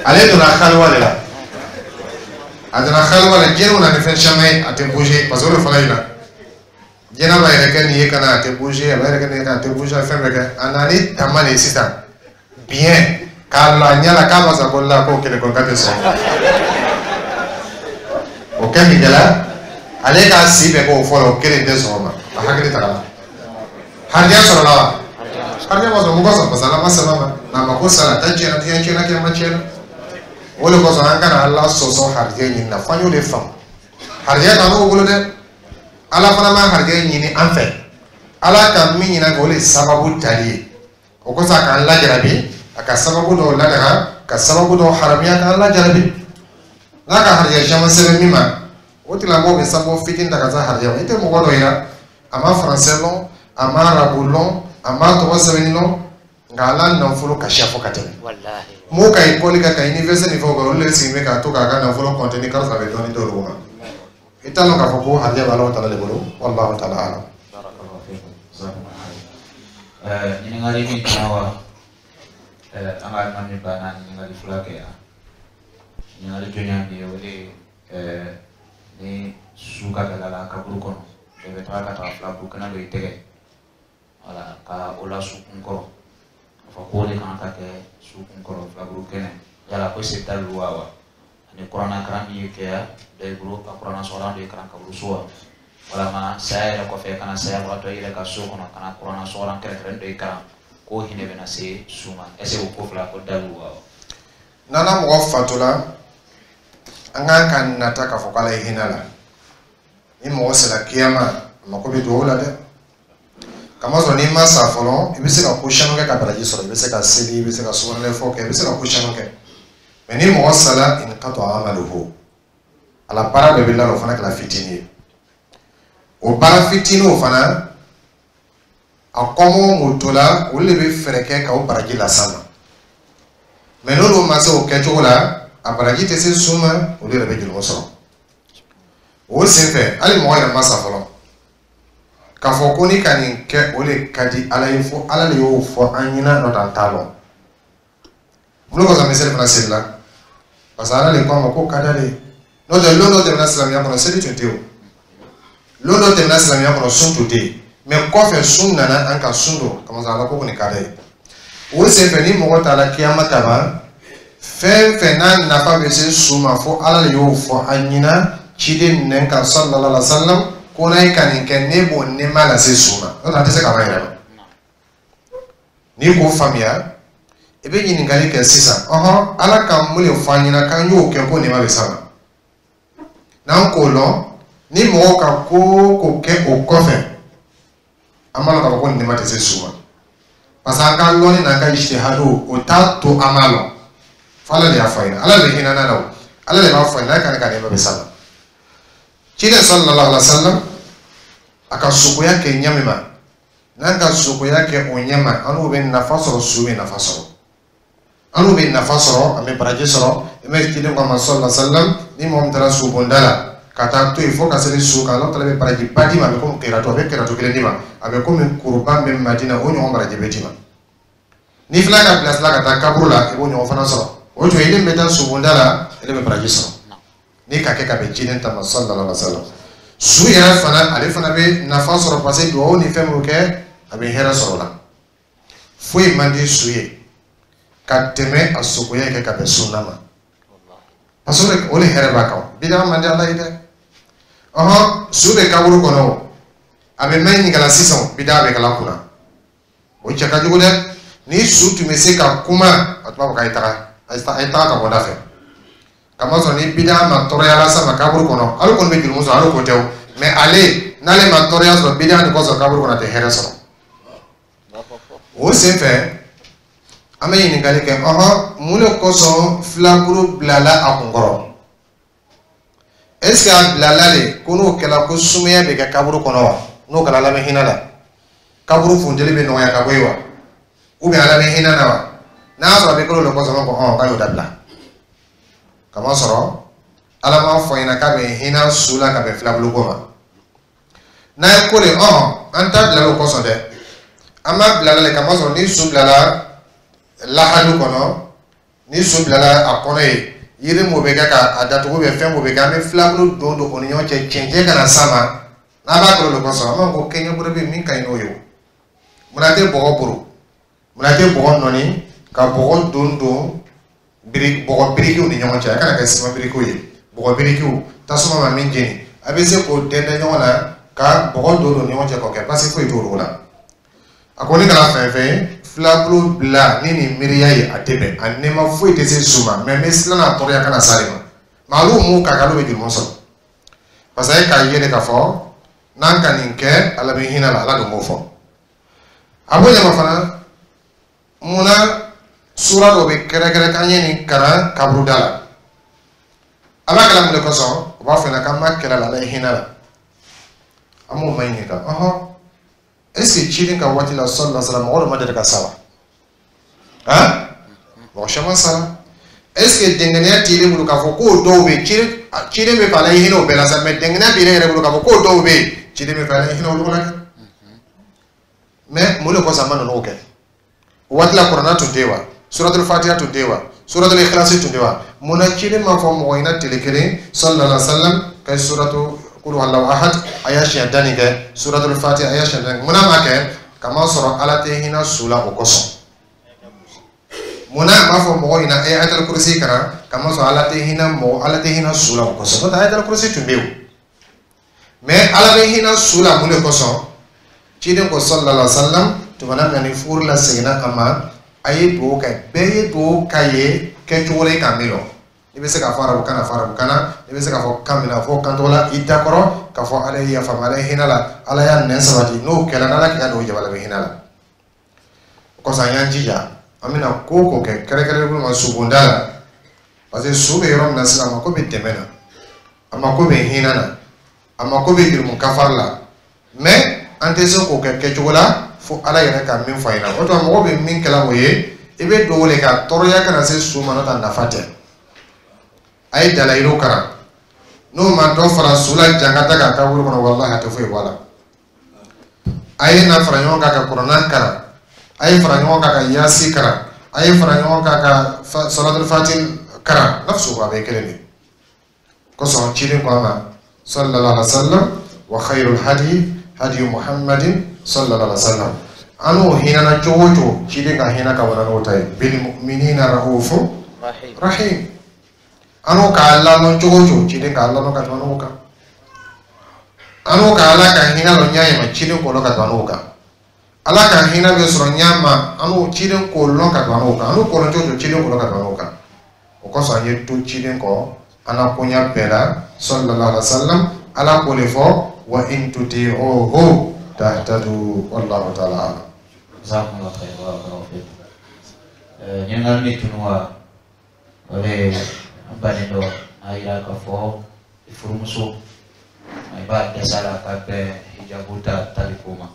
Ale donna haliwa de la, a donna haliwa la, jinɛw na ni fɛn caman ye, a tɛ bouger, parce que o de fana yira jinɛ b'a yɛrɛ kɛ nin ye ka na, a tɛ bouger, a b'a yɛrɛ kɛ nin ye ka na, a tɛ bouger, a fɛn bɛɛ kɛ. A nana ni tama de ye sisan, biɲɛ k'a la ɲɛ la, k'a ma sa ko la, k'o kelen ko k'a tɛ sɔn. O kɛ min kɛla, ale k'a si bɛɛ k'o fɔlɔ, o kelen tɛ sɔn o ma. A hakili tagala, harijɛ sɔrɔla wa? Harijɛ ma sɔrɔ. Mun kosɔn? Parce que Ala ma sɛbɛn ma n'a ma ko sara ta tiɲɛna, diɲɛ tiɲɛna, kɛma tiɲɛna. O de kosɔn an kana Ala sɔsɔ harijɛ ɲini na, f'an y'o de faamu. Harijɛ t'an n'o bolo dɛ, Ala fana ma harijɛ ɲini an fɛ. Ala ka min ɲini an fɛ, o de ye sababu tali ye. O kosɔn a k'an lajarabi, a ka sababu dɔw ladaga, ka sababu dɔw haramuya, k'an lajarabi. N'a ka harijɛ caman sɛbɛn min ma, o tigilamɔgɔ bɛ sababu fitinin ta ka se harijɛ ma. I tɛ mɔgɔ dɔ yira, a ma faransɛ lɔn, a ma arabu lɔn, a ma tɔgɔ sɛbɛnni lɔn, nka Ala nafolo ka siya fo ka tɛmɛ. Mɔgɔw ka ekɔli kɛ, ka université ni fɛnw kɛ, olu de sigilen bɛ k'a to k'a ka nafolo compter ni kalo fila bɛ dɔɔnin d'olu ma. I t'a lɔn k'a fɔ ko harijɛ bɛ Alahu taala de bolo. Wallahu taala alam. Ɲininkali min tɛna wa, an ka alimami banna ɲininkali fila kɛ yan. Ɲininkali jɔnya min ye, o de ye ni su ka gɛlɛ la kaburu kɔnɔ, bɛɛ bɛ taga ka taga fila buru kɛnɛ dɔ i tɛgɛ, wala ka o la su kun kɔrɔ. A fɔ k'o de kan ka kɛ su kun kɔrɔ filaburu kɛnɛ yala ko se dalilu wa wa ani kuranna karan min ye kɛya dɔ i bolo ka kuranna sɔgɔlan dɔ ye karan kaburu so wa walama saya yɛrɛ kɔfɛ ka na sayabagatɔ i yɛrɛ ka so kɔnɔ ka na kuranna sɔgɔlan kɛrɛnkɛrɛn dɔ i karan k'o hinɛ bɛna se su ma est ce que o ko fila ko dalilu wa wa. N'an mɔgɔ fatula, an kan ka nata k'a fɔ k'ala ye hinɛ la. Ni mɔgɔ sera kiyama, a mako bɛ duwawu la dɛ. Kamasɔrɔ n'i ma sa fɔlɔ, i bɛ se ka ko caman kɛ ka baraji sɔrɔ. I bɛ se ka seli, i bɛ se ka sugunɛ fɔ kɛ, i bɛ se ka ko caman kɛ. Mɛ ni mɔgɔ sala, inqata amaluhu, ala baara dɔ bɛ la, o fana kɛra fitinin ye. O baara fitinin o fana, a kɔmɔ mun to la, olu de bɛ fɛɛrɛ kɛ ka o baraji las'a ma. Mɛ n'olu ma se o kɛcogo la, a baraji tɛ se su ma, olu yɛrɛ bɛ jurumu sɔrɔ. O senfɛ, hali mɔgɔ yɛrɛ ma sa fɔlɔ, k'a fɔ ko ni ka nin kɛ, o de ka di Ala ye, fo Ala de y'o fɔ an ɲɛna, n'o tɛ an t'a lɔn. Mun kosɔn an bɛ seli fana seli la? Parce que Ala de ko a ma k'o ka d'ale ye. N'o tɛ, lon dɔ tɛmɛna silamɛya kɔnɔ, seli tun tɛ yen o. Lon dɔ tɛmɛna silamɛya kɔnɔ, sun tun tɛ yen. Mɛ kɔfɛ sun nana, an ka sun don kamasɔrɔ Ala ko ko nin ka d'a ye. O senfɛ, ni mɔgɔ taara kiyama taban, fɛn fɛn n'a nafa bɛ se su ma, fo Ala de y'o fɔ an ɲɛna ciden nɛn kan sallallahu alaihi wa sallam, ko n'a ye ka nin kɛ, ne b'o nɛɛma lase su ma. N'o tɛ, a tɛ se ka ban yɛrɛ ma. N'i k'o faamuya, i bɛ ɲininkali kɛ sisan: ɔhɔn, Ala ka mun de fɔ an ɲɛna k'an y'o kɛ ko nɛɛma bɛ s'a ma? N'an k'o lɔn, ni mɔgɔw ka ko o ko kɛ o kɔfɛ, an b'a lɔn k'a fɔ ko nɛɛma tɛ se su ma, parce que an ka lɔnni n'an ka ijtihadu, o t'a to an b'a lɔn. Fo Ala de y'a fɔ an ɲɛna. Ala de bɛ hinɛ n'a la o, Ala de b'a fɔ an ɲɛna n'a ka ka nɛɛma bɛ s'a ma. Ciden sallallahu alaihi wa sallam, a ka sogoya kɛ ɲɛ min ma, n'an ka sogoya kɛ o ɲɛ ma, an n'o bɛ nafa sɔrɔ, su bɛ nafa sɔrɔ, an n'o bɛ nafa sɔrɔ, an bɛ baraji sɔrɔ. I bɛ ciden ko a ma sallallahu alaihi wa sallam, ni mɔgɔ min taara sobonda la ka taa to yen fo ka se su kan, Ala taala bɛ baraji ba d'i ma. A bɛ komi kɛrɛtɔ, a bɛ kɛrɛtɔ kelen d'i ma, a bɛ komi kuruba bɛ Madina, o ɲɔgɔn baraji bɛ d'i ma. N'i filɛ ka bilasira ka taa kaburu la, i b'o ɲɔgɔn fana sɔrɔ. O tuma, i bɛ taa sobonda la, e bɛ baraji sɔrɔ n'i ka kɛ ka bɛn ciden ta ma sallallahu alaihi wa sallam. Su yɛrɛ fana, ale fana bɛ nafa sɔrɔ, parce que duwawu ni fɛn minnu kɛ, a bɛ hɛrɛ sɔrɔ o la. Foyi man di su ye ka tɛmɛ a sogoya kɛ ka bɛn sunna ma, parce que o de hɛrɛ b'a kan. Bida man di Ala ye dɛ. Ɔhɔn, su bɛ kaburu kɔnɔ o, a bɛ mɛn ɲininka la sisan, bida bɛ kala kunna, o cɛ ka jugu dɛ. Ni su tun bɛ se ka kuma, a tun b'a fɔ k'a ye taga, a ye taga ka bɔ da fɛ. Kamasɔrɔ ni bida ma tɔɔrɔya las'a ma kaburu kɔnɔ, hali kɔni bɛ jurumu sɔrɔ, hali ko tɛ o. Mɛ ale, n'ale ma tɔɔrɔya sɔrɔ bida nin kɔsɔn kaburu kɔnɔ, a tɛ hɛrɛ sɔrɔ. O senfɛ, an bɛ ɲininkali kɛ: ɔhɔn, mun de kosɔn filaburu bilala a kun kɔrɔ? Est ce que a bilala de ko n'o kɛla ko sumaya bɛ kɛ kaburu kɔnɔ wa? N'o kɛra, Ala bɛ hinɛ la, kaburu funteni bɛ nɔgɔya ka bɔ yen wa? Ou bien Ala bɛ hinɛ na wa? N'a y'a sɔrɔ a bɛ kɛ o de kosɔn, ko ɔn k'a y'o dabila. Kamasɔrɔ Ala m'a fɔ ɲɛna k'a bɛ hinɛ su la ka bɛn filabulu ko ma. N'a ye ko de, ɔn an t'a bila o kosɔn dɛ, an b'a bila la de kamasɔrɔ ni su bilala lahadu kɔnɔ, ni su bilala a kɔnɔ yen, yiri mun bɛ kɛ ka a datugu bɛ fɛn mun bɛ kɛ, an bɛ filabulu don don o ni ɲɔgɔn cɛ, cɛncɛn kana s'a ma. N'a b'a kɛ o de kosɔn, an b'a fɔ ko kɛɲɛbolo bɛ min ka ɲi n'o ye o. Munna tɛ bɔgɔ boro? Munna tɛ bɔgɔ nɔni ka bɔgɔ don don biri bɔgɔ birikiw ni ɲɔgɔn cɛ? A kana kɛ siman birikiw ye, bɔgɔ birikiw, tasuma ma min jeni, a bɛ se k'o dɛndɛn ɲɔgɔn na ka bɔgɔ don don ɲɔgɔn cɛ k'o kɛ, basi foyi t'o la. A ko ne kana fɛn fɛn ye filabulu bila ni nin miiriya ye, a tɛ bɛn, a nɛɛma foyi tɛ se su ma. Mɛ n bɛ siran n'a tɔɔrɔya kana s'ale ma. Mɛ olu mun ka kan, olu bɛ jurumu sɔrɔ, parce que e k'a ye de k'a fɔ n'an ka nin kɛ, Ala bɛ hinɛ la. Ala dun b'o fɔ. A b'o ɲama fana, munna sura dɔ bɛ kɛrɛkɛrɛ k'an ye nin kalan kaburuda la? A b'a kɛla mun de kosɔn? O b'a fɔ ɲɛna k'an b'a kɛlɛ la, Ala ye hinɛ la. An b'o ma ɲininka: ɔhɔn, est ce que ciden ka waati la sallallahu alaihi wasallam, mɔgɔ dɔ ma deli ka sa wa? Han, mɔgɔ caman sara. Est ce que dɛngɛnɛya t'i bolo k'a fɔ k'o dɔw bɛ yen, ciden ciden bɛ fɛ Ala ye hinɛ o bɛɛ la sa, mɛ dɛngɛnɛya b'i yɛrɛ bolo k'a fɔ k'o dɔw bɛ yen, ciden bɛ fɛ Ala ye hinɛ olu la dɛ? Mɛ mun de kosɔn a ma ninnu kɛ o waati la? Kuranna tun tɛ yen wa? Suratul Fatiha tun tɛ yen wa? Suratul Ikhlas tun tɛ wa? Munna ciden ma fɔ mɔgɔ ɲɛna tile kelen sallallahu alaihi wasallam ka suratu Qul huwallahu ahad a y'a siɲɛ tan nin kɛ, suratul Fatiha a y'a siɲɛ tan nin kɛ? Munna ma kɛ? Kamasɔrɔ Ala tɛ hinɛ su la o kosɔn. Munna a b'a fɔ mɔgɔw ɲɛna e ye ayatal kurusi kalan kamasɔrɔ Ala tɛ hinɛ mɔgɔ Ala tɛ hinɛ su la o kosɔn n'o tɛ ayatal kurusi tun bɛ yen o mais Ala bɛ hinɛ su la mun de kosɔn ciden ko sallallahu alaihi wa sallam tumana min na ni furu la seginna a ma a ye dugawu kɛ bɛɛ ye dugawu k'a ye kɛcogo la i k'a min lɔ i bɛ se k'a fɔ arabukan na fɔ arabukan na i bɛ se k'a fɔ kan min na fɔ kan tɔgɔ la i da kɔrɔ k'a fɔ Ala ye yafa ma Ala ye hinɛ la Ala y'a nɛn sabati n'o kɛra n'Ala k'i ka dugawu jaabi Ala bɛ hinɛ la o kosɔn an y'an jija an bɛna ko o ko kɛ kɛrɛnkɛrɛnnen ma subonda la parce que su bɛ yɔrɔ min na sisan a mako bɛ dɛmɛ na a mako bɛ hinɛ na a mako bɛ jurumu kafari la mais an tɛ se k'o kɛ kɛcogo la fo Ala yɛrɛ ka min fɔ an ɲɛna o tuma mɔgɔ bɛ min kɛla o ye i bɛ dugawu de ka tɔɔrɔya kana se su ma n'o tɛ a nafa tɛ a ye dalayiru kalan n'o ma dɔ fara su la jankata kan kaburu kɔnɔ walahi a tɛ foyi bɔ a la a ye na fara ɲɔgɔn kan ka kuranna kalan a ye fara ɲɔgɔn kan ka yasi kalan a ye fara ɲɔgɔn kan ka salatul fati kalan nafsu a bɛɛ kelen de kosɔn ciden ko a ma sallallahu alaihi wa sallam wa khayrul hadi hadi muhammadin sallallahu alaihi wa sallam an n'o hinɛna cogo o cogo ciden ka hinɛ ka bon n'o ta ye bil mu'minina ra'ufu rahim an n'o k'a lalɔn cogo o cogo ciden k'a lalɔn ka tɛmɛ n'o kan an n'o ka Ala ka hinɛ lɔ ɲɛ ma ciden k'o lɔn ka tɛmɛ n'o kan Ala ka hinɛ bɛ sɔrɔ ɲɛ ma an n'o ciden k'o lɔn ka tɛmɛ n'o kan an n'o k'o lɔn cogo o cogo ciden k'o lɔn ka tɛmɛ n'o kan o kosɔn an ye to ciden kɔ an na koɲa bɛɛ la sallallahu alaihi wa sallam Ala k'o de fɔ wa in tuti'uhu tahtadu wallahu ta'ala a'lam. Jazakumullah khair barakallahu fikum. Ɲininkali min tunu wa o de ye an baden dɔ a yira k'a fɔ i furumuso i b'a dɛsɛ a la ka bɛn hijabu ta tali ko ma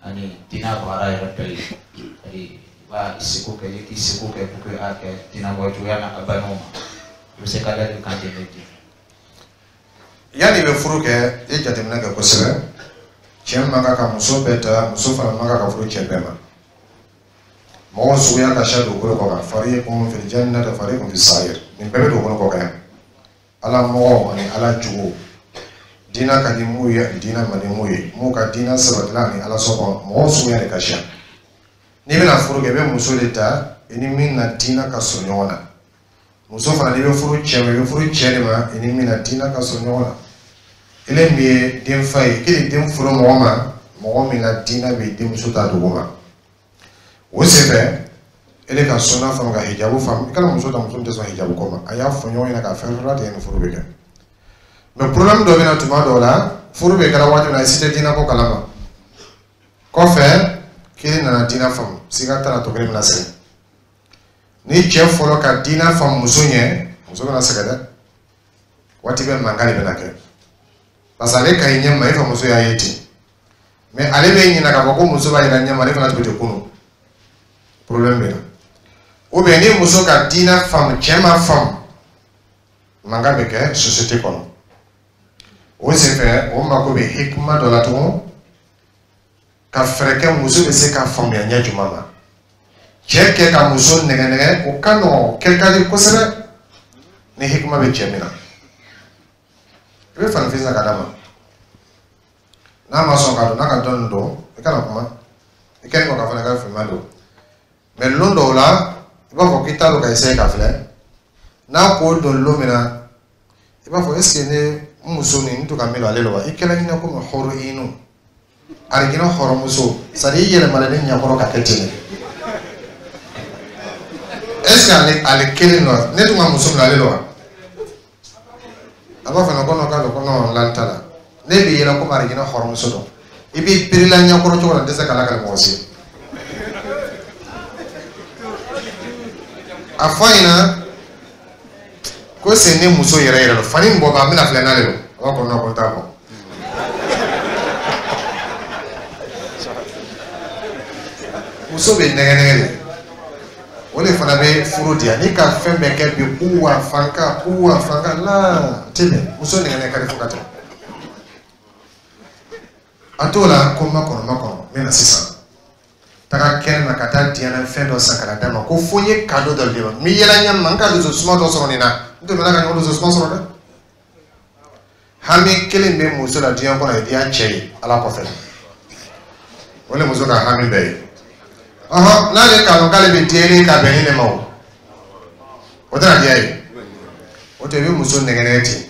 ani diinɛ baara yɛrɛ dɔ ye c'est-à-dire i b'a seko kɛ i k'i seko kɛ pour que a kɛ diinɛ bɔ cogoya na a balimaw ma i bɛ se ka ladilikan di ne di. Yanni i bɛ furu kɛ i ye jateminɛ kɛ kosɛbɛ cɛ man kan ka muso bɛɛ ta muso fana man kan ka furu cɛ bɛɛ ma mɔgɔw suguya ka siya dugukolo kɔ kan fariqun fil jannati fariqun fis sa'ir nin bɛɛ bɛ dugukolo kɔ kan yan Ala mɔgɔw ani Ala jugu diinɛ ka di mun ye ani diinɛ man di mun ye mun ka diinɛ sabatila ani Ala sɔkɔ mɔgɔw suguya de ka siya n'i bɛna furu kɛ i bɛ muso de ta i ni min na diinɛ ka surun ɲɔgɔn na muso fana n'i bɛ furu cɛ ma i bɛ furu cɛ de ma i ni min na diinɛ ka surun ɲɔgɔn na ele min ye den fa ye k'e de den furu mɔgɔ ma mɔgɔ min na diinɛ bɛ denmuso ta dugu ma o senfɛ ele ka sunna faamu ka hijabu faamu i kana muso ta muso min tɛ sɔn hijabu ko ma a y'a fɔ ɲɔgɔn ɲɛna k'a fɛn fɛn tigɛ ni furu bɛ kɛ mais problème dɔ bɛ na tuma dɔw la furu bɛ kɛra waati min na i si tɛ diinɛ ko kalama kɔfɛ kelen nana diinɛ faamu siga t'a la tɔ kelen bɛna sɛgɛn ni cɛ fɔlɔ ka diinɛ faamu muso ɲɛ muso bɛna sɛgɛn dɛ waati bɛɛ mankan de bɛna kɛ parce que ale ka ɲi ɲɛ ma e fa muso y'a ye ten mais ale bɛ ɲinɛ k'a fɔ ko muso b'a yira ɲɛ ma ale fana tun bɛ ten kunun problème bɛ na ou bien ni muso ka diinɛ faamu cɛ ma faamu mankan bɛ kɛ société kɔnɔ o senfɛ o mako bɛ hikima dɔ la tugun ka fɛɛrɛ kɛ muso bɛ se ka faamuya ɲɛ jumɛn ma cɛ kɛ ka muso nɛgɛ nɛgɛ o ka nɔgɔn o kɛ ka di kosɛbɛ ni hikima bɛ cɛ min na i bɛ fani san ka d'a ma n'a ma sɔn ka don n'a ka dɔnni don i kana kuma i kɛlen kɔ ka fana ka finman don mais lon dɔw la i b'a fɔ k'i t'a dɔn ka essayer ka filɛ n'a ko don lon min na i b'a fɔ est ce que ne n muso nin n to ka min don ale la wa i kɛla ɲinɛ komi hɔrɔn inu arijinɛ hɔrɔnmuso c'est à dire i yɛlɛmana ne ɲɛkɔrɔ ka kɛ ten de est ce que ale ale kelen don ne tun ka muso minɛ ale la wa a b'a fɔ ko non k'a ko non lan t'a la ne b'i yɛlɛ komi arijinɛ hɔrɔnmuso don i b'i birila ɲɛkɔrɔ cogo la n tɛ se k'a lakale mɔgɔ si ye a fɔ a ɲɛna ko c'est ne muso yɛrɛ yɛrɛ don fani min bɔ b'a n bɛna filɛ n'ale don a b'a fɔ non ko n t'a bɔ muso bɛ nɛgɛ nɛgɛ de o de fana bɛ furu diya n'i ka fɛn bɛɛ kɛ bi kuwa fanka kuwa fanka la tɛ bɛn muso nɛgɛ nɛgɛ ka di fo ka tɛmɛ a t'o la ko n ma kɔnɔ n ma kɔnɔ n bɛ na sisan taga kɛnɛ ma ka taa diɲɛ fɛn dɔ san ka na d'a ma ko fo n ye cadeau dɔ di ma n bɛ yɛlɛ ɲɛ ma n ka dusu suma dɔ sɔrɔ nin na n tun bɛ ka ɲɔgɔn dusu suma sɔrɔ dɛ hami kelen bɛ muso la diɲɛ kɔnɔ o ye diya cɛ ye Ala kɔfɛ o de muso ka hami bɛɛ ye Ɔhɔn, n'ale k'a dɔn k'ale bɛ diya ka bɛn ni ne ma o, o tɛna diya ye. O tɛ, i bɛ muso nɛgɛ ten,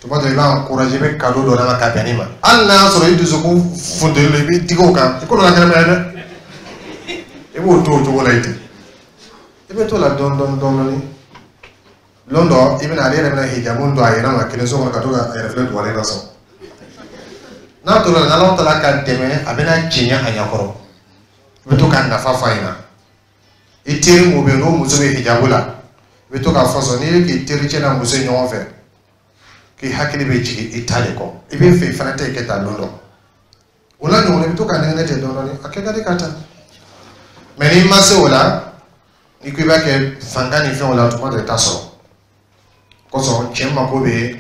tuma dɔ i b'a encourager, i bɛ cadeau dɔ d'a ma ka bɛn ni ma, hali n'a y'a sɔrɔ i dusukun funteni don, i b'i digi o kan, i ko dɔ la kɛnɛma ye dɛ, i b'o to o cogo la yen ten, i bɛ t'o la dɔɔni dɔɔni dɔɔni. Lon dɔ i bɛna, ale yɛrɛ bɛna hijabu don a yɛrɛ ma kelen so kɔnɔ ka to ka a yɛrɛ filɛ dugalen na sɔn. N'a tora la, n'Ala taala ka dɛmɛ, a bɛna tiɲɛ a ɲɛkɔrɔ, i bɛ to ka nafa fɔ a ɲɛna. I teri mun bɛ yen, n'o muso bɛ hijabu la, i bɛ to k'a fɔ sɔn, n'i ye k'i tericɛ n'a muso ye ɲɔgɔn fɛ, k'i hakili bɛ jigin i ta de kɔ, i bɛ fɛ i fana ta kɛ tan. Lon dɔ o la ɲɔgɔn, i bɛ to ka nɛgɛ ten dɔɔni dɔɔni, a kɛ ka di ka taa. Mɛ n'i ma se o la, n'i ko i b'a kɛ fanga ni fɛnw la, tuma dɔ i t'a sɔrɔ. Kosɔn cɛ mako bɛ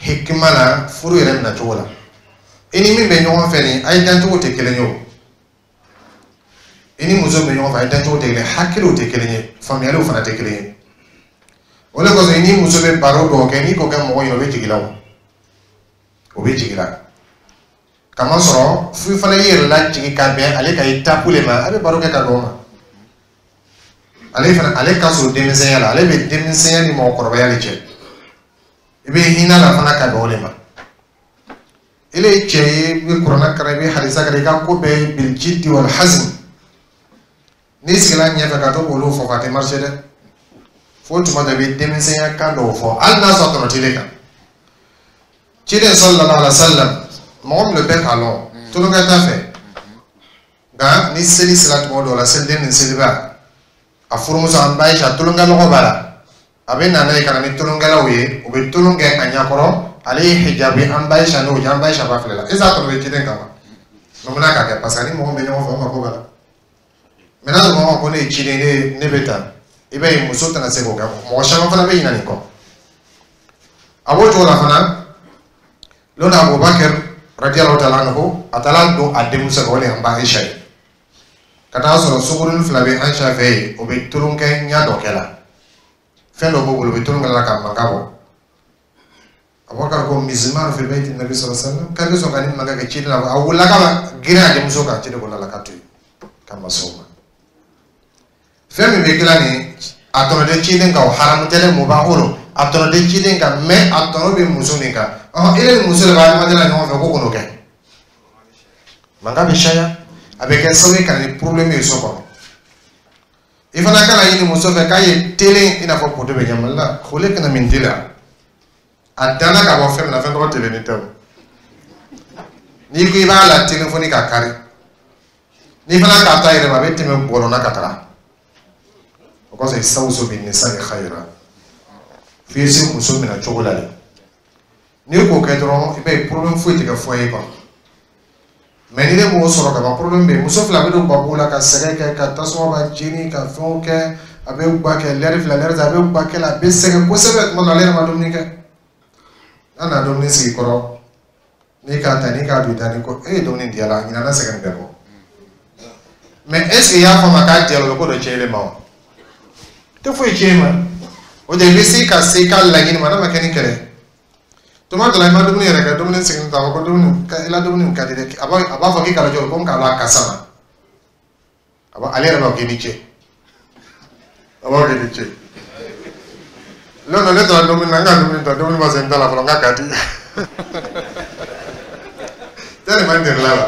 hikima la furu yɛrɛ minɛ cogo la. I ni min bɛ ɲɔgɔn fɛ nin, a ye dancogo tɛ kelen ye o. I ni muso bɛ ɲɔgɔn fɛ, a ye dancogo tɛ kelen ye, hakiliw tɛ kelen ye, faamuyaliw fana tɛ kelen ye. O de kosɔn i ni muso bɛ baro dɔw kɛ, n'i k'o kɛ mɔgɔ ɲɛna, o bɛ jigin la, o o bɛ jigin la. Kamasɔrɔ f'i fana y'i yɛrɛ lajigin ka bɛn ale ka étape le ma, a bɛ baro kɛ ka bɛn o ma. Ale fana, ale ka surun denmisɛnya la, ale bɛ denmisɛnya ni mɔgɔkɔrɔbaya de cɛ. I bɛ hinɛ la fana ka bɛn o de ma. Ele ye cɛ ye, i bɛ kuranɛ kalan, i bɛ hadisa kalan, i ka ko bɛɛ بالجد والحزم. N'i sigila ɲɛfɛ ka to k'olu fɔ, a tɛ marcher dɛ. Fo tuma dɔ i bɛ denmisɛnya kan dɔw fɔ, hali n'a sɔrɔ tɔnɔ t'ile kan. Ciden صلى الله عليه وسلم, mɔgɔ min bɛɛ k'a lɔn tulonkɛ t'a fɛ, nka ni seli sera tuma dɔw la, seliden ni seliba, a furumuso an ba Ayisa, tulonkɛlɔgɔ b'a la, a bɛ na n'a ye ka na ni tulonkɛlaw ye, u bɛ tulon kɛ a ɲɛkɔrɔ. Ale ye hijabi, an ba Ayisa n'o cɛ, an ba Ayisa b'a filɛ la, est ce que a tɔnɔ bɛ ciden kan wa? Mɛ mun na k'a kɛ? Parce que ni mɔgɔ bɛ ɲɔgɔn fɛ, o mako b'a la. Mɛ n'a sɔrɔ ko ne ye ciden, ne ne bɛ tan, i b'a ye muso tɛna se k'o kɛ. Mɔgɔ caman fana bɛ ɲinɛ nin kɔ. A b'o cogo la fana. Lon Abubakar رضي الله تعالى عنه, a taara don a denmuso kan, o de ye an ba Ayisa ye, ka taa sɔrɔ sunkurunin fila bɛ Ayisa fɛ yen, o bɛ tulonkɛ ɲɛ dɔ kɛ la, fɛn dɔ b'o bolo, u bɛ tulonkɛ la ka mankan bɔ. Abubakar ko: مزمار في بيت النبي صلى الله عليه وسلم, k'a bɛ sɔn ka nin mankan kɛ ciden la? A wulila k'a ma girin a denmuso kan. Ciden ko la k'a to yen, k'a ma sɔn o ma. Fɛn min bɛ dilan nin, a tɔnɔ tɛ ciden kan, o haramu tɛ dɛ, mubahu don, a tɔnɔ tɛ ciden kan, mɛ a tɔnɔ bɛ muso nin kan. Ɔhɔn, e ni muso de bɛ adamadenya la ɲɔgɔn fɛ, ko k'o kɛ, mankan bɛ caya, a bɛ kɛ sababu ye ka na ni problème ye so kɔnɔ. I fana kana ɲini muso fɛ k'a ye telen i n'a fɔ poto bɛ ɲɛmali la خلقنا من ضلع. A danna ka bɔ fɛn min na, fɛn tɔgɔ telen tɛ o. N'i ko i b'a la telen fo ni ka kari, n'i fana k'a ta yɛrɛ ma, a bɛ tɛmɛ bɔlɔn na ka taga. O kosɔn استوصوا بالنساء خيرا, f'i ye se muso minɛ cogo la de. N'i k'o kɛ dɔrɔn, i b'a ye problème foyi tɛ kɛ foyer kɔnɔ. Mɛ ni ne m'o sɔrɔ ka ban, problème bɛ yen. Muso fila bɛ don gabugu la ka sɛgɛn kɛ, ka tasuma b'a jeni, ka fɛnw kɛ, a bɛ ba kɛ lɛri fila, lɛri saba, a bɛ ba kɛ la, a bɛ sɛgɛn kosɛbɛ. Tuma dɔ la, ale yɛrɛ ma dumuni kɛ. N'a nana dumuni sigi kɔrɔ, n'i k'a ta, n'i k'a don i da, ni ko e ye dumuni di a la, a ɲinɛna sɛgɛn bɛɛ kɔ. Mɛ est ce que i y'a fɔ a ma k'a diyara, o bɛ ko dɔ tiɲɛ e ma? O tɛ foyi tiɲɛ e ma. O de i bɛ se ka se i ka laɲini ma, n'a ma kɛ ni kɛlɛ. Tuma dɔ la, i ma dumuni yɛrɛ kɛ, dumuni sigilen ta, a fɔ ko dumuni ka i la, dumuni ka di dɛ. A b'a a b'a fɔ k'i kana jɔ ko k'a la kasa ma, a b'a ale yɛrɛ b'a fɔ k'i ni ce, a b'a fɔ k'i ni ce. Non non, ne taara dumuni na, n ka dumuni ta, dumuni ma se n ta la fɔlɔ, n ka ka di tɛ ma, n delila la,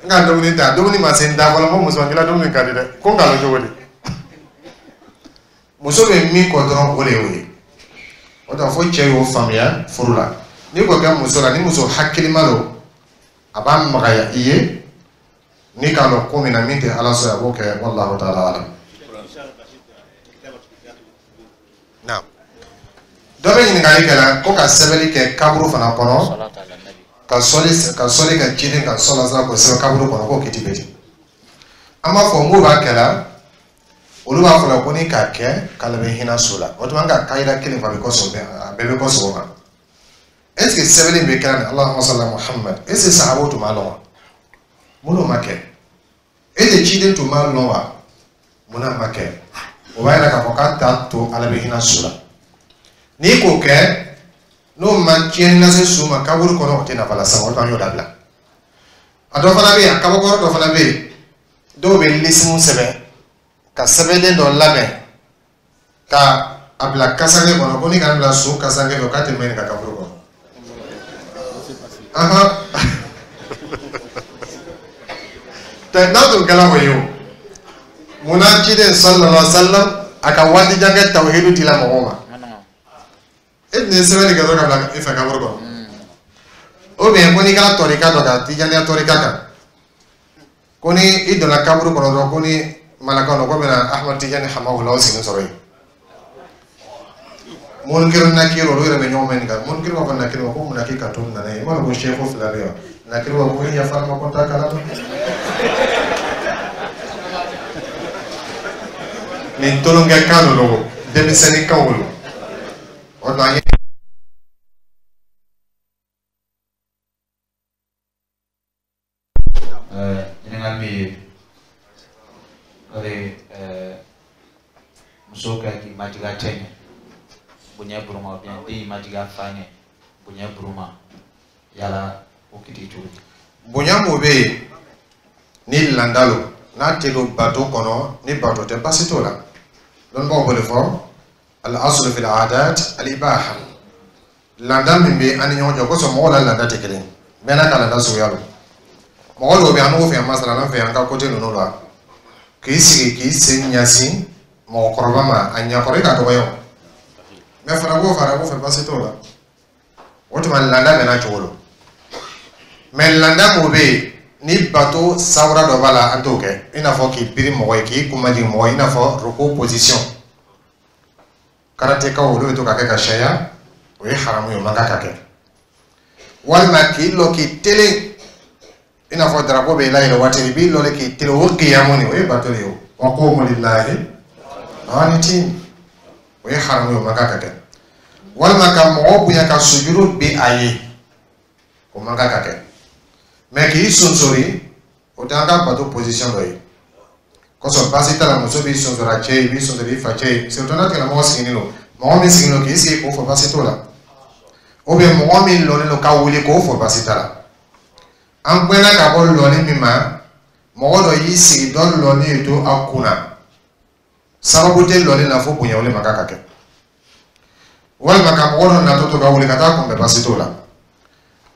n ka dumuni ta, dumuni ma se n da fɔlɔ, n ko muso, n k'i la dumuni ka di dɛ. Ko n k'a lɔn cogo di? Muso bɛ min kɔ dɔrɔn, o de y'o ye. O tɛ fo cɛ y'o faamuya furu la. N'i k'o kɛ muso la, ni muso hakilima don, a b'a magaya i ye n'i k'a lɔn ko min na, min tɛ Ala sɔrɔ, a b'o kɛ. والله تعالى أعلم. Naam, dɔ bɛ ɲininkali kɛ la ko ka sɛbɛnni kɛ kaburu fana kɔnɔ, ka sɔli ka sɔli kɛ ciden kan sɔla sala, k'o sɛbɛn kaburu kɔnɔ, k'o kiti bɛ di? An b'a fɔ mun b'a kɛ la, olu b'a fɔ la ko ni k'a kɛ k'ale bɛ hinɛ so la. O tuma an ka kayira kelen fɔ, a bɛ kɔ sɔgɔ, a bɛɛ bɛ kɔ sɔgɔ ma. Est ce que sɛbɛnni bɛ kɛra ni اللهم صل على محمد, est ce que sahabaw tun b'a lɔn wa? Minnu ma kɛ, e de ciden tun b'a lɔn wa? Munna ma kɛ? O b'a yira k'a fɔ k'a t'a to Ala bɛ hinɛ so la. N'i k'o kɛ, n'o ma tiɲɛni lase su ma kaburu kɔnɔ, o tɛ nafa lase ma. O tuma an y'o dabila. A dɔ fana bɛ yen, a kabakɔrɔ dɔ fana bɛ yen. Dɔw bɛ lisimu sɛbɛn ka sɛbɛnden dɔ labɛn ka a bila kasange kɔnɔ, ko ni k'a bila so kasange fɛ, k'a tɛ mɛn nin ka kaburu kɔnɔ. Ahan, tɛ n'a tun kɛra o ye o, munna ciden sallallahu alaihi wa sallam a ka waati jan kɛ tawhidu dila mɔgɔw ma? E tun ye sɛbɛnni kɛ dɔrɔn ka bila i fɛ kaburu kɔnɔ. Ou bien ko n'i kɛra tɔrika dɔ kan, tijaniya tɔrika kan, ko ni i donna kaburu kɔnɔ dɔrɔn, ko ni malakaw ko bɛna Ahmad Tijani hamahula o sigilen sɔrɔ yen. Munkiru nakiru, olu yɛrɛ bɛ ɲɔgɔn mɛn nin kan. Munkiru b'a fɔ nakiru ma ko mun na k'i ka to nana ye? I m'a dɔn ko sɛko fila bɛ yan. Nakiru b'a fɔ ko yafa ma, ko n t'a kalama. Nin tolonkɛ kan ninnu, denmisɛnnin kanw don. O tuma an ye Ɲininkali min ye o de, muso ka k'i majigin a cɛ ɲɛ bonya buruma, ou bien den y'i majigin a fa ɲɛ bonya buruma, yala o kiti cogo di? Bonya mun bɛ yen ni landa lo, n'a tɛ don bato kɔnɔ, ni bato tɛ, baasi t'o la. Dɔnnibagaw b'o de fɔ, al aslu fil adat al ibaha. Landa min bɛ an ni ɲɔgɔn cɛ, o kosɔn mɔgɔw la landa tɛ kelen ye, bɛɛ n'a ka landa suguya don. Mɔgɔ dɔw bɛ yen, an b'o fɛ yan, masala an fɛ yan, an ka kote ninnu la, k'i sigi k'i sen ɲɛsin mɔgɔkɔrɔba ma, a ɲɛkɔrɔ i ka dɔgɔya o, mɛ fana b'o fɛ, arabu fɛ, baasi t'o la. O tuma landa bɛɛ n'a cogo don. Mɛ landa mun bɛ yen ni bato sawura dɔ b'a la, an t'o kɛ, i n'a fɔ k'i biri mɔgɔ ye, k'i kun majigin mɔgɔ ye, i n'a fɔ roko position. Karatekaw olu bɛ to ka kɛ ka sariya, o ye haramu ye, o man kan ka kɛ. Walima k'i lɔ k'i telen, i n'a fɔ drapeau bɛ layɛlɛ waati, i b'i lɔ de k'i telen, o kiyamu nin, o ye bato de ye o. Wa qumu lillahi qanitin, o ye haramu ye, o man kan ka kɛ. Walima ka mɔgɔ bonya ka sujuru bin a ye, o man kan ka kɛ. Mɛ k'i sonsori, o tɛ an ka bato position dɔ ye. Kosɔn baasi t'a la, muso b'i sonsori a cɛ ye, i b'i sonsori i fa cɛ ye, surtout n'a tigilamɔgɔ sigilen don, mɔgɔ min sigilen don k'i sigi k'o fɔ, baasi t'o la. Ou bien mɔgɔ min lɔlen don ka wuli k'o fɔ, baasi t'a la. An gbɛnna ka bɔ lɔli min ma, mɔgɔ dɔ y'i sigi dɔ lɔli ye to a kunna, sababu tɛ lɔli la fo bonya, o de man kan ka kɛ. Walima ka mɔgɔ dɔ natɔ to ka wuli ka taa kunbɛn, baasi t'o la.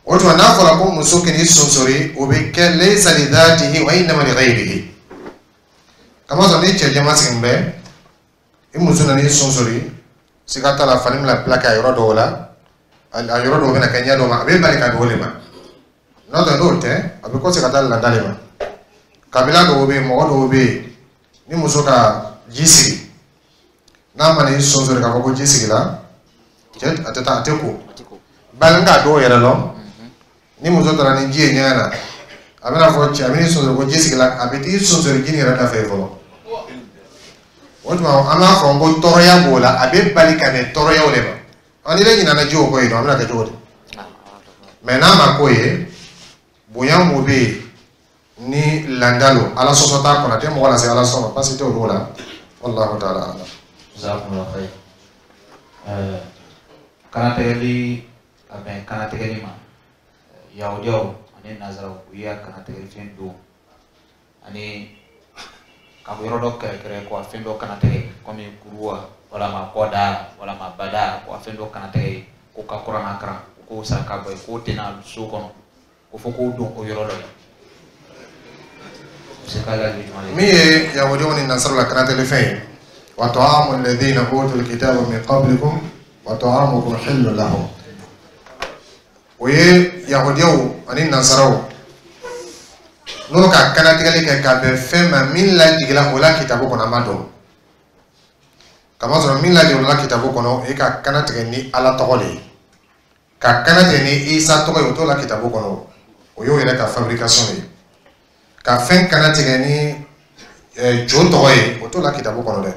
O tuma n'a fɔra ko muso k'i sonsori, o bɛ kɛ laysa li dhatihi wa innama li ghayrihi. Kamasɔrɔ ni cɛ jɛman sigilen bɛ, i muso nana i sonsori, siga t'a la, fani bɛna plaqué a yɔrɔ dɔw la, a yɔrɔ dɔw bɛna kɛ ɲɛ dɔw ma, a bɛ bali ka don o de ma. N'o tɛ, n'o tɛ, a bɛ kɔsegin ka taa lada de ma. Kabila dɔw bɛ yen, mɔgɔ dɔw bɛ yen, ni muso ka ji sigi, n'a ma n'i sonsori k'a fɔ ko ji sigila, cɛ a tɛ taa, a tɛ ko. Bali n k'a dɔw yɛrɛ lɔn, ni muso taara ni ji ye ɲɛgɛn na, a bɛna fɔ cɛ, a bɛ n'i sonsori ko ji sigila, a bɛ t'i sonsori ji nin yɛrɛ da fɛ fɔlɔ. O tuma an b'a fɔ ko tɔɔrɔya b'o la, a bɛ bali ka bɛn tɔɔrɔyaw de ma. Ɔ, n'i bɛ ɲinɛ ji o kɔ yen nɔ, a bɛna kɛ cogo di? Mɛ n'a ma k'o ye, bonya mun bɛ yen ni landa don, ala sɔsɔ t'a kɔnɔ, a tɛ mɔgɔ lase ala sɔsɔ ma, baasi tɛ olu la. Wallahu ta'ala alam. Jazakumullahu khair. Ɛɛ, kanatɛgɛli ka bɛn kanatɛgɛli ma, yahudiyaw ani nazaraw u y'a kanatɛgɛli fɛn don ani ka yɔrɔ dɔ kɛrɛkɛrɛ ko a fɛn dɔ kana tɛgɛ, komi kuruwa walama kɔda walama bada, ko a fɛn dɔ kana tɛgɛ, ko ka kuranna karan, ko saraka bɔ ye, k'o tɛna so kɔnɔ, ko fo k'o don o yɔrɔ dɔ la. Min ye yahudiyaw ni nasaraw la kanatɛli fɛn ye, wa ta'amu alladhina utul kitaba min qablikum wa ta'amukum hillun lahum, o ye yahudiyaw ani nasaraw n'olu ka kanatigɛli kɛ ka bɛn fɛn ma min lajigila o la kitabu kɔnɔ, an b'a dɔn. Kamasɔrɔ min lajigila o la kitabu kɔnɔ, e ka kanatigɛ ni Ala tɔgɔ de ye, ka kanatigɛ ni Isa tɔgɔ ye, o t'o la kitabu kɔnɔ, o y'o yɛrɛ ka fabrication ye. Ka fɛn kanatigɛ ni jo tɔgɔ ye, o t'o la kitabu kɔnɔ dɛ.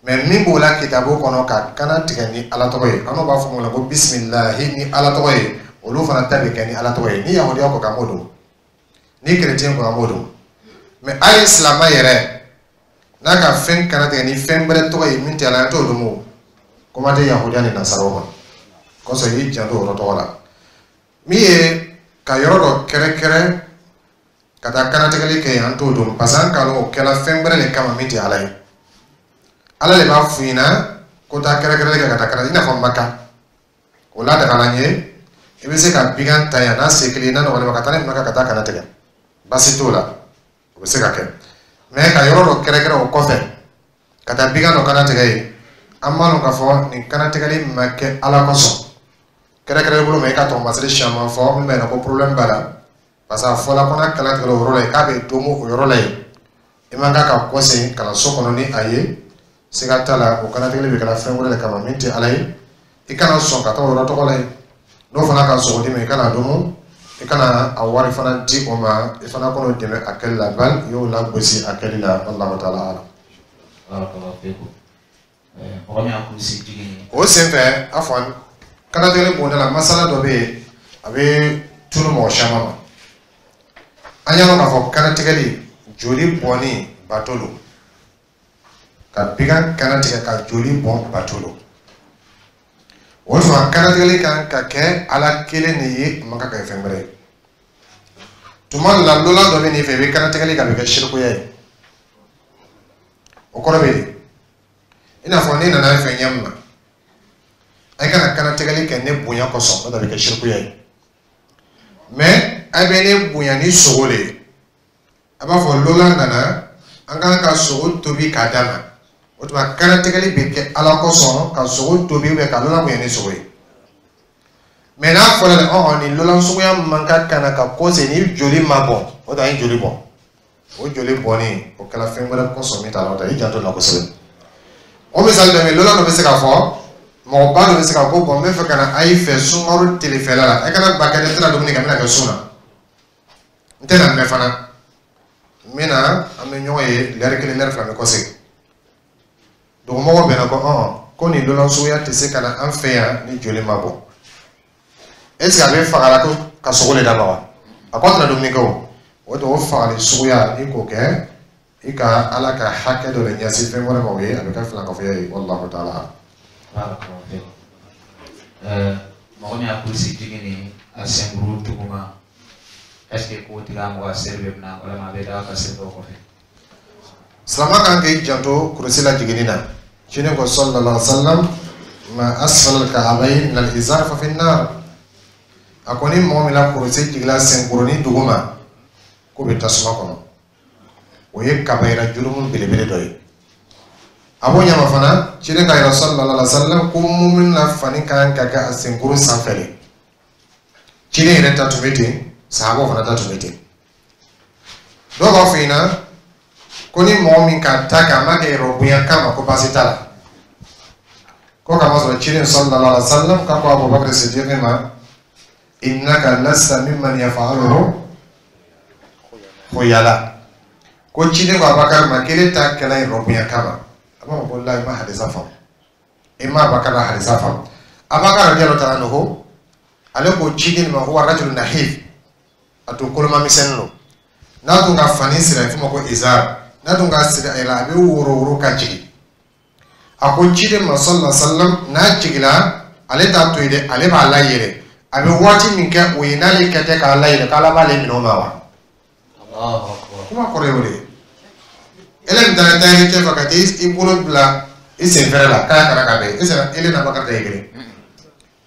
Mɛ min b'o la kitabu kɔnɔ, ka kanatigɛ ni Ala tɔgɔ ye, an b'a fɔ o ma ko bisimilahi ni Ala tɔgɔ ye, olu fana ta bɛ kɛ ni Ala tɔgɔ ye. Ni yahudiya ko k'an b'o dɔn, ni chrétien ko an b'o dɔn, mɛ hali silamɛ yɛrɛ n'a ka fɛn kana tigɛ ni fɛn wɛrɛ tɔgɔ ye min tɛ Ala ye, an t'o dɔn o. Kuma tɛ yahudiya ni nasaraw ma. Kosɔn i y'i janto o yɔrɔ tɔgɔ la. Min ye ka yɔrɔ dɔ kɛrɛkɛrɛ Ka taa kanatigɛli kɛ yen, an t'o dɔn, parce que an k'a lɔn o kɛla fɛn wɛrɛ de kama min tɛ Ala ye. Ala de b'a f'u ɲɛna ko taa kɛrɛnkɛrɛnli kɛ ka taa kana, i n'a fɔ Maka o ladagala n ye, i bɛ se ka bigan ta yan n'a se kelen n'a nɔgɔlen ma ka taa ni Maka ka taa kana tigɛ, baasi t'o la, o bɛ se ka kɛ. Mais ka yɔrɔ dɔ kɛrɛnkɛrɛn o kɔfɛ ka taa bigan dɔ kana tigɛ yen, an b'a dɔn k'a fɔ nin kanatigɛli ma kɛ Ala kosɔn. Kɛrɛnkɛrɛn bolo ma, i ka tɔgɔmasiri caman fɔ min b'a yira ko problème b'a la, parce que a fɔla ko n'a kalan tigɛla o yɔrɔ la yen, k'a bɛ domo o yɔrɔ la yen, i man kan ka kɔsegin kalanso kɔnɔ ni a ye. Siga t'a la, o kanatigɛli bɛ kɛla fɛn wɛrɛ de kama min tɛ Ala ye. I kana sɔn ka taa o yɔrɔ tɔgɔ la yen. N'o fana ka sogo d'i ma, i kana domo, i kana a wari fana di o ma, i fana k'o dɛmɛ a kɛli la, bali i y'o lagosi a kɛli la. Wallahu taala alam. Barakallahu fikum. Mɔgɔ min y'a kurusi jigin. O senfɛ, afwan, kanatigɛli bonda la, masala dɔ bɛ yen, a bɛ tunu mɔgɔ caman ma. An y'a dɔn k'a fɔ kanatigɛli, joli bɔnni bato don. Ka bigan kana tigɛ ka joli bɔn, bato don. O tuma kanatigɛli kan ka kɛ Ala kelen de ye, a man kan ka kɛ fɛn wɛrɛ ye. Tuma dɔ la, lola dɔ bɛ n'i fɛ, i bɛ kanatigɛli kɛ, a bɛ kɛ sirikuya ye. O kɔrɔ bɛ di? I n'a fɔ n'i nana n fɛ ɲɛ min na, a kana kanatigɛli kɛ ne bonya kosɔn, n'o tɛ a bɛ kɛ sirikuya ye. Mais a bɛ ne bonya ni sogo de ye. A b'a fɔ lola nana, an kan ka sogo tobi k'a d'a ma. O tuma kanatigɛli bɛ kɛ Ala kosɔn, ka sogo tobi ka lola bonya ni sogo ye. Mais n'a fɔra de ɔn nin lola suguya man kan ka na ka kɔse ni joli ma bɔn, o tuma an ye joli bɔn. O joli bɔnni, o kɛra fɛn wɛrɛ kosɔn min t'a la. O tɛ i janto la kosɛbɛ. O misali dɔ bɛ yen, lola dɔ bɛ se k'a fɔ, mɔgɔba dɔ bɛ se ka ko bɔn, n bɛ fɛ ka na a y'i fɛ sunkalo telefɛla la, e kana ba kɛ ne tɛna dumuni kɛ, n bɛna kɛ sun na, n tɛna mɛn fana, n bɛna, an bɛ ɲɔgɔn ye lɛri kelen, lɛri fila, n bɛ kɔsegin. Dugumɔgɔw bɛnna ko ɔn ko nin lola suguya tɛ se ka na an fɛ yan ni joli ma bɔ. Est ce que a bɛ fagala ko ka sogo de d'a ma wa? A ko a tɛna dumuni kɛ. O o tɛ o fagali suguya, n'i k'o kɛ, i ka Ala ka hakɛ dɔ de ɲɛsin fɛn wɛrɛ ma, o ye a bɛ kɛ filankafoya ye. Wallahu taala. Barakallahu fikum. Mɔgɔ min y'a kurusi jigin ni a senkuru duguma, est ce que k'o tigi mɔgɔ a seli bɛ minɛ walima a bɛ da ka seli dɔw kɔfɛ? Silama kan k'i janto kurusi la jiginni na. Ciden ko sallallahu alaihi wa sallam: ma asfala al-ka'bayn min al-izar fa fi an-nar. A ko ni mɔgɔ min la kurusi jigila senkurunin duguma, k'o bɛ tasuma kɔnɔ. O ye kabayira jurumu belebele dɔ ye. A b'o ɲama fana, ciden ka yira sallallahu alaihi wa sallam ko mumin na fani kan ka kɛ a senkuru sanfɛ de. Ciden yɛrɛ ta tun bɛ ten, sahabaw fana ta tun bɛ ten. Dɔw b'a fɔ ɲɛna ko ni mɔgɔ min ka ta kɛ, a ma kɛ yɛrɛ bonya kama, ko baasi t'a la, ko k'a masɔrɔ ciden sallallahu alaihi wa sallam k'a ko Abubakar Siddiq ma: innaka lasta mimman yaf'aluhu khuyala. Ko ciden ko Abubakar ma k'ele ta kɛla yɛrɛ bonya kama. A b'a fɔ ko la, i ma hadisa faamu, i ma Abubakar la hadisa faamu. Abubakar radiyallahu ta'ala anhu, ale ko ciden ma huwa rajulun nahif, a to koloma misɛnnin don. N'a tun ka fani siri, a bɛ f'o ma ko izar, n'a tun ka siri a yɛrɛ la, a bɛ woro woro ka jigin. A ko ciden ma sallallahu alaihi wa sallam, n'a jigila, ale t'a to yen dɛ, ale b'a layɛlɛ. A bɛ waati min kɛ o ye, n'ale kɛ tɛ k'a layɛlɛ, k'Ala b'ale minɛ o ma wa? Allahu akbar. Kuma kɔrɔ ye o de ye. Ele min taara tayɛri cɛ fɛ ka t'i bolo bila i sen fɛrɛ la k'a kana ka bɛn, e sera ele n'Abakar ta ye kelen.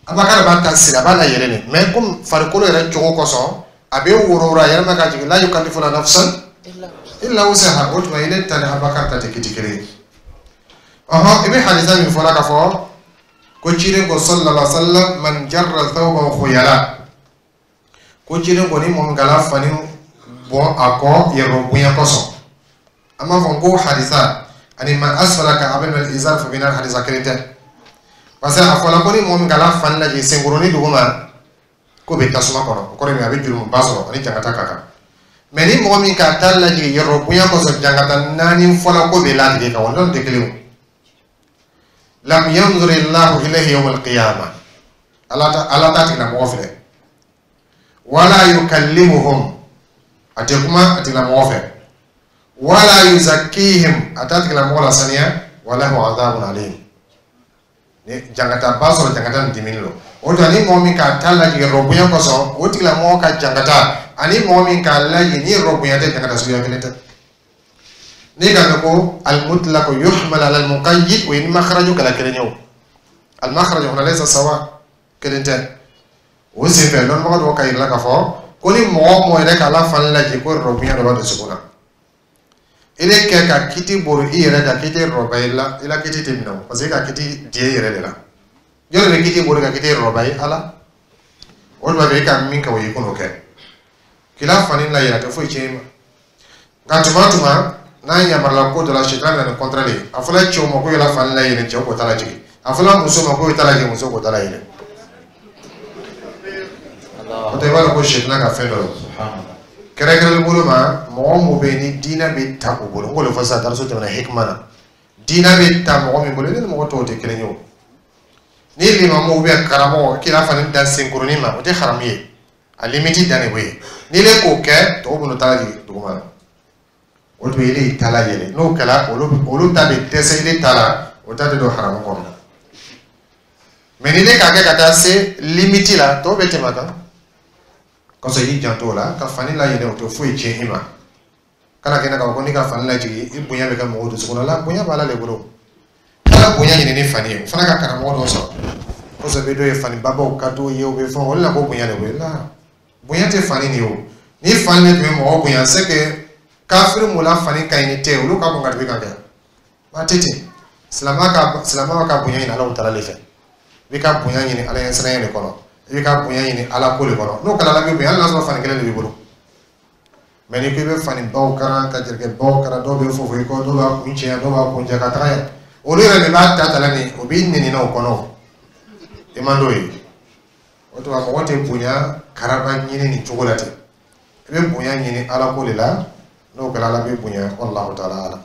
Abakar b'a ta siri, a b'a layɛlɛ de, mais comme farikolo yɛrɛ cogo kosɔn, a bɛ woro woro a yɛrɛ ma ka jigin. La yukallifu nafsan illa wusaha. O tuma ile ta ni Abakar ta tɛ kiti kelen ye. Ɔhɔn, i bɛ hadisa min fɔla k'a fɔ ko ciden ko sallallahu alaihi wa sallam: man jarra thawbahu khuyala. Ko ciden ko ni mɔgɔ min kala fani bɔn a kɔ yɛrɛ bonya kosɔn, an b'a fɔ ko hadisa ani man asfala ka'bayn min al-izar fa fi nar, hadisa kelen tɛ, parce que a fɔla ko ni mɔgɔ min kala fani lajigin senkurunin duguma, k'o bɛ tasuma kɔnɔ. O kɔrɔ ye min, a bɛ jurumuba sɔrɔ, ani jangata ka kan. Mais ni mɔgɔ min ka ta lajigin yɔrɔ bonya kosɔn, jangata naani fɔla ko bɛ latigɛ kan, o n'olu tɛ kelen. O lam yanzur illahu ilayhi yawm al-qiyamah, ala ta ala t'a tigilamɔgɔ filɛ, wala yukallimuhum, a tɛ kuma a tigilamɔgɔ fɛ, wala yuzakkihim, a t'a tigilamɔgɔ lasaniya, walahu adhabun alim. Ni jangata ba sɔrɔ, jangata nin dimini lo. O tuma ni mɔgɔ min k'a ta lajigin yɔrɔ bonya kosɔn, o tigilamɔgɔ ka jangata Ani mɔgɔ min k'a lajɛ ni yɛrɛ bonya tɛ jangata suguya kelen tɛ. N'i ka mɛn ko al-mutlaq yuhmal ala al-muqayyid, o ye ni makharaju kɛla kelen ye. O al-makharaju huna laysa sawa, kelen tɛ. O senfɛ, lɔnnibaga dɔw ka yira la k'a fɔ ko ni mɔgɔ o mɔgɔ yɛrɛ k'a la fani lajɛ, ko yɛrɛ bonya dɔ b'a dusukun na, i de kɛ ka kiti boro i yɛrɛ kan k'i tɛ rɔba i la, i la kiti tɛ minɛ o, parce que e ka kiti di e yɛrɛ de la. Jɔn de bɛ kiti boro ka kiti rɔba ye? Ala. O de b'a fɛ e ka min kɛ, o ye i k'o kɛ k'i la fani la yɛrɛ, a tɛ foyi tiɲɛ i ma. Nka tuma o tuma n'a yamarula ko dɔ la, sitana bɛ na ni contraire ye. A fɔla cɛw ma ko yala fani la yɛlɛ, cɛw k'o ta lajigin. A fɔla muso ma ko i ta lajigin, muso k'o ta la yɛlɛ. O tɛ, i b'a dɔn ko sitana ka fɛn dɔ ye. Kɛrɛnkɛrɛnlen bolo ma, mɔgɔ mun bɛ yen ni diinɛ bɛ ta o bolo, n k'o de fɔ sisan dariso tɛmɛna hikima na, diinɛ bɛ ta mɔgɔ min bolo, ne ni mɔgɔ tɔw tɛ kelen ye. O ni limamu bɛ karamɔgɔ k'i la fani da senkurunin ma, o tɛ haramu ye, a limite dan de bɛ yen. N'i le k'o kɛ, tɔw b'o ta lajigin duguma na, o tun ye ile ta la yɛlɛ. N'o kɛra, olu olu ta bɛ dɛsɛ ile ta la, o ta tɛ don haramu kɔnɔ. Mɛ ni ne k'a kɛ ka taa se limite la, tɔw bɛ tɛmɛ a kan. Kɔsɔn i y'i janto o la ka fani layɛlɛ, o tɛ foyi tiɲɛ i ma. Kana kɛnɛ k'a fɔ ko n'i ka fani lajigin, i bonya bɛ kɛ mɔgɔw dusukun na. Bonya b'Ala de bolo. Ala bonya ɲini ni fani ye, o fana ka karamɔgɔ dɔ sɔrɔ. Kɔsɔn bɛ dɔw ye fani babaw ka d'u ye, u bɛ fɛn olu la ko bonya de b'o la. Bonya tɛ fani de ye o. Ni fani de tun bɛ mɔgɔ bonya, c'est que kafiri mun la fani ka ɲi ni tɛ, olu ka bon ka tɛmɛ kan kɛ. Ba tɛ ten. Silamɛ ka silamɛ ka bonya ɲini Ala taala de fɛ. I bɛ ka bonya ɲini Ala ɲɛsiranya de kɔnɔ. I bɛ ka bonya ɲini Ala ko de kɔnɔ. N'o kɛra, Ala bɛ bonya, hali n'a sɔrɔ fani kelen de b'i bolo. Mɛ n'i ko i bɛ fani baw karan ka jelikɛ baw karan, dɔw bɛ fofo i kɔ, dɔw b'a kun cɛya, dɔw b'a kun jɛ ka taga yan. Olu yɛrɛ de b'a ta ta la nin, o b'i nɛni na o kɔnɔ. I man d'o ye. O tuma mɔgɔ tɛ bonya karaba ɲini nin cogo la ten. I bɛ bonya ɲini Ala ko de la, n'o kɛra, Ala bɛ bonya. Wallahu ta'ala alam.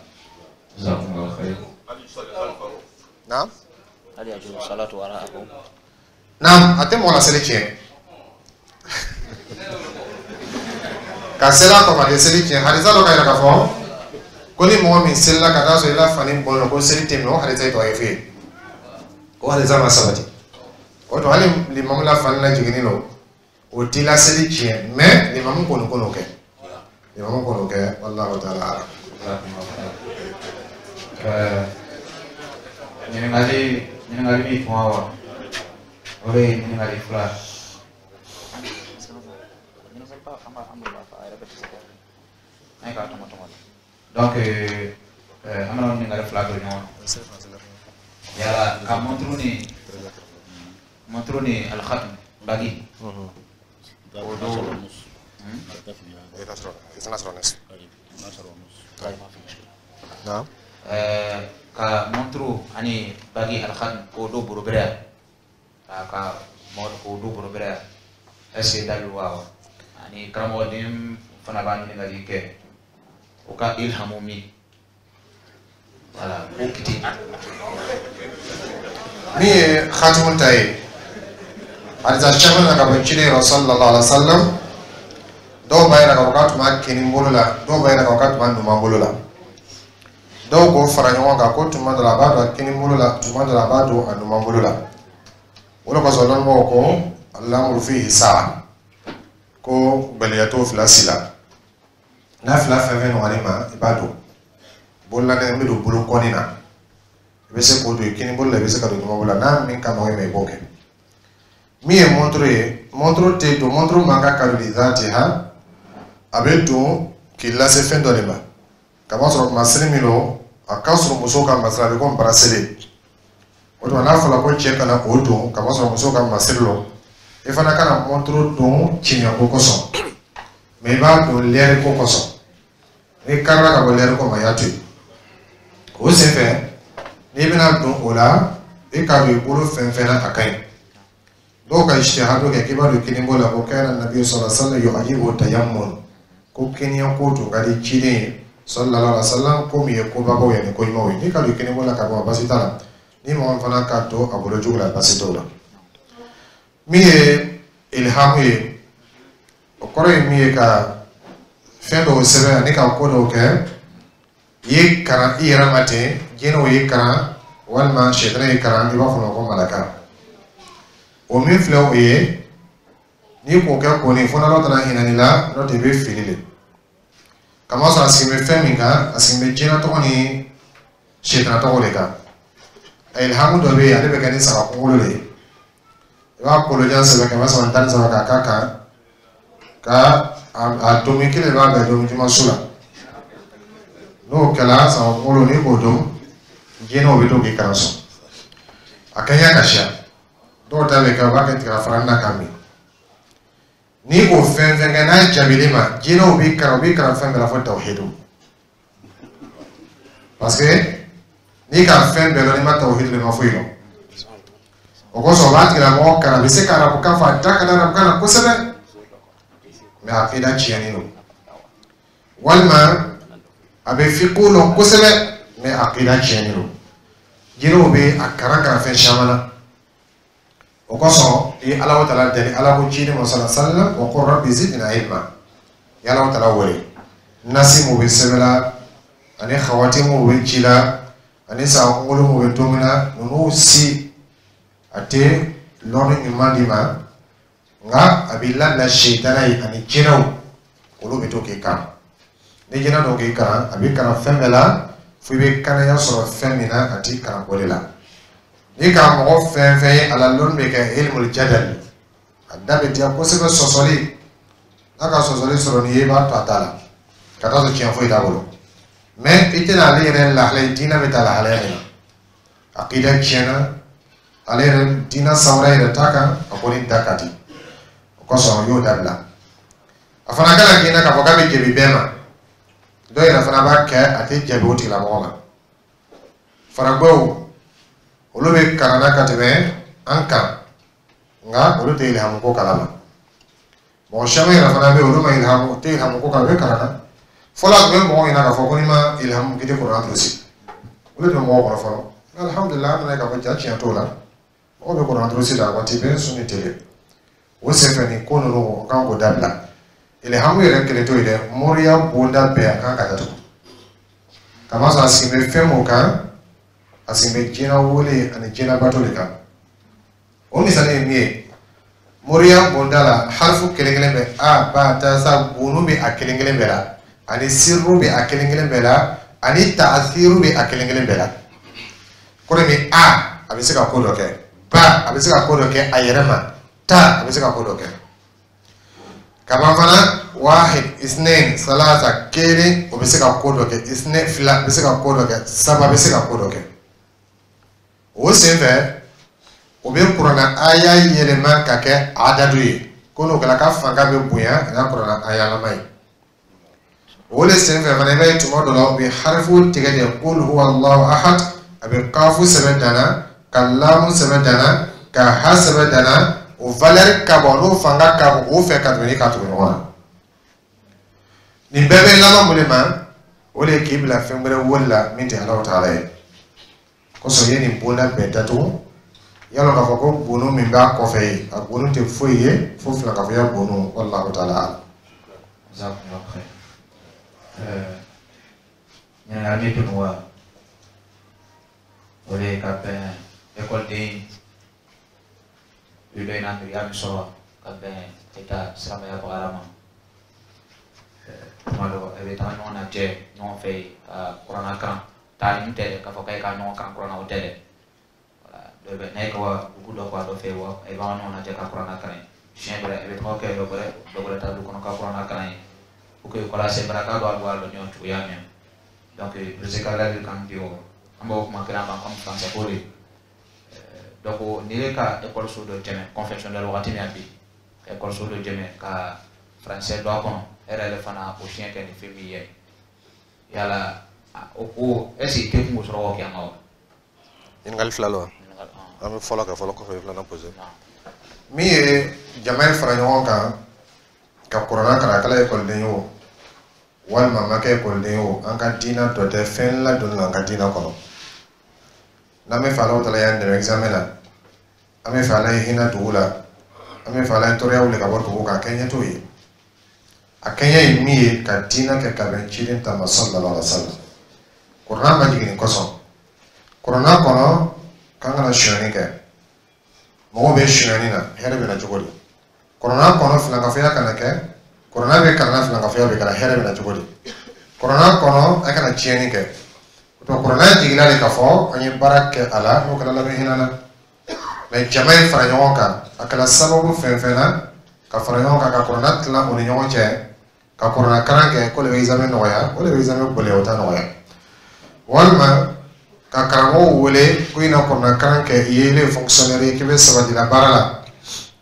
Jazakumullahu khair. Naam. هل يجوز الصلاة وراءه؟ Naam, a tɛ mɔgɔ la seli tiɲɛ. Ka seli a kɔfɛ, a tɛ seli tiɲɛ. Hadisa dɔ ka yira k'a fɔ ko ni mɔgɔ min selila ka taa sɔrɔ i la fani bɔlen, ko seli tɛ minɛ, o hadisa ye dɔgɔye f'e ye. O hadisa ma sabati. O tuma hali limamu la fani lajiginni don, o t'i la seli tiɲɛ, mɛ limamu kɔni ko n'o kɛ. Limamu kɔni kɛ, wallahu ta'ala alam. Jazakumullahu khair. Ɛɛ, ɲininkali ɲininkali min tun wa, o de ye ɲininkali fila. An ye k'a tɔmɔ tɔmɔ de. Donc euh, an bɛna ɲininkali fila don ɲɔgɔn na. Yala ka montre ni montre ni alkhatm bague o dɔw. Naam. Ɛɛ, ka montre ani bague alkhatm k'o don borobɛrɛ yan, ka ka mɔgɔ k'o don borobɛrɛ yan, est ce que dalilu b'a wa? Ani karamɔgɔden fana b'a ɲininkali kɛ, o ka ilhamu min, voilà, k'o kiti. Min ye khatimu ta ye, hadisa caman na ka bɔ ciden yɔrɔ sallallahu alaihi wa sallam, dɔw b'a yira k'a fɔ k'a tun b'a kinin bolo la, dɔw b'a yira k'a fɔ k'a tun b'a numan bolo la. Dɔw k'o fara ɲɔgɔn kan ko tuma dɔ la a b'a don a kinin bolo la, tuma dɔ la a b'a don a numan bolo la. O de kosɔn dɔnnibagaw ko alamuru fihi saa, ko gbɛlɛya t'o fila si la. N'a fila fɛn fɛn nɔgɔlen ma, i b'a don bololanɛgɛ bɛ don bolo kɔni na, i bɛ se k'o don i kinin bolo la, i bɛ se ka don numan bolo la. N'a min ka nɔgɔn i ma, i b'o kɛ. Min ye montre ye, montre tɛ don, montre man kan ka don ha, a bɛ don k'i lase fɛn dɔ de ma. Kamasɔrɔ masiri min don, a ka sɔrɔ musow ka masiri, a bɛ komi bracelet. O tuma n'a fɔra ko cɛ kana o don, kamasɔrɔ musow ka masiri don, i fana kana montre don tiɲɛko kosɔn, mɛ i b'a don lɛri ko kosɔn. N'i karila ka bɔ lɛri ko ma, i y'a to yen. O senfɛ, n'i bɛna don o la, i k'a don i bolo fɛn fɛn na, a ka ɲi. Dɔw ka ijtihadu kɛ k'i b'a don kini bolo la, ko kana nabi sallallahu alaihi wasallam yu'ajibu tayammun, ko kiniya ko tun ka di ciden ye sallallahu alaihi wasallam, ko min ye kobabaw ye ani ko ɲumanw ye. N'i ka don kini bolo la ka bɔ, basi t'a la. Ni mɔgɔ min fana ka to a bolo jugu la, basi t'o la. Min ye ilhamu ye, o kɔrɔ ye min ye, ka fɛn dɔw sɛbɛn ani ka ko dɔw kɛ, i ye karan i yɛrɛ ma ten, jinɛw ye karan walima sɛtanɛ ye karan, i b'a fɔ o ma ko malaka. O min filɛ, o ye N'i k'o kɛ kɔni, fo n'Ala taara hinɛ i la, n'o tɛ i bɛ fili de. Kamasɔrɔ a sigi bɛ fɛn min kan, a sigi bɛ jinɛ tɔgɔ ni sitana tɔgɔ de kan. Ilhamu dɔ bɛ yen, ale bɛ kɛ ni saga kunkolo de ye. I b'a kolojan sɛbɛn kɛmɛ saba ni tan ni saba k'a k'a kan, ka a domi kelen b'a bɛn domi juma su la. N'o kɛra, saga kunkolo, n'i k'o dun, jinɛw bɛ to k'i kalan sɔn. A kɛɲɛ ka siya dɔw ta bɛ kɛ, u b'a kɛ tiga fara na k'a min. N'i k'o fɛn fɛn kɛ, n'a jaabilen ma, jinɛw b'i kalan, u b'i kalan fɛn bɛɛ la fo tawhidu, parce que n'i ka fɛn bɛɛ lɔn, n'i ma tawhidu, i ma foyi lɔn. O kosɔn, o b'a tigilamɔgɔ kalan, a bɛ se ka arabukan fɔ, a da ka di arabukan na kosɛbɛ, mais akida tiɲɛnen don. Walima a bɛ fiqhu lɔn kosɛbɛ, mais akida tiɲɛnen don. Jinɛw bɛ a karan karan fɛn caman na. O kosɔn, i ye Ala taala deli, Ala ko ciden ma sala sallam: wa qul rabbi zidna ilma. I ye Ala taala wele. Nasi mun bɛ sɛbɛn la, ani xawati mun bɛ ci la, ani saga kunkolo mun bɛ don min na, ninnu si a tɛ lɔnni ɲuman d'i ma, nka a b'i labila sitana ye ani jinɛw, olu bɛ to k'i kalan. Ni jinɛ dɔw k'i kalan, a b'i kalan fɛn bɛɛ la fo i bɛ kanaya sɔrɔ fɛn min na, a t'i kalan o de la. Ni ka mɔgɔ fɛn fɛn ye, a la lɔnni bɛ kɛ ilmul jadal, a da bɛ diya kosɛbɛ, sɔsɔli n'a ka sɔsɔli sɔrɔ n'i ye, i b'a to a ta la ka taa sɔrɔ tiɲɛ foyi t'a bolo. Mais i tɛna ale yɛrɛ lahala ye, diinɛ bɛ taa lahalaya min na, akida tiɲɛna, ale yɛrɛ diinɛ sawura yɛrɛ t'a kan, a kɔni da ka di. O kosɔn, o y'o dabila. A fana kana k'i na k'a fɔ k'a bɛ jaabi bɛɛ ma. Dɔw yɛrɛ fana b'a kɛ, a tɛ jaabi o tigilamɔgɔ ma. Faragwɛw, olu bɛ kalan na ka tɛmɛ an kan, nka olu tɛ ilhamu ko kalama. Mɔgɔ caman yɛrɛ fana bɛ yen, olu ma ilhamu, tɛ ilhamu ko kalama, u bɛ kalan na. Fɔlɔ, a tun bɛ mɔgɔw ɲɛna k'a fɔ ko n'i ma ilhamu, k'i tɛ kuranɛ durusi. Olu tun bɛ mɔgɔw kɔnɔ fɔlɔ. Alhamdulilah, an nana ye k'a fɔ ja tiɲɛ t'o la. Mɔgɔw bɛ kuranɛ durusi la waati bɛɛ, sun ni tele. O senfɛ, nin ko ninnu, o kan k'o dabila. Ilhamu yɛrɛ kelen t'o ye dɛ, moriya bonda bɛɛ a kan ka datugu. Kamasɔrɔ a sigi bɛ fɛn mun kan, a sigi bɛ jinɛ wele ani jinɛ bato de kan. O misali ye min ye, moriya bonda la, harifu kelen kelen bɛ a ba ta sa, gunu bɛ a kelen kelen bɛɛ la, ani sirru bɛ a kelen kelen bɛɛ la, ani taasiru bɛ a kelen kelen bɛɛ la. Kɔrɔ min, a a bɛ se ka ko dɔ kɛ, ba a bɛ se ka ko dɔ kɛ a yɛrɛ ma, ta a bɛ se ka ko dɔ kɛ. Kaban fana, wahid, isnain, salasa, kelen, o bɛ se ka ko dɔ kɛ, isnain, fila bɛ se ka ko dɔ kɛ, saba bɛ se ka ko dɔ kɛ. O senfɛ, o bɛ kuranna aya yɛlɛma ka kɛ adadu ye, ko n'o kɛra, ka fanga bɛ bonya a n'a kuranna ayalama ye. O de senfɛ fana, i b'a ye tuma dɔ la, u bɛ harifu tigɛ de: qul huwa Allahu ahad. A bɛ kafu sɛbɛn danna, ka lamu sɛbɛn danna, ka ha sɛbɛn danna. O valeur ka bon, n'o fanga ka bon o fɛ ka tɛmɛ ni ka tugu ɲɔgɔn na. Nin bɛɛ bɛ laban mun de ma? O de ye k'i bila fɛn wɛrɛ wari la min tɛ Alahu taala ye. Kosɔn, i ye nin bonda bɛɛ datugu. Yalɔ k'a fɔ ko bonu min b'a kɔfɛ ye, a bonu tɛ foyi ye fo filankafoya bonu. Wallahu taala alam. Jazakumullahu khair. Ɲininkali min tun wa, o de ye ka bɛn ekɔliden dɔ in na, miiriya min sɔrɔ ka bɛn e ta silamɛya bagara ma. Tuma dɔ, e bɛ taga ɲɔgɔn lajɛ ɲɔgɔn fɛ yen ka kuranna kalan. Taalim tɛ dɛ, k'a fɔ k'e ka ɲɔgɔn kalan kuranna, o tɛ dɛ. Dɔ bɛ n'a ye ka dugu dɔ kɔ a dɔ fɛ yen wa, i b'a ɲɔgɔn lajɛ ka kuranna kalan yen. Siɲɛ dɔ la, i bɛ taga kɛ dɔ wɛrɛ, dɔ wɛrɛ ta du kɔnɔ ka kuranna kalan yen pour que kɔlɔsi baraka dɔ a bɔ a lɔ ɲɔgɔn cogoya min. Donc président ka ladilikan di o, an b'o kuma kelen kan comme français ko de. Donc n'i ye ka ekɔliso dɔ jɛmɛ confessionnel wagati min na bi, ka ekɔliso dɔ jɛmɛ ka français don a kɔnɔ, e yɛrɛ yɛrɛ fana o siɲɛ kɛ ni fɛn min ye, yala o ko est ce que i tɛ kungo sɔrɔ k'o kɛ an ka wa? Ɲininkali fila lo wa? An bɛ fɔlɔ kɛ fɔlɔ, kɔfɛ filanan posé. Min ye jama ye fara ɲɔgɔn kan ka kuranna kalan, a kɛla ekɔliden ye o, walima a ma kɛ ekɔliden ye o, an ka diinɛ dɔ tɛ, fɛn ladonni la an ka diinɛ kɔnɔ. N'an bɛ fɛ Alahu taala y'an dɛmɛ examen na, an bɛ fɛ Ala ye hinɛ dugu la, an bɛ fɛ Ala ye tɔɔrɔya wuli ka bɔ dugu kan, a kɛɲɛ t'o ye. A kɛɲɛ ye min ye, ka diinɛ kɛ ka bɛn ciden ta ma sallallahu alaihi wa sallam. Kuranna ma jigin nin kosɔn. Kuranna kɔnɔ k'an kana sonyani kɛ. Mɔgɔw bɛ sonyani na, hɛrɛ bɛ na cogo di? Kuranna kɔnɔ filankafoya kana kɛ. Kuranna bɛ kalan na, filankafoya bɛ kalan, hɛrɛ bɛ na cogo di? Kuranna kɔnɔ, a kana tiɲɛni kɛ. O tuma, kuranna jiginna de k'a fɔ an ye baara kɛ a la, n'o kɛra, labɛn hinɛ na. Mɛ jama ye fara ɲɔgɔn kan, a kɛra sababu fɛn fɛn na ka fara ɲɔgɔn kan ka kuranna tilan o ni ɲɔgɔn cɛ, ka kuranna kalan kɛ, ko de bɛ examen nɔgɔya, o de bɛ examen gɛlɛya, o t'a nɔgɔya. Walima ka karamɔgɔw wele ko i na kuranna kalan kɛ, i ye, ile ye fonctionnaire ye, k'i bɛ sabati la baara la,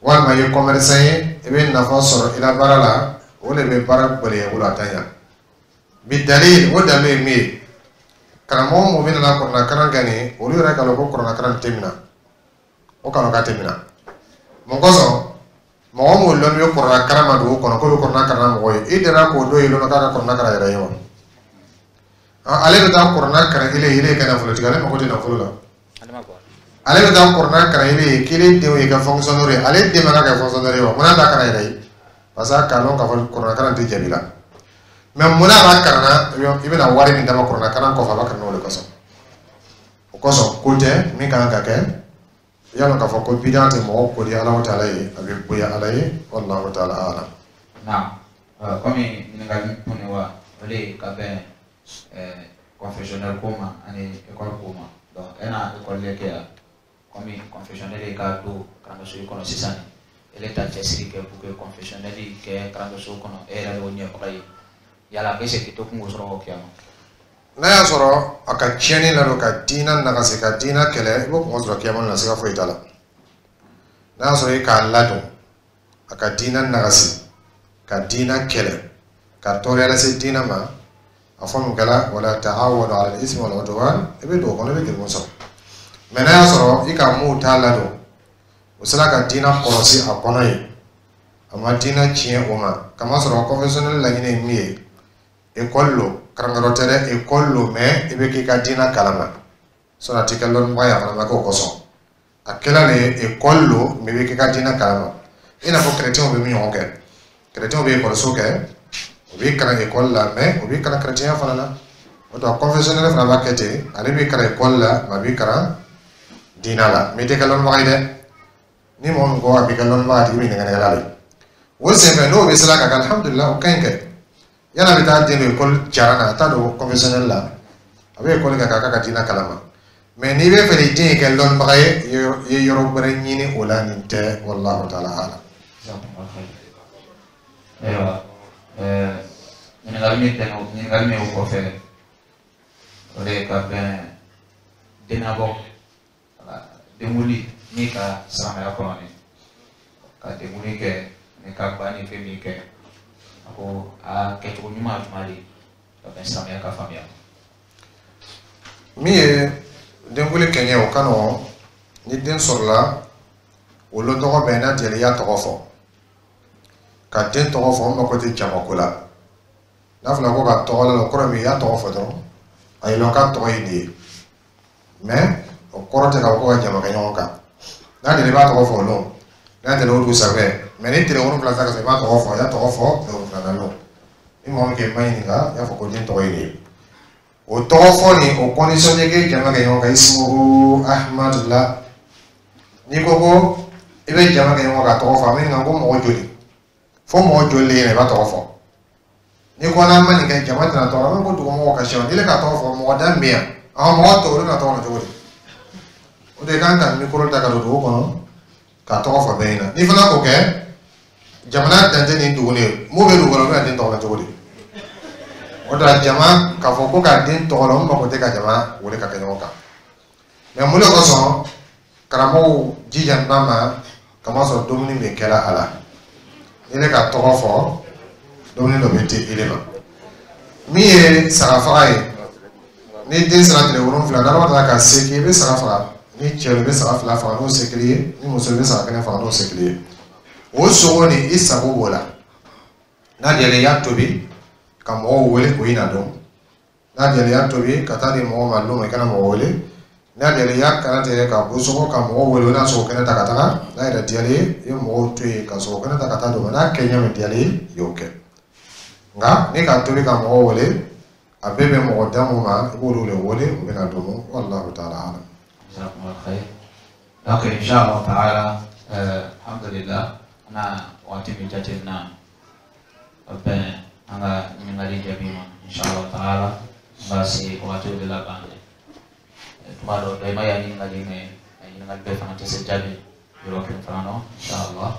walima i ye commerçant ye, i bɛ nafa sɔrɔ i la baara la, o de bɛ baara gɛlɛya i bolo, a t'a ɲa. Bi dalil, o dalilu ye min ye, karamɔgɔ mun bɛ nana kuranna kalan kɛ nin, olu yɛrɛ k'a lɔn ko kuranna kalan tɛ minɛ, o k'a lɔn k'a tɛ minɛ. Mun kosɔn? Mɔgɔ mun lɔnni bɛ kuranna kalan ma dugu kɔnɔ, k'o bɛ kuranna kalan mɔgɔ ye, i delila k'o dɔ ye lɔnna k'a ka kuranna kalan yɛrɛ ye wa? Ale bɛ taa kuranna kalan ile ye, ile ye kɛ nafolotigi, ale mako tɛ nafolo la. Ale bɛ taa kuranna kalan ile ye k'ile denw ye kɛ fonctionnaire ye, ale den man ka kɛ fonctionnaire ye wa? Munna t'a kalan yɛrɛ ye? Parce que a k'a lɔn k'a fɔ kuranna kalan tɛ jaabi la. Mɛ munna a b'a kalan na? I bɛna wari min d'a ma kuranna kalan kɔfɛ, a b'a kalan o de kosɔn. O kosɔn, ko tɛ min kan ka kɛ, i y'a dɔn k'a fɔ ko bidan tɛ mɔgɔ ko di Alahu taala ye, a bɛ bonya Ala ye. Wallahu taala alam. Na komi ɲininkali kun wa, o de ye ka bɛn confessionnel ko ma ani école ko ma. Donc e na école le kɛ yan, komi confessionnel ye ka don karamɔgɔso kɔnɔ sisan, ele ta cɛsiri kɛ pour que confessionnel kɛ karamɔgɔso kɔnɔ, e yɛrɛ de y'o ɲɛbaga ye. Yala est ce que to kun k'o sɔrɔ k'o kɛ yan? N'a y'a sɔrɔ a ka tiɲɛni ladon, ka diinɛ nagasi, ka diinɛ kɛlɛ, i b'o kɔngɔ sɔrɔ kiyama na, siga foyi t'a la. N'a y'a sɔrɔ e k'a ladon, a ka diinɛ nagasi, ka diinɛ kɛlɛ, ka tɔɔrɔya lase diinɛ ma, a fɔ min kɛla wala ta'awanu ala al-ismi wal udwan, i bɛ don o kɔnɔ, i bɛ jurumu sɔrɔ. Mɛ n'a y'a sɔrɔ i ka mun t'a ladon, o sera ka diinɛ kɔlɔsi a kɔnɔ ye, a ma diinɛ tiɲɛ o ma, kamasɔrɔ confessionnel laɲini ye min ye, école lo, karamɔgɔ tɛ dɛ, école lo, mɛ i bɛ k'i ka diinɛ kalama, sɔnni a tɛ kɛ lɔnnibaga ye, a fana ma kɛ o kosɔn. A kɛla de école lo, mɛ i bɛ k'i ka diinɛ kalama, i n'a fɔ chrétiens bɛ min ɲɔgɔn kɛ. Chrétiens bɛ école kɛ, u b'i kalan école la, mɛ u b'i kalan chrétien fana na. O tɔ confessionnel fana b'a kɛ ten, ale b'i kalan école la, mɛ a b'i kalan diinɛ la, mɛ i tɛ kɛ lɔnnibaga ye dɛ. Ni mɔgɔ min ko a b'i kɛ lɔnnibaga, a tigi bɛ nɛgɛ de o senfɛ. N'o bɛ sira ka kɛ, alhamdulilah, o ka ɲi kɛ. Yala bɛ taa den don école jara na, a t'a don confessionnel la, a bɛ école kɛ k'a ka diinɛ kalama. Mɛ n'i bɛ fɛ i den kɛ lɔnnibaga ye, i ye yɔrɔ wɛrɛ ɲini o la, nin tɛ. Wallahu taala alam. Ayiwa, ɲininkali min tɛmɛ, ɲininkali min o kɔfɛ, o de ye ka bɛn dennabɔ, denwuli ni ka silamɛya kɔnɔ, ni ka denwuli kɛ, ni ka ba ni fɛn min kɛ, a ko a kɛcogo ɲuman jumɛn de ka bɛn silamɛya ka faamuya? Min ye denwuli kɛɲɛ, o ka nɔgɔn. Ni den sɔrɔla, o lo tɔgɔ bɛn n'a diyara, i y'a tɔgɔ fɔ. Ka den tɔgɔ fɔ, o mako tɛ jamako la. N'a fɔra ko ka tɔgɔ la, o kɔrɔ min, i y'a tɔgɔ fɔ dɔrɔn, a ye lɔn k'a tɔgɔ ye nin ye. Mɛ o kɔrɔ tɛ k'a fɔ ko ka jama kɛ ɲɔgɔn kan. N'a diyara, i b'a tɔgɔ fɔ o lon, n'a diyara, o dugusajɛ. Mɛ ni tile wolonwula sera ka sɔrɔ, i b'a tɔgɔ fɔ, i y'a tɔgɔ fɔ tile wolonwula na lon. Ni mɔgɔ min k'i ma ɲininka, i y'a fɔ ko den tɔgɔ ye nin ye. O tɔgɔ fɔ nin, o condition tɛ k'e jama kɛ ɲɔgɔn kan ismuhu Ahmad la. N'i ko ko i bɛ jama kɛ ɲɔgɔn kan tɔgɔ fɔ, a bɛ ɲininka ko mɔgɔ joli, fo mɔgɔ joli de ɲɛna i b'a tɔgɔ fɔ. N'i ko n'an ma nin kɛ, jama tɛna tɔgɔ, an bɛ ko dugumɔgɔw ka sɛbɛn n'i ka tɔgɔ fɔ, mɔgɔ da min bɛ yan, ɔn mɔgɔ tɔw, olu bɛna tɔgɔ fɔ cogo di? O de kan ka micro ta ka don dugu kɔnɔ ka tɔgɔ fɔ bɛɛ ɲɛna. N'i fana k'o kɛ, jamana dan tɛ nin dugu ye, mun bɛ dugu kɔnɔ, o bɛna den tɔgɔ la cogo di? O de la, jama k'a fɔ ko ka den tɔgɔ la, o mako tɛ ka jama wele ka kɛ ɲɔgɔn kan. Mɛ mun de kosɔn karamɔgɔw jija n'a ma? Kamasɔrɔ dumuni bɛ kɛla a la, ni ne ka tɔgɔ fɔ, dumuni dɔ bɛ di ile ma. Min ye saga faga ye, ni den sera tile wolonfila, n'ala taara ka se k'i bɛ saga faga, ni cɛ i bɛ saga fila faga n'o se kelen ye, ni muso i bɛ saga kelen faga n'o se kelen ye. O sogo nin, i sago b'o la. N'a diyara i y'a tobi ka mɔgɔw wele, o na dɔn. N'a diyara i y'a tobi ka taa di mɔgɔw ma don ma, i kana mɔgɔ wele. N'a diyara i y'a kala tigɛ ka bɔ sogo ka mɔgɔw wele, o n'a sogo kɛnɛ ta ka taga. N'a yɛrɛ diyara i ye, i ye mɔgɔw to yen ka sogo kɛnɛ ta ka taa d'o ma. N'a kɛ ɲɛ min diyara i ye, i y'o kɛ. Nka ni ka tobi ka mɔgɔw wele, a bɛɛ bɛ mɔgɔ da mun ma, i b'olu de wele, u bɛna don. Wallahu taala alam. Jazakumullah khair. Donc inshallah taala, euh, alhamdulillah. Na waati min jateminɛ ka bɛn an ka ɲininkali jaabi ma, inshallah taala, n b'a se waatiw de laban dɛ. Tuma dɔ dɔ i ma ya ɲininkali mɛ, a ɲininkali bɛɛ fana tɛ se jaabi yɔrɔ kelen fana nɔ, inshallah.